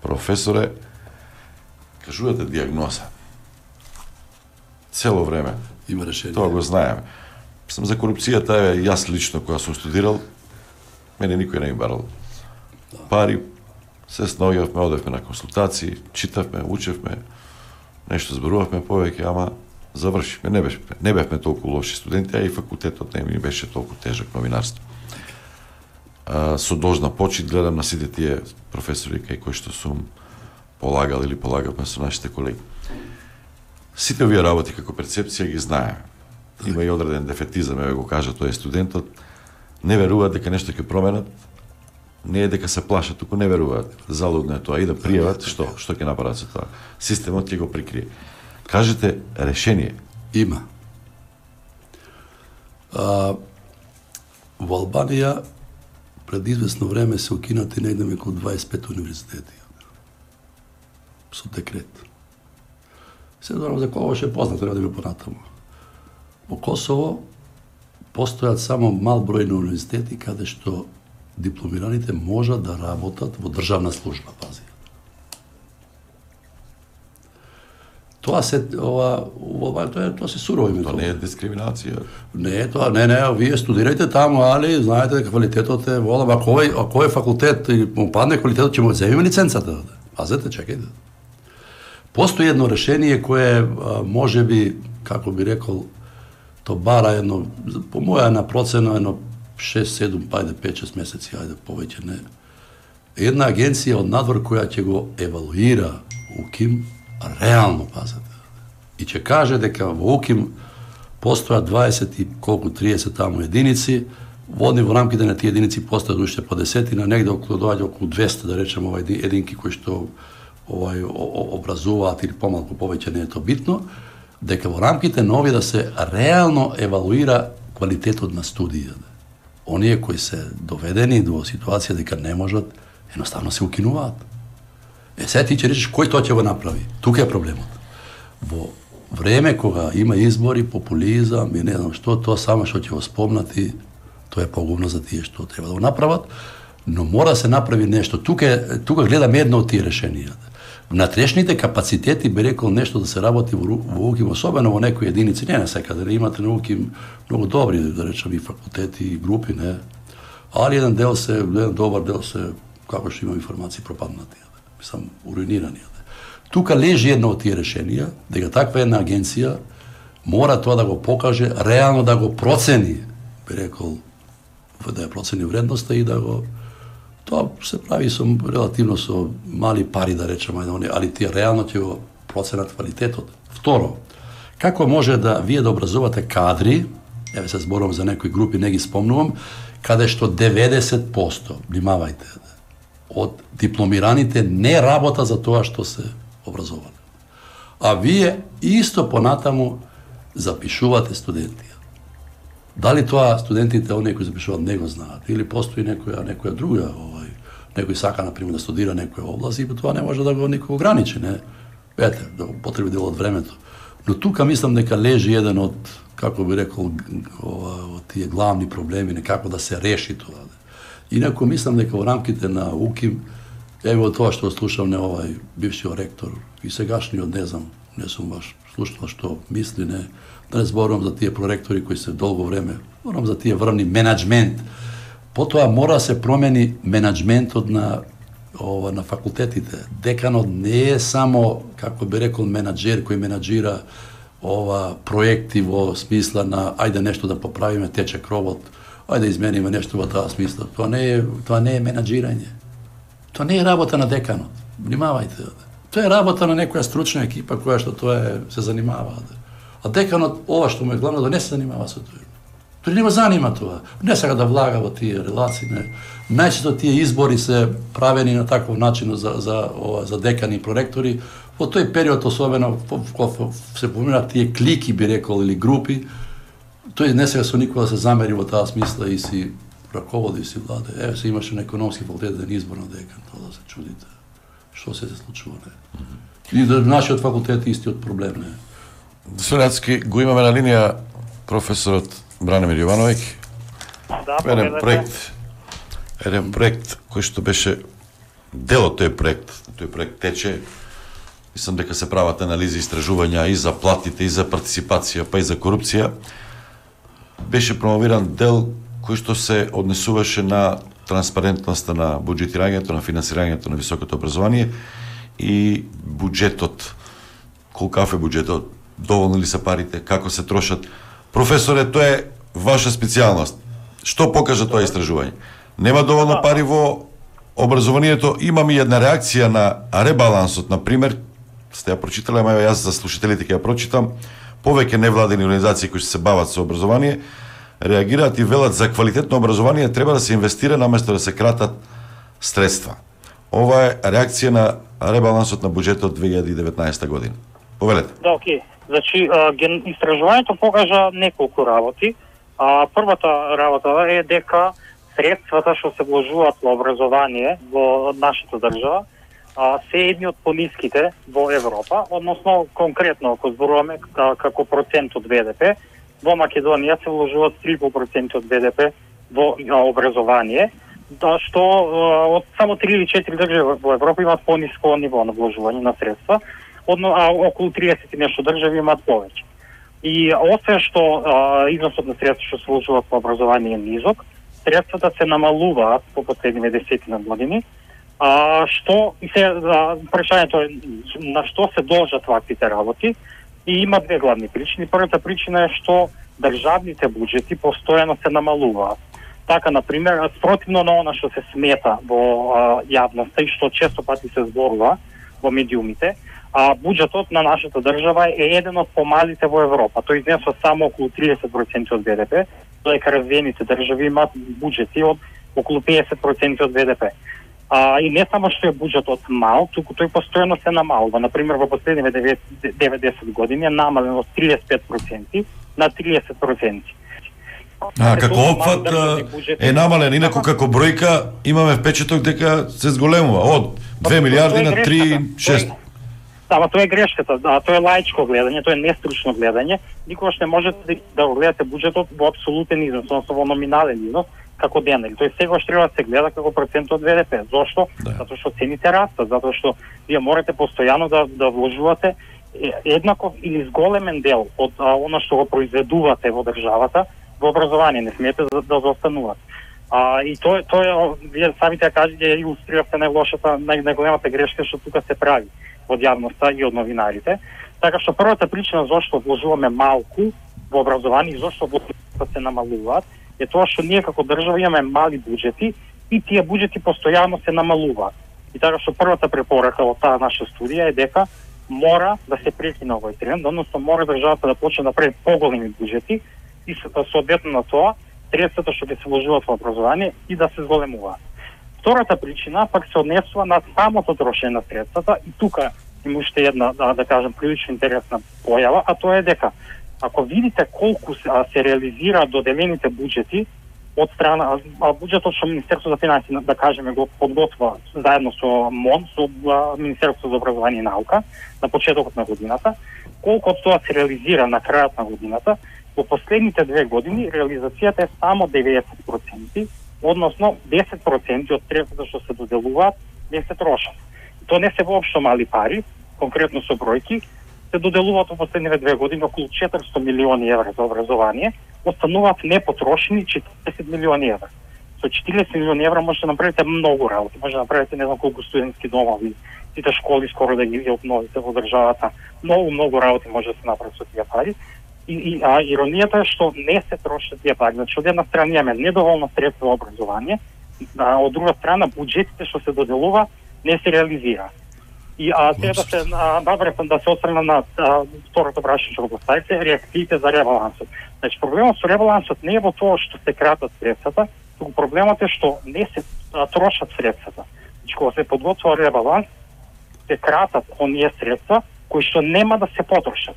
Професоре, кажувате диагноза. Цело време. Има решение. Тоа го знаеме. Сам за корупцијата, е, јас лично, кога сум студирал, мене никој не ми барал пари, се снаоѓавме, одевме на консултации, читавме, учевме, нешто зборувавме повеќе, ама завршивме. Не бевме, не бевме толку лоши студенти, а и факултетот не ми беше толку тежок новинарство. А, со должна почит гледам на сите тие професори кај кои што сум полагал или полагавме со нашите колеги. Сите овие работи како перцепција ги знаеме. Има и одреден дефетизам, еве го кажа тој студентот, не веруваат дека нешто ќе променат, не е дека се плашат, туку не веруваат. Залудно е тоа и да пријават, што што ќе направат со тоа. Системот ќе го прикрие. Кажете решение. Има. А, во Албанија пред известно време се укинати негде околу дваесет и пет универзитети. Со декрет. Се знам за кого ше познато, не да го понатаму. Во Косово постојат само мал број на универзитети каде што дипломираните можат да работат во државна служба, пази. Тоа се ова ова тоа тоа се сурово име. Тоа не е дискриминација. Не е тоа, не, не, вие студирајте таму, али знаете дека квалитетот е волам, ако кој ако кој факултет и му падне квалитетот ќе му земиме лиценцата. Пазете, чекајте. Постои едно решение кое може би, како би рекол, то бара едно, по моја на процена, едно шест седум, пајде пет шест месеци, ајде повеќе не. Една агенција од надвор која ќе го евалуира УКИМ, реално, пазете, и ќе каже дека во УКИМ постојат дваесет и колку триесет таму единици, водни во рамките на тие единици постојат уште по десетина, негде околу доаѓа околу двесте, да речеме, овај единки кои што овај образуваат или помалку повеќе, не е тоа битно, дека во рамките на овие да се реално евалуира квалитетот на студијата. Оние кои се доведени до ситуација дека не можат, едноставно се укинуваат. Е, сега ти ќе речеш кој тоа ќе го направи? Тука е проблемот. Во време кога има избори, популизам и не знам што, тоа само што ќе го спомнати, тоа е погубно за тие што треба да го направат, но мора да се направи нешто. Тука, тука гледаме едно од тие решенија. Внатрешните капацитети, би рекол, нешто да се работи во, во УКИМ, особено во некои единици, не на секаде, не имате на УКИМ многу добри, да речем, и факултети, и групи, не. Али еден дел се, еден добар дел се, како што имам информации, пропаднати, мислам, уруинирани. Тука лежи едно од тие решенија, дека таква една агенција мора тоа да го покаже, реално да го процени, би рекол, да ја процени вредноста и да го... Тоа се прави со релативно со мали пари, да речеме, али тие реално ќе го проценат квалитетот. Второ, како може да вие да образувате кадри, еве се зборувам за некои групи, не ги спомнувам, каде што деветдесет проценти, внимавајте, од дипломираните не работа за тоа што се образовани. А вие исто понатаму запишувате студенти. Дали тоа студентите, оние кои запишуваат, не го знаат, или постои некоја, некоја друга, овај, некој сака, например, да студира некоја област и тоа не може да го никого ограничи, не? Ете, да го потреби дел од времето. Но тука мислам дека лежи еден од, како би рекол, ова, од тие главни проблеми, некако да се реши тоа. Инако мислам дека во рамките на УКИМ, еве од тоа што слушам не овај бившиот ректор и сегашниот, не знам, не сум баш слушнал што мисли, не, да не зборувам за тие проректори кои се долго време, зборувам за тие врвни менаџмент. Потоа мора да се промени менаџментот на ова на факултетите. Деканот не е само, како би рекол, менаџер кој менаџира ова проекти во смисла на ајде нешто да поправиме, тече кровот, ајде измениме нешто во таа смисла. Тоа не е, тоа не е менаџирање. Тоа не е работа на деканот. Внимавајте. Тоа е работа на некоја стручна екипа која што тоа е, се занимава. А деканот, ова што му е главно, да не се занимава со тоа. Тој не го занима тоа. Не сега да влага во тие релации. Не. Најчесто тие избори се правени на таков начин за, за, ова, за декани и проректори. Во тој период, особено, кога се поминат тие клики, би рекол, или групи, тој не сега со никога да се замери во таа смисла и си раководи и си владе. Еве се имаше на економски факултет еден избор на декан, тоа да се чудите. Што се се случува, не? И да нашиот факултет е истиот проблем, не? Сонецки, го имаме на линија професорот Бранимир Јовановиќ. Да, еден проект, еден проект кој што беше дел од тој проект, тој проект тече. Мислам дека се прават анализи, истражувања и за платите, и за партиципација, па и за корупција. Беше промовиран дел кој што се однесуваше на транспарентноста на буџетирањето, на финансирањето на високото образование и буџетот. Колкав е буџетот? Доволни ли се парите? Како се трошат? Професоре, тоа е ваша специјалност. Што покажа тоа истражување? Нема доволно пари во образованието. Имам и една реакција на ребалансот, на пример, сте ја прочитале, ама јас за слушателите ќе ја прочитам. Повеќе невладени организации кои се бават со образование реагираат и велат за квалитетно образование треба да се инвестира наместо да се кратат средства. Ова е реакција на ребалансот на буџетот две илјади и деветнаесета година. Повелете. Да, окей. Значи, истражувањето покажа неколку работи. А, првата работа е дека средствата што се вложуваат во образование во нашата држава а, се едни од пониските во Европа, односно конкретно ако зборуваме како процент од БДП, во Македонија се вложуваат три проценти од БДП во образование, да што од само три или четири држави во Европа имаат пониско ниво на вложување на средства, одно, а околу триесет и нешто држави имаат повеќе. И освен што а, износот на средства што се вложуваат во образование е низок, средствата се намалуваат по последниве десетина години, а, што и се а, прашањето е на што се должат ваквите работи и има две главни причини. Првата причина е што државните буџети постојано се намалуваат. Така, например, спротивно на она што се смета во а, јавноста и што често пати се зборува во медиумите, а буџетот на нашата држава е еден од помалите во Европа. Тој изнесува само околу триесет проценти од Б Д П, додека развиените држави имаат буџети од околу педесет проценти од Б Д П. А, и не само што е буџетот мал, туку тој постојано се намалува. Например, во последниве девет-десет години е намален од триесет и пет проценти на триесет проценти. А, како опфат е намален, инаку како бројка имаме впечаток дека се зголемува од две милиарди на три целу шест. Ама тоа е грешката, да, тоа е лаичко гледање, тоа е нестручно гледање. Никогаш не можете да го гледате буџетот во апсолутен износ, односно во номинален износ, како денар. Тој сегаш треба да се гледа како процент од Б Д П. Зошто? Да. Затоа што цените растат, затоа што вие морате постојано да да вложувате еднаков или зголемен дел од а, она што го произведувате во државата во образование, не смеете да, да заостанувате. А, и тоа тоа вие самите кажете илустриравте најлошата, нај, најголемата грешка што тука се прави од јавноста и од новинарите. Така што првата причина зашто вложуваме малку во образование и зашто вложувате се намалуваат е тоа што ние како држава имаме мали буџети и тие буџети постојано се намалуваат. И така што првата препорака од таа наша студија е дека мора да се прекине овој тренд, односно мора државата да почне да прави поголеми буџети и соодветно на тоа средствата што ќе се вложуваат во образование и да се зголемуваат. Втората причина пак се однесува на самото трошење на средствата и тука има уште една, да, да кажем, прилично интересна појава, а тоа е дека ако видите колку се, а, се реализира доделените буџети од страна, а, буџетот што Министерството за финансии, да кажеме, го подготвува заедно со МОН, со а, Министерството за образование и наука на почетокот на годината, колку од тоа се реализира на крајот на годината, во последните две години реализацијата е само деветдесет проценти, односно десет проценти од средствата што се доделуваат не се трошат. Тоа не се воопшто мали пари, конкретно со бројки, се доделуваат во последниве две години околу четиристотини милиони евра за образование, остануваат непотрошени четиридесет милиони евра. Со четиридесет милиони евра можете да направите многу работи, може да направите не знам колку студентски домови, сите школи скоро да ги обновите во државата. Многу, многу работи може да се направи со тие пари. И, и а, иронијата е што не се трошат тие пари. Значи, од една страна имаме недоволно средство во образование, а од друга страна буџетите што се доделува не се реализира. И а сега да се наврепам да се осврна на а, второто прашање што го поставите, реакциите за ребалансот. Значи проблемот со ребалансот не е во тоа што се кратат средствата, туку проблемот е што не се а, трошат средствата. Значи кога се подготвува ребаланс, се кратат оние средства кои што нема да се потрошат.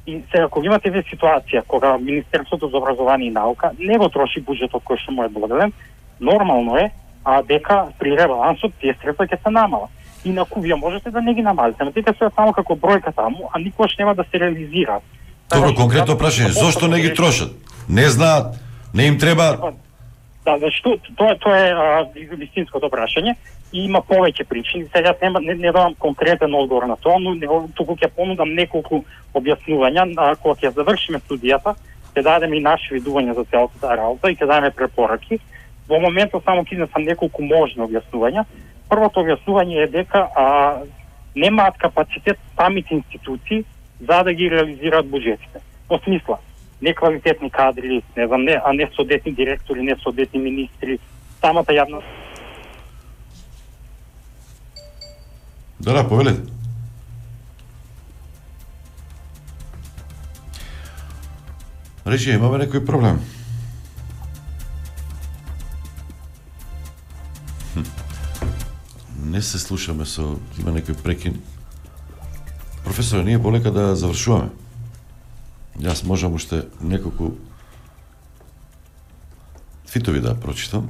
И сега кога имате ве ситуација кога Министерството за образование и наука не го троши буџетот кој што му е доделен, нормално е а дека при ребалансот тие средства ќе се намалат. Инаку вие можете да не ги намалите, но тие се само како бројка таму, а никош нема да се реализираат. Добро, конкретно прашање, зошто не ги трошат? Не знаат, не им треба. Да, значи тоа тоа е вистинското прашање и има повеќе причини. Сега нема не, не давам конкретен одговор на тоа, но туку ќе понудам неколку објаснувања, а кога ќе завршиме студијата, ќе дадеме и наши видувања за целата таа работа и ќе дадеме препораки. Во моментот само ќе изнесам неколку можни објаснувања. Првото објаснување е дека а, немаат капацитет самите институции за да ги реализираат буџетите. Во смисла, неквалитетни кадри, не знам, не, а не соодветни директори, не соодветни министри, самата јавна. Да, да, повелете. Речи, имаме некој проблем. Хм. Не се слушаме со... Има некој прекин. Професоре, ние полека да завршуваме. Јас можам уште неколку твитови да прочитам.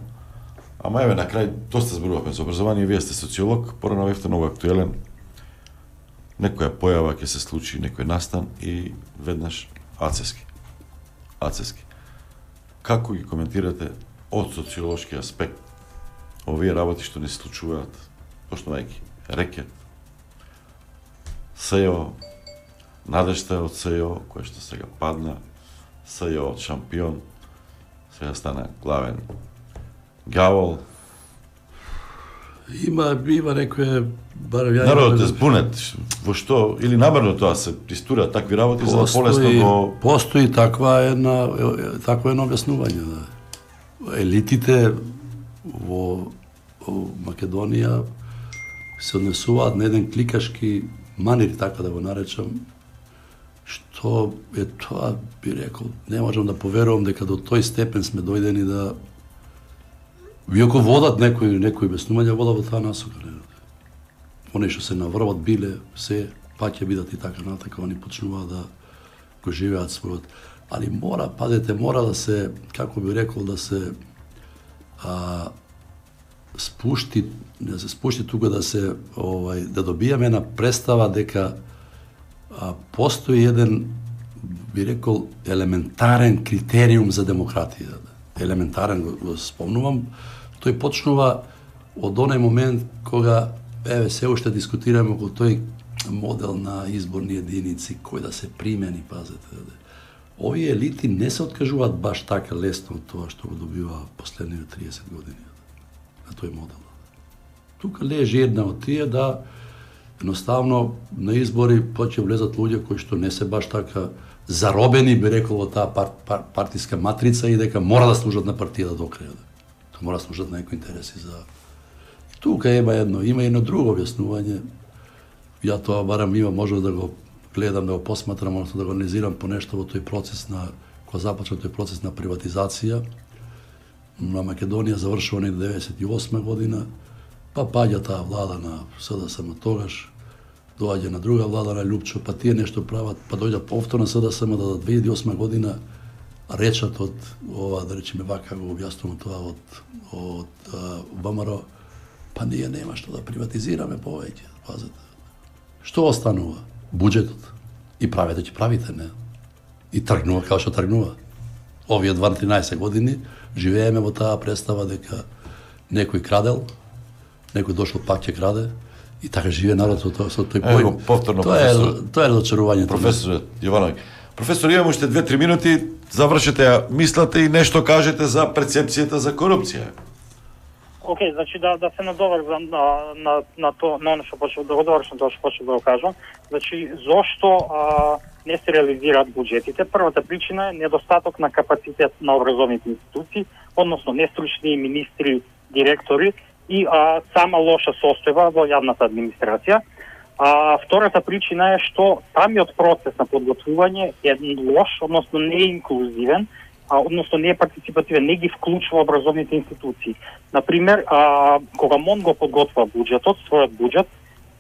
Ама еве на крај доста зборувавме за образование, вие сте социолог, порано бевте многу актуелен. Некоја појава ќе се случи, некој настан и веднаш ацески. Ацески. Како ги коментирате од социолошки аспект овие работи што не се случуваат, почнувајќи рекет, СЕО, надежта од СЕО, која што сега падна, СЕО од шампион, сега стана главен гавол. Има, има некој барем ја... Народот е збунет, во што, или намерно тоа се истурат такви работи, за да полесно го... Постои таква една, такво едно објаснување, да. Елитите во, во Македонија се однесуваат на еден кликашки манир, така да го наречам, што е тоа, би рекол, не можам да поверувам дека до тој степен сме дојдени да иако водат некои некои беснувања, водат во таа насока. Они што се наврват биле, се па ќе бидат и така натака, они почнуваат да го живеат својот. Али мора, пазете, мора да се, како би рекол, да се а, спушти, да се спушти тука, да се овај да добиеме една представа дека а, постои еден, би рекол, елементарен критериум за демократија. Елементарен го, го спомнувам, тој почнува од оној момент кога еве се уште дискутираме околу тој модел на изборни единици кој да се примени, пазете. Овие елити не се откажуваат баш така лесно од тоа што го добива последните триесет години на тој модел. Тука лежи една од тие да едноставно на избори почне влезат луѓе кои што не се баш така заробени, би рекол, во таа пар, пар, партиска матрица и дека мора да служат на партијата до крај. Тоа мора да служат на некои интереси за... И тука има едно, има едно друго објаснување. Ја тоа барам има може да го гледам, да го посматрам, односно да го анализирам по нешто во тој процес на, кога започна тој процес на приватизација. На Македонија завршува некаде деветдесет и осма година, па паѓа таа влада на СДСМ тогаш, доаѓа на друга влада на Лјупчо, па тие нешто прават, па дојде повторно СДСМ да две илјади и осма година речат од ова, да речеме вака го објаснувам тоа од од ВМРО, па ние нема што да приватизираме повеќе, пазете. Што останува? Буџетот. И правите ќе правите, не? И тргнува како што тргнува. Овие дванаесет години живееме во таа представа дека некој крадел, некој дошол пак ќе краде, и така живее народ со тој, со тој поим. Ево, повторно, тоа е, тоа е разочарувањето. Професор Јовановиќ. Професор, имаме уште две-три минути, завршете ја мислата и нешто кажете за перцепцијата за корупција. Океј, okay, значи да да се надоврзам на на на тоа, на оно што почнав да го довршам тоа што почнав да го кажам. Значи зошто а, не се реализираат буџетите? Првата причина е недостаток на капацитет на образовните институции, односно нестручни министри, директори и а, сама лоша состојба во јавната администрација. А втората причина е што самиот процес на подготвување е лош, односно не е инклузивен, а, односно не е партиципативен, не ги вклучува образовните институции. Например, а, кога МОН го подготвува буџетот, својот буџет,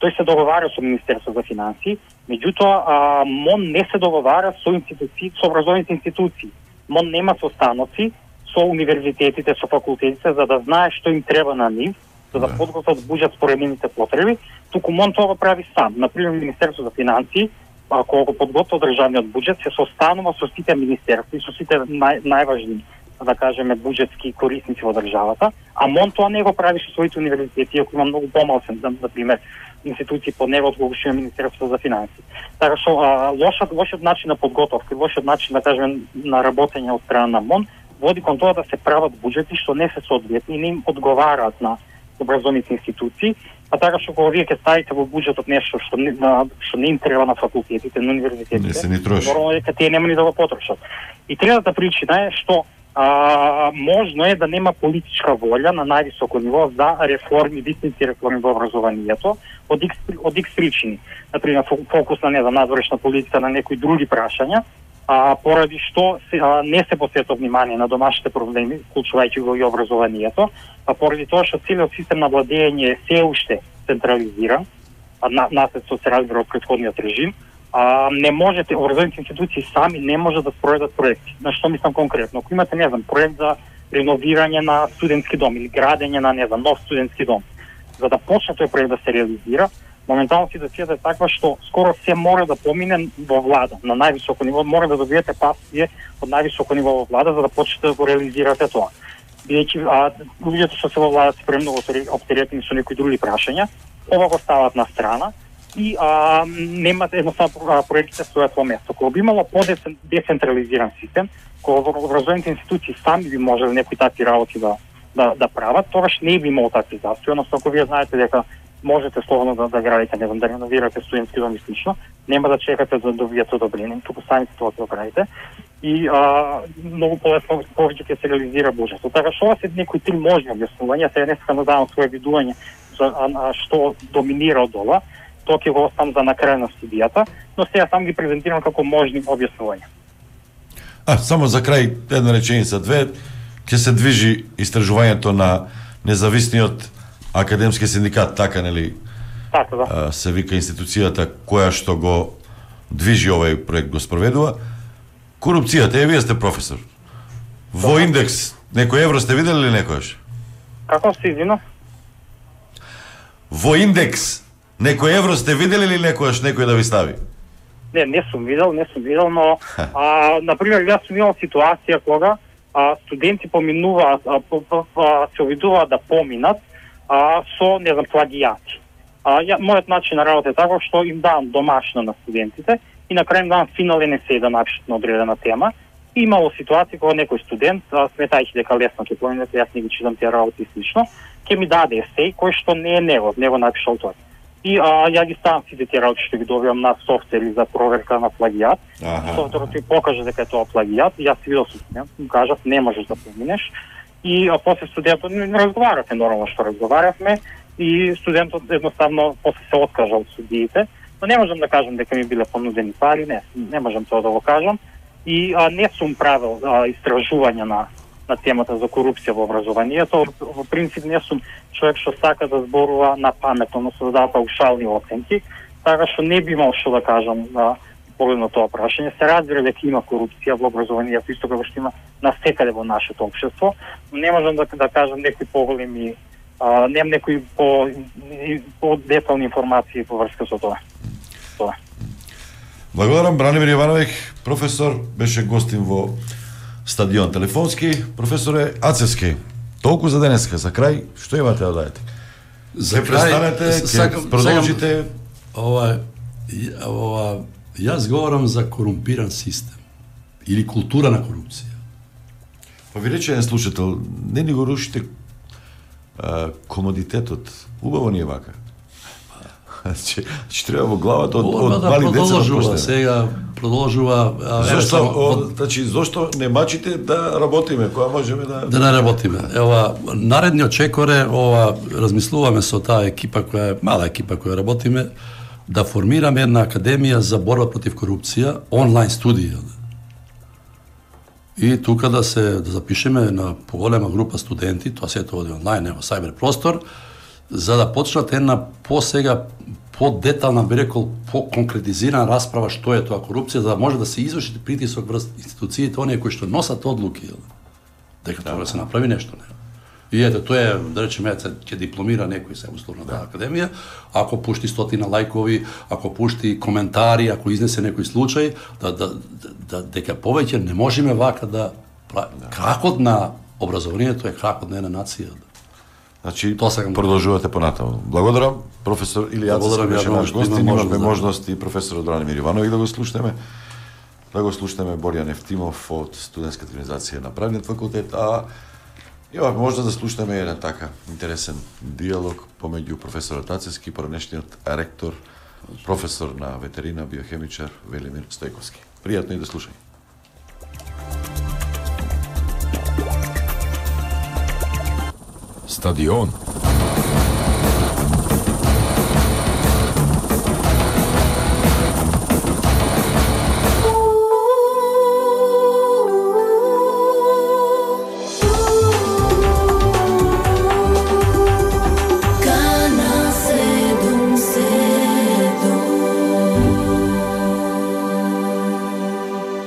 тој се договара со Министерството за финансии, меѓутоа а, МОН не се договара со институции, со образовните институции. МОН нема состаноци со универзитетите, со факултетите, за да знае што им треба на нив, за да подготват буџет според нивните потреби, туку МОН тоа го прави сам. Например, Министерството за финансии, ако го подготвува државниот буџет, се состанува со сите министерства и со сите нај, најважни, да кажеме, буџетски корисници во државата, а МОН тоа не го прави со своите универзитети, ако има многу помалцен, например, институции под него од кога што Министерството за финансии. Така што лошот лошиот начин на подготовка, лошиот начин, да кажеме, на работење од страна на МОН води кон тоа да се прават буџети што не се соодветни и не им одговараат на образовните институции, а така што кога вие ќе ставите во буџетот нешто што не, на, што не им треба на факултетите, на универзитетите, нормално дека тие нема ни да го потрошат. И третата причина е што а, можно е да нема политичка волја на највисоко ниво за реформи, вистински реформи во образованието, од икс, од икс причини. Например, фокус на не за надворешна политика, на некои други прашања, а поради што се, а, не се посветува внимание на домашните проблеми, вклучувајќи го и образованието, а поради тоа што целиот систем на владење е се уште централизиран, а на, наслед со се разбира од претходниот режим, а, не можете, образовните институции сами не може да спроведат проекти. На што мислам конкретно? Ако имате, не знам, проект за реновирање на студентски дом или градење на, не знам, нов студентски дом, за да почне тој проект да се реализира, моментално ситуацијата е таква што скоро се мора да помине во влада, на највисоко ниво, мора да добиете пасија од највисоко ниво во влада за да почнете да го реализирате тоа. Бидејќи луѓето што се во влада се премногу оптеретени со некои други прашања, ова го стават на страна и а, немате едноставно проектите стојат во место. Кога би имало по-децентрализиран систем, кога образовните институции сами би можеле некои такви работи да, да, да прават, тогаш не би имало такви застои, односно ако вие знаете дека можете слободно да, да градите, не знам, да реновирате студентски дом и слично, нема да чекате да добиете одобрение, туку самите тоа ќе го правите и а, многу полесно повеќе ќе се реализира буџетот. Така што ова се некои три можни објаснувања, се не сакам да давам своje видување за а, а, што доминира од ова. тоа ќе го оставам за на крај на студијата, но сега сам ги презентирам како можни објаснувања. А, само за крај, една реченица, две, ќе се движи истражувањето на независниот академски синдикат, така нели? Така да. А, се вика институцијата која што го движи овој проект, го спроведува. Корупцијата, е, вие сте професор. Во индекс, некој евро сте видели ли некојаш? Како се извина? Во индекс, некој евро сте видели ли некојаш некој да ви стави? Не, не сум видел, не сум видел, но а, например, јас сум имал ситуација кога а, студенти поминуваат, а, по, по, а, се обидуваат да поминат а, со, не знам, плагијати. А, ја, мојот начин на работа е така што им давам домашно на студентите и на крај им давам финален есеј да напишат на одредена тема. И имало ситуација кога некој студент, сметајќи дека лесно ќе поминат, јас не ги читам тие работи слично, ќе ми даде есеј кој што не е негов, не го напишал тој. И а, ја ги ставам сите тие работи што ги добивам на софтвери за проверка на плагијат. Софтверот ми покаже дека е тоа плагијат, и јас си видел со студент, ми кажав не можеш да поминеш. И а, после студентот не разговаравме нормално што разговаравме и студентот едноставно после се откажа од судиите, но не можам да кажам дека ми биле понудени пари, не, не можам тоа да го кажам. И а, не сум правил а, истражувања на на темата за корупција во образованието. Во принцип не сум човек што сака да зборува на паметно, но се дава паушални оценки, така што не би имал што да кажам на поглед на тоа прашање. Се разбира дека има корупција во образованието, исто како што има насекаде во нашето општество, но не можам да, да кажам некои поголеми, а, немам некои по, по детални информации по врска со тоа. Тоа. Благодарам, Бранимир Јовановиќ, професор, беше гостин во Стадион телефонски. Професоре Ацевски, толку за денеска, за крај, што имате да дадете? За крај, ќе продолжите. Ова, ова, јас говорам за корумпиран систем или култура на корупција. Па ви рече еден слушател, не ни го рушите а, комодитетот. Убаво ни е вака. Че, че треба во главата од, од да мали деца продолжува, да сега продолжува. Зошто, о, значи, зошто не мачите да работиме, кога можеме да... Да не работиме. Ева, наредниот чекор е, ова, размислуваме со таа екипа која е, мала екипа која работиме, да формираме една академија за борба против корупција, онлайн студија. И тука да се да запишеме на поголема група студенти, тоа се тоа онлайн, ево, сајбер простор, за да почнат една по-сега, по-детална, би рекол, по-конкретизирана расправа што е тоа корупција, за да може да се изврши притисок врз институциите, оние кои што носат одлуки, дека треба да се направи нешто. Не. И ете, тоа е, да речеме, ќе дипломира некој се условно да академија, ако пушти стотина лајкови, ако пушти коментари, ако изнесе некој случај, да, да, да, дека повеќе не можеме вака да правиме. Кракот на образованието е кракот на една нација. Значи, продолжувате понатаму. Благодарам, професор Илија Ацевски беше наш гостин, имавме можност и професорот Бранимир Јовановиќ да го слушнеме. Да го слушнеме Боријан Ефтимов од студентската организација на правниот факултет, а имавме можност да слушнеме еден така интересен диалог помеѓу професорот Ацевски и поранешниот ректор, професор на ветерина, биохемичар Велимир Стојковски. Пријатно и да слушај. Стадион